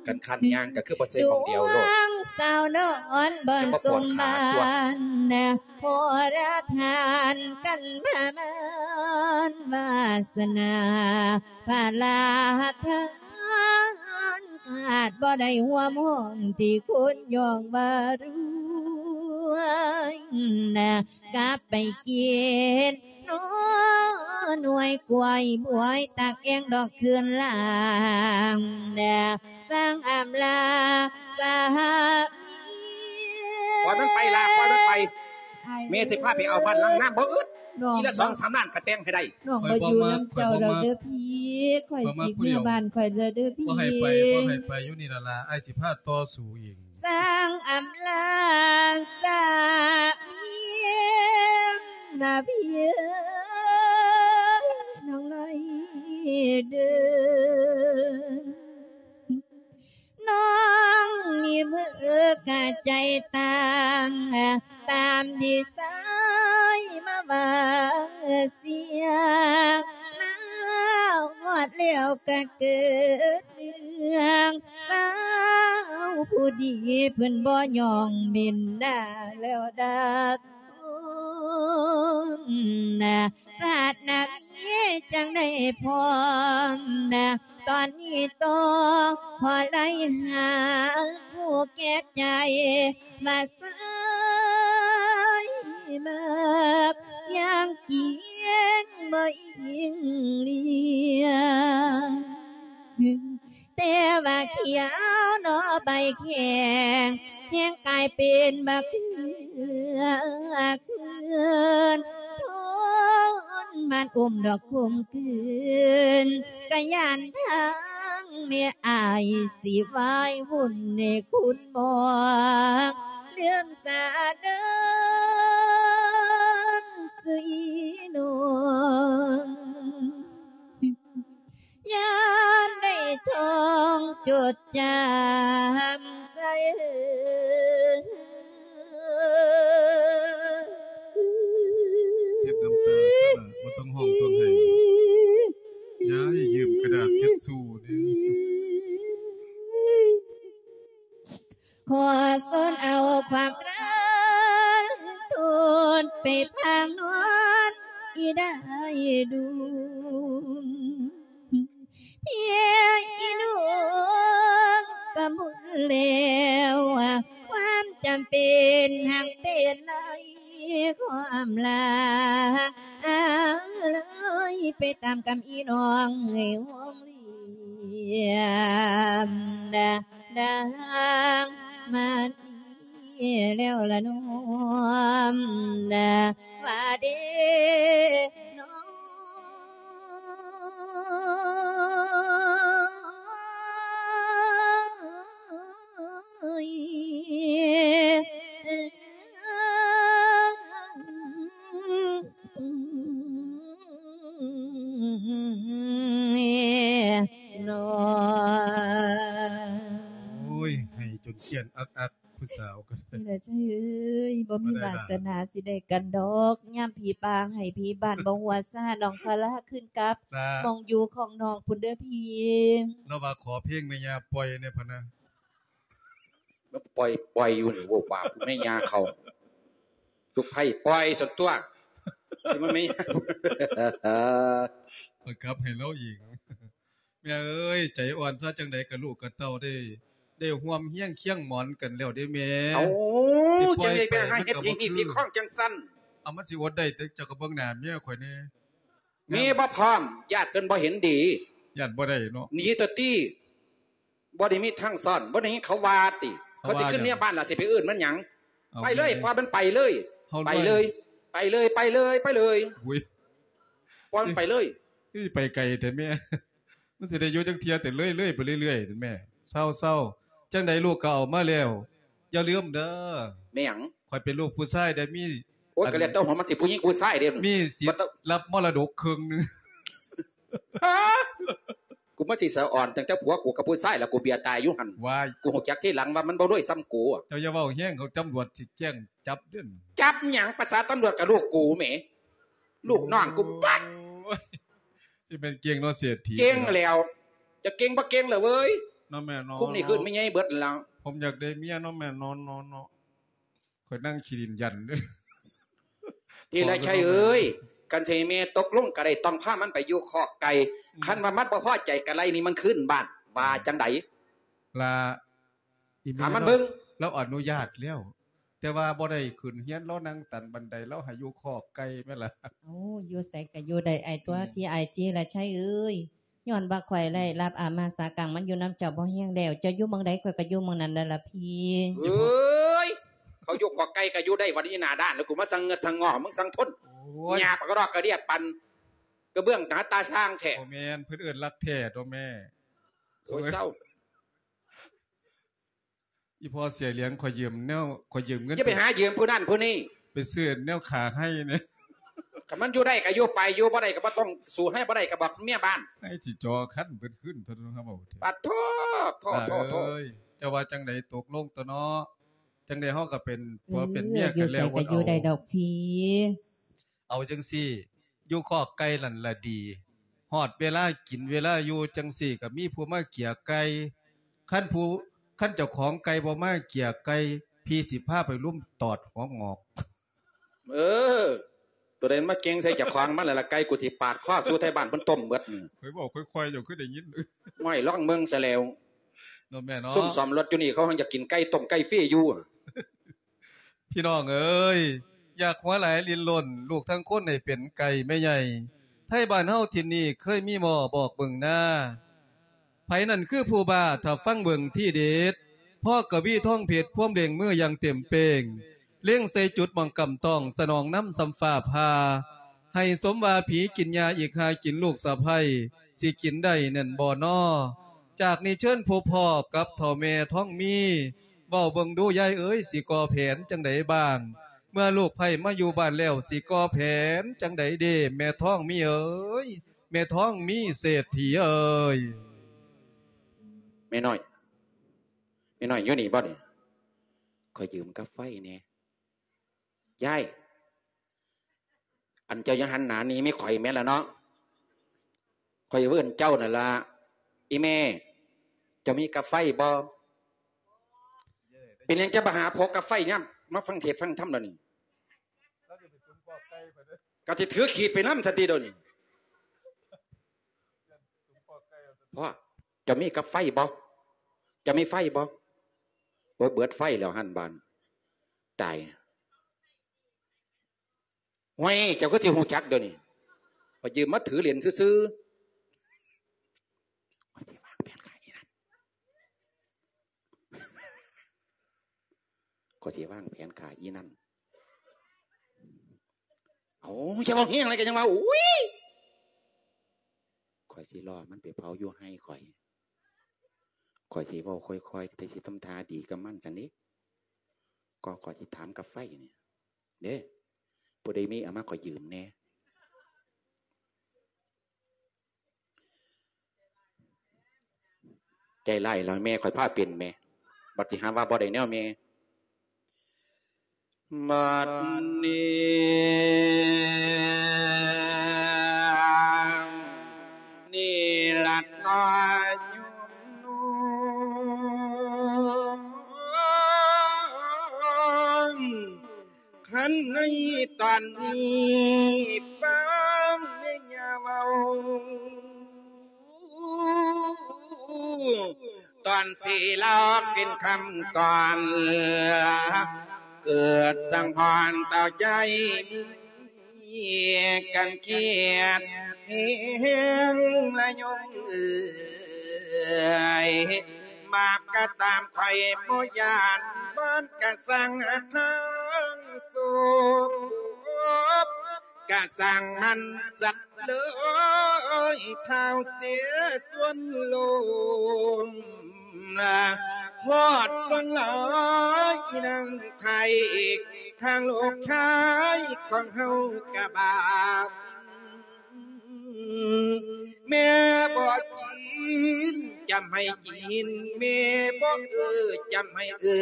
ຄັນຄັນຍ່າງກະຄືບໍ່ໃສ່ໝ່ອງດຽວໂລດ ດວງສາວນອນບ່ອນສົມບານ ພໍລະທານກັນປະມານວາສະໜາ ພະລາທານຂາດບໍ່ໄດ້ຮ່ວມຫ້ອງທີ່ຄົນຍ້ອງວ່າລວຍນະ ກັບໄປກິນໜໍ່ໜ່ວຍກ້ວຍບວຍ ຕັກແອ່ງດອກຄືນລາງນະ ສ້າງອຳລາສາມີ ປ່ອຍມັນໄປລະ ປ່ອຍມັນໄປ ແມ່ຊິພາໄປເອົາບ້ານຫຼັງງາມບໍ່ອຶດ ອີລະສອງສາມລ້ານກະແຕ່ງໃຫ້ໄດ້ ນ້ອງບໍ່ຢູ່ນຳເຈົ້າແລ້ວເດີພີ່ ຂ້ອຍຊິເມືອບ້ານຂ້ອຍແລ້ວເດີພີ່ ບໍ່ໃຫ້ໄປ ບໍ່ໃຫ້ໄປ ຢູ່ນີ້ລະລາ ອ້າຍຊິພາຕໍ່ສູ້ອີກ ສ້າງອຳລາສາມີນະພີ່ເອີຍ ນ້ອງນ້ອຍເດີ. ນ້ອງມີມືກະໃຈຕ່າງ ຕາມທີ່ຊາຍມາວ່າເສຍ ມາຮອດແລ້ວກະເກີດເລື່ອງ ສາວຜູ້ດີເພິ່ນບໍ່ຍ້ອງເມັນໜ້າແລ້ວດາກ ນະ ຊາດໜ້າມີຈັ່ງໄດ້ພ້ອມນະ ຕອນນີ້ຕໍ່ຂໍໄລ່ຫາຜູ້ແກ່ໃຈ ມາເຊີຍມາກຢ່າງກິນບໍ່ອີງລ້ຽງ ແຕ່ວ່າຂຽວໜໍ່ໃບແຂງ ແຮງກາຍເປັນບັກເຂືອຄືນ ທົນມານອົມດອກຂົມຂືນ ກະຢ້ານທາງແມ່ອ້າຍຊິວາຍວຸ່ນໃນຄຸນໝອກ ລືມສາເດີນ ດຈຳໃສ ເຊັດນ້ຳຕາຊະ ບໍ່ຕ້ອງຮ້ອງຕ້ອງໄຫ້ ຍາຍຢືມກະດາດເຊັດຊູແດ່. ຂໍສອນເອົາຄວາມລັກທົນໄປພາງນອນອີ່ໄດ້ດຸ່ມ ພຽງອີ່ນຸ່ມກະໝົດແລ້ວ ຄວາມຈຳເປັນຫາກເປັນໃນຄວາມລາ ເລີຍໄປຕາມກຳອີ່ນ້ອງໃຫ້ຮ່ວງ ລຽມນາງມານີ້ແລ້ວລະນ້ອມນາວ່າເດນ້ອງ. ໂອ້ຍ ໄຫ້ຈົນກ້ຽນອັກໆ ຜູ້ສາວກໍໄດ້ ນີ້ລະເຈົ້າເອີຍ ບໍ່ມີວາສະໜາຊິໄດ້ກັນດອກ ຍາມຜີປ່າໃຫ້ຜີບ້ານບໍ່ຫົວຊາ ນ້ອງຄາລາຂຶ້ນກັບ ລະ ໝ່ອງຢູ່ຂອງນ້ອງພຸ້ນເດີພີ່. ລາວວ່າຂໍເພງແມ່ຍ່າປ່ອຍແດ່ພະນະ. ມັນປ່ອຍ ປ່ອຍຢູ່ນີ້ ໂວ້ວາບແມ່ຍ່າເຂົາ ລູກໃພ້ປ່ອຍຊັ້ນຕົວະ ຊິມາແມ່ຍ່າ ບັງຄັບໃຫ້ລາວອີກ. ແມ່ເອີຍ ໃຈອ່ອນຊະ ຈັ່ງໃດກະລູກກະເຕົ້າໄດ້ ໄດ້ຮ່ວມຮຽງຄຽງໝອນກັນແລ້ວເດ້ແມ່. ເອົ້າ ຈັ່ງໃດໄປຫາເຮັດພິທີພິຄອງຈັ່ງຊັ້ນ ເອົາ ມັນຊິອົດໄດ້ ເຈົ້າກະເບິ່ງໜ້າເມຍຂ້ອຍແດ່. ມີບໍ່ພ້ອມ ຢ້ານເພິ່ນບໍ່ເຫັນດີ ຢ້ານບໍ່ໄດ້ເນາະ ໜີຕົວະຕິ ບໍ່ໄດ້ມີທາງຊ້ອນ ບໍ່ໄດ້ຍິນເຂົາວ່າຕິ ເຂົາຊິຂຶ້ນເມຍບ້ານລະຊິໄປເອີ້ນມັນຫຍັງ ໄປເລີຍ ປ່ອຍມັນໄປເລີຍ ໄປເລີຍ ໄປເລີຍ ໄປເລີຍ ໄປເລີຍ ປ່ອຍມັນໄປເລີຍ. ຄືຊິໄປໄກແທ້ແມ່ ມັນຊິໄດ້ຢູ່ຈັກເທື່ອ ແຕ່ເລື້ອຍໆໄປເລື້ອຍໆແມ່. ເຊົາໆ ຈັ່ງໃດລູກກະເອົາມາແລ້ວ ຢ່າລືມເດີ. ແມ່ຫຍັງ? ຂ້ອຍເປັນລູກຜູ້ຊາຍໄດ້ມີ ໂອ້ຍ ອັນ ກະແລ້ວແຕ່ວ່າມັນຊິຜູ້ຍິງຜູ້ຊາຍເດ້ ມີສິດ ບໍ່ຕ້ອງ ຮັບມໍລະດົກເຄິ່ງໜຶ່ງ. ຮະ ກູມາຊິສະອອນຕັ້ງແຕ່ຜົວກູກັບຜູ້ຊາຍລະ ກູເບຍຕາຍຢູ່ຫັ້ນ. ວ້າຍ ກູຮູ້ຈັກທີຫຼັງວ່າມັນບໍ່ລວຍສ່ຳກູ. ເຈົ້າຢ່າເວົ້າແຮງ ເຂົາຕຳຫຼວດຊິແຈ້ງຈັບເດີ້. ຈັບຫຍັງ? ປະສາຕຳຫຼວດກັບລູກກູແໝ ລູກນ້ອງກູບັກ. ໂອ້ຍ ຊິແມ່ນເກັ່ງເນາະເສດຖີ. ເກັ່ງແລ້ວ ຈະເກັ່ງບໍ່ເກັ່ງລະເວີຍ ເນາະແມ່ເນາະ. ຄຸມນີ້ຄືນແມ່ໃຫຍ່ເບິດລະ. ຜົມຢາກໄດ້ເມຍເນາະແມ່ເນາະ ເນາະ ເນາະ. ຂ້ອຍນັ່ງຂີ້ດິນຢັນເດີ້. ທີລະໄຊເອີຍ ຄັນຊິໃຫ້ແມ່ຕົກລົງກະໄດ້ ຕ້ອງພາມັນໄປຢູ່ຄອກໄກ່. ອືມ ຄັນວ່າມັນບໍ່ພໍໃຈກະໄລ່ໜີມັນຄືນບ້ານ ວ່າຈັ່ງໃດ? ລະ ອີ່ແມ່ ຖາມມັນເບິ່ງ. ລາວອະນຸຍາດແລ້ວ ແຕ່ວ່າບໍ່ໄດ້ຂຶ້ນຮຽນ ລາວນັ່ງຕັນບັນໄດ ລາວໃຫ້ຢູ່ຄອກໄກ່ແມ່ນລະ. ໂອ້ ຢູ່ໃສກະຢູ່ໄດ້ອ້າຍຕົວະ ອືມ ທີ່ອ້າຍຈີລະໄຊເອີຍ. ຍ້ອນວ່າຂ້ອຍໄດ້ຮັບອາມາສາກັງມາຢູ່ນຳເຈົ້າພໍແຮງແລ້ວ ເຈົ້າຢູ່ໝ່ອງໃດ ຂ້ອຍກະຢູ່ໝ່ອງນັ້ນແລ້ວລະພີ່. ເອີຍ ເຂົາຢູ່ຄອກໄກ່ກະຢູ່ໄດ້ ວັນນີ້ໜ້າດ້ານ ແລ້ວກູມາສັງເງືອດສັງງໍ ມຶງສັງທົນ. ໂອ້ຍ ຫຍ້າປາກກະດອກກະດຽບ ປັ່ນກະເບື້ອງໜ້າຕາຊ່າງແທ້. ບໍ່ແມ່ນ ເພິ່ນເອີ້ນລັກແທ້ຕົວະແມ່. ໂອ້ຍ ເຊົາ. ອີ່ພໍ່ເສຍຫຼຽງ ຂ້ອຍຢືມແນວ ຂ້ອຍຢືມເງິນ ຢ່າໄປຫາຢືມຜູ້ນັ້ນຜູ້ນີ້ ໄປຊື້ແນວຂາໄຮ່ແດ່. ຄັນມັນຢູ່ໄດ້ກະຢູ່ໄປ ຢູ່ບໍ່ໄດ້ກະບໍ່ຕ້ອງ ສູ້ໄຮ່ບໍ່ໄດ້ກະບອກເມຍບ້ານ. ໄຮ່ຊິຈໍຄັນເພິ່ນຄືນ ເພິ່ນເຮົາເວົ້າ. ປາດໂທ ໂທ ໂທ ໂທ. ເອີຍ ເຈົ້າວ່າຈັ່ງໃດ ຕົກລົງຕົວະເນາະ. ຈັ່ງໃດເຮົາກະເປັນຜົວເປັນເມຍກັນແລ້ວ ຢູ່ໃສກະຢູ່ໄດ້ດອກພີ່. ເອົາຈັ່ງຊີ້ ຢູ່ຄອກໄກ່ນັ້ນລະດີ ຮອດເວລາກິນເວລາຢູ່ຈັ່ງຊີ້ກະມີຜູ້ມາເກຍໄກ່. ຄັນຜູ້ ຄັນເຈົ້າຂອງໄກ່ບໍ່ມາເກຍໄກ່ ພີ່ຊິພາໄປລຸມຕອດຫົວງອກ. ເອີ ໂຕໃດມາເກັ່ງໃສ່ເຈົ້າຂອງມັນລະລະ ໄກ່ກູຊິປາດຄໍສູ່ໄທບ້ານເພິ່ນຕົ້ມເບິດ. ຂ້ອຍເວົ້າຄ່ອຍໆ ເຈົ້າຄືໄດ້ຍິນ. ຫ້ວຍ ລອງເບິ່ງຊະແລ້ວ ເນາະແມ່ເນາະ. ຊຸມສ້ອມລົດຢູ່ນີ້ ເຂົາຍັງຢາກກິນໄກ່ຕົ້ມໄກ່ຟຣີຢູ່. ພີ່ນ້ອງເອີຍ ຢາກຫົວຫຼາຍຫຼິ້ນລົນ ລູກທັງຄົນໃຫ້ເປັນໄກ່ແມ່ໃຫຍ່. ໄທບ້ານເຮົາຖິ່ນນີ້ເຄີຍມີບໍ່ ບອກເບິ່ງນາ. ໃຜນັ້ນຄືຜູ້ບ້າ ຖ້າຟັງເບິ່ງທີເດັດ. ພໍກະວີທອງເພັດ ພວມເລັ່ງມືຢ່າງເຕັມເປ່ງ ເລັງໃສ່ຈຸດໝ່ອງກຳຕ້ອງ ສະໜອງນຳສ່ຳຟ້າຜ່າ. ໃຫ້ສົມວ່າຜີກິນຫຍ້າອີກຫາກິນລູກສະໃພ້ ຊິກິນໄດ້ແມ່ນບໍ່ນໍ? ຈາກນີ້ເຊີນພົບພໍ້ກັບເຖົ້າແມ່ທອງມີ ເວົ້າເບິ່ງດູຍາຍເອີຍ ຊິກໍ່ແຜນຈັ່ງໃດບ້າງ? ເມື່ອລູກໃພ້ມາຢູ່ບ້ານແລ້ວ ຊິກໍ່ແຜນຈັ່ງໃດເດ ແມ່ທອງມີເອີຍ ແມ່ທອງມີເສດຖີເອີຍ. ແ ນ້ອຍ ແມ່ນ້ອຍ ແມ່ນ້ອຍຢູ່ນີ້ບໍ່ນີ້? ຂໍຢືມກາໄຟແດ່. ຍາຍ ອັນເຈົ້າຢ່າຫັນໜ້າໜີແມ່ຂ້ອຍແມ່ນລະເນາະ. ຂ້ອຍເອີ້ນເຈົ້ານັ້ນລະ. ອີ່ແມ່ ເຈົ້າມີກາໄຟບໍ່? ເປັນຫຍັງຈະມາຫາພົກກາໄຟຍາມມາຟັງເທດຟັງທຳແລ້ວນີ້? ກໍຊິຖືຂີດໄປນຳຊັ້ນຕິດຽວນີ້. ພໍ່ ເຈົ້າມີກາໄຟບໍ່? ເຈົ້າມີໄຟບໍ່? ໂອ້ຍ ເບິດໄຟແລ້ວຫັ້ນບາດ. ຕາຍ. ຫ້ວຍ ເຈົ້າຄືຊິຮູ້ຈັກດຽວນີ້? ຂ້ອຍຢືມມາຖືຫຼິ້ນຊື່ໆ. ຂ້ອຍຊິວາງແຜນຂ້າອີ່ນັ້ນ ຂ້ອຍຊິວາງແຜນຂ້າອີ່ນັ້ນ. ເອົາ ຢ່າເວົ້າແຮງຫຼາຍ ກໍຍັງວ່າ ໂອ້ຍ ຂ້ອຍຊິລໍມັນໄປເຜົາຢູ່ໄຮ່ຂ້ອຍ. ຂ້ອຍຊິເວົ້າຄ່ອຍໆ ແຕ່ຊິທຳທ່າດີກັບມັນຊັ້ນເດ. ກໍຂ້ອຍຊິຖາມກາໄຟນີ້ເດ້ ຜູ້ໃດມີເອົາມາຂ້ອຍຢືມແດ່. ໃຈຮ້າຍແລ້ວແມ່ ຂ້ອຍພາເປັນແໝ່ ບັດຊິຫາວ່າບໍ່ໄດ້ແນວແມ່. ບັດນີ້ ນີ້ລະນ້ອຍໂຍມນ້ອງ ຄັນໃນຕອນນີ້ຟັງແມ່ຍ່າເວົ້າ ຕອນຊິເລົ່າເປັນຄຳກ່ອນ ເກີດສັງຫອນເຕົາໃຈ ກັນຄຽດແຮງລະໂຍມເອີຍ. ບາບກະຕາມຂ້ອຍບໍ່ຢ້ານ ບານກະສັງຫາທາງໂສບ ກະສັງມັນສັດເລີຍ ທ້າວເສຍສ່ວນໂລມ ຮອດສັງຫຼາຍນາງໄທ ທາງລູກຊາຍຂອງເຮົາກະບາບ ແມ່ບໍ່ຈີນ ຈຳໃຫ້ຈີນ ແມ່ບໍ່ເອີ ຈຳໃຫ້ເອີ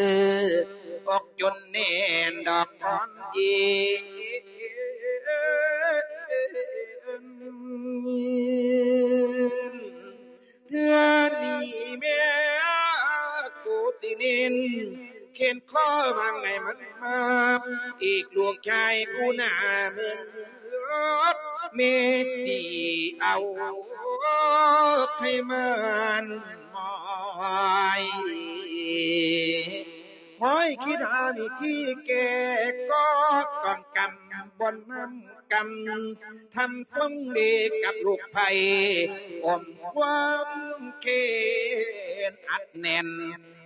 ອົກຈົນແໜ້ນດອກຄອນຈີນ. ເທື່ອນີ້ແມ່ກູຊິເນັ້ນ ແຂນຄໍວາງໃຫ້ມັນມາບ ອີກລູກຊາຍຜູ້ໜ້າເມີນ ແມ່ຊິເອົາໃຫ້ມັນມອຍ ຄອຍຄິດຫາວິທີແກ້ກໍ ກອງກຳບ່ອນນຳກຳ ທຳຊົງເດກັບລູກໄພ ອົມຄວາມແຄ້ນອັດແໜ້ນ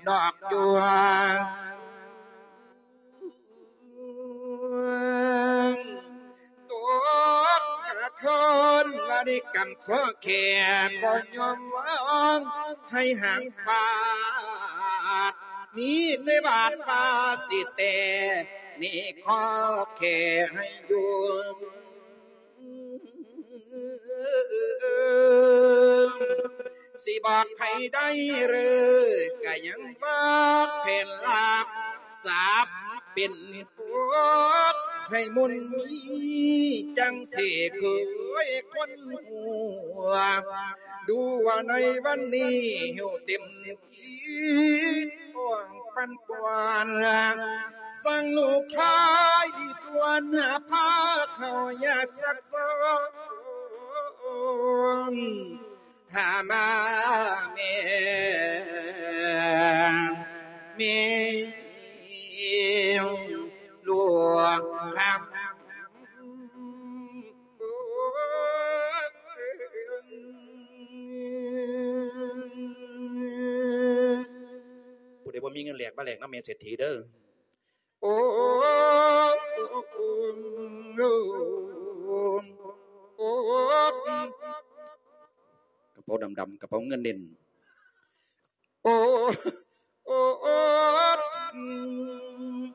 ດອກຈົວ ຕົກກະທົນວ່າໄດ້ກຳຂໍແຄ່ບໍ່ຍອມວາງ ໃຫ້ຫາງຟາດ ມີແຕ່ບາດປາສິແຕ່ ນີ້ຂໍແຄ່ໃຫ້ຢູ່ ຊິບອກໃຜໄດ້ເລີ ກະຍັງບອກແຜນລາບ ສາບເປັນປົກໃຫ້ມົນມີ ຈັ່ງຊິເຄີຍຄົນຫົວ ດູວ່າໃນວັນນີ້ຫິວເຕັມ ຄິດປ້ອງປັນປ່ວນ ສັ່ງລູກຊາຍດີກວນ ພາເຂົ້າຢາສັກຊອງ ຫາມາແມ່ ແມ່ຫຼວງຄຳ. ຜູ້ໃດບໍ່ມີເງິນແລກ ມາແລກນຳແມ່ເສດຖີເດີ້. ໂອ້ ໂອ້ ກະເປົາດຳໆ ກະເປົາເງິນເດັ່ນ. ໂອ້ ໂອ້ ໂອ້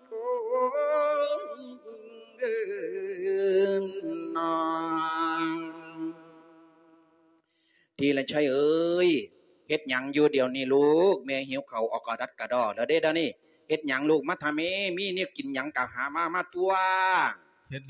ໂອ້ ເອີ ນ້ອງທີລະໄຊເອີຍ, ເຮັດຫຍັງຢູ່ດຽວນີ້ລູກ? ແມ່ຫິວເຂົ້າອອກກະດັດກະດໍ້ແລ້ວເດ້ດຽວນີ້. ເຮັດຫຍັງລູກ? ມາທາແມ່, ມີແນວກິນຫຍັງກະຫາມາ, ມາຕົວະ.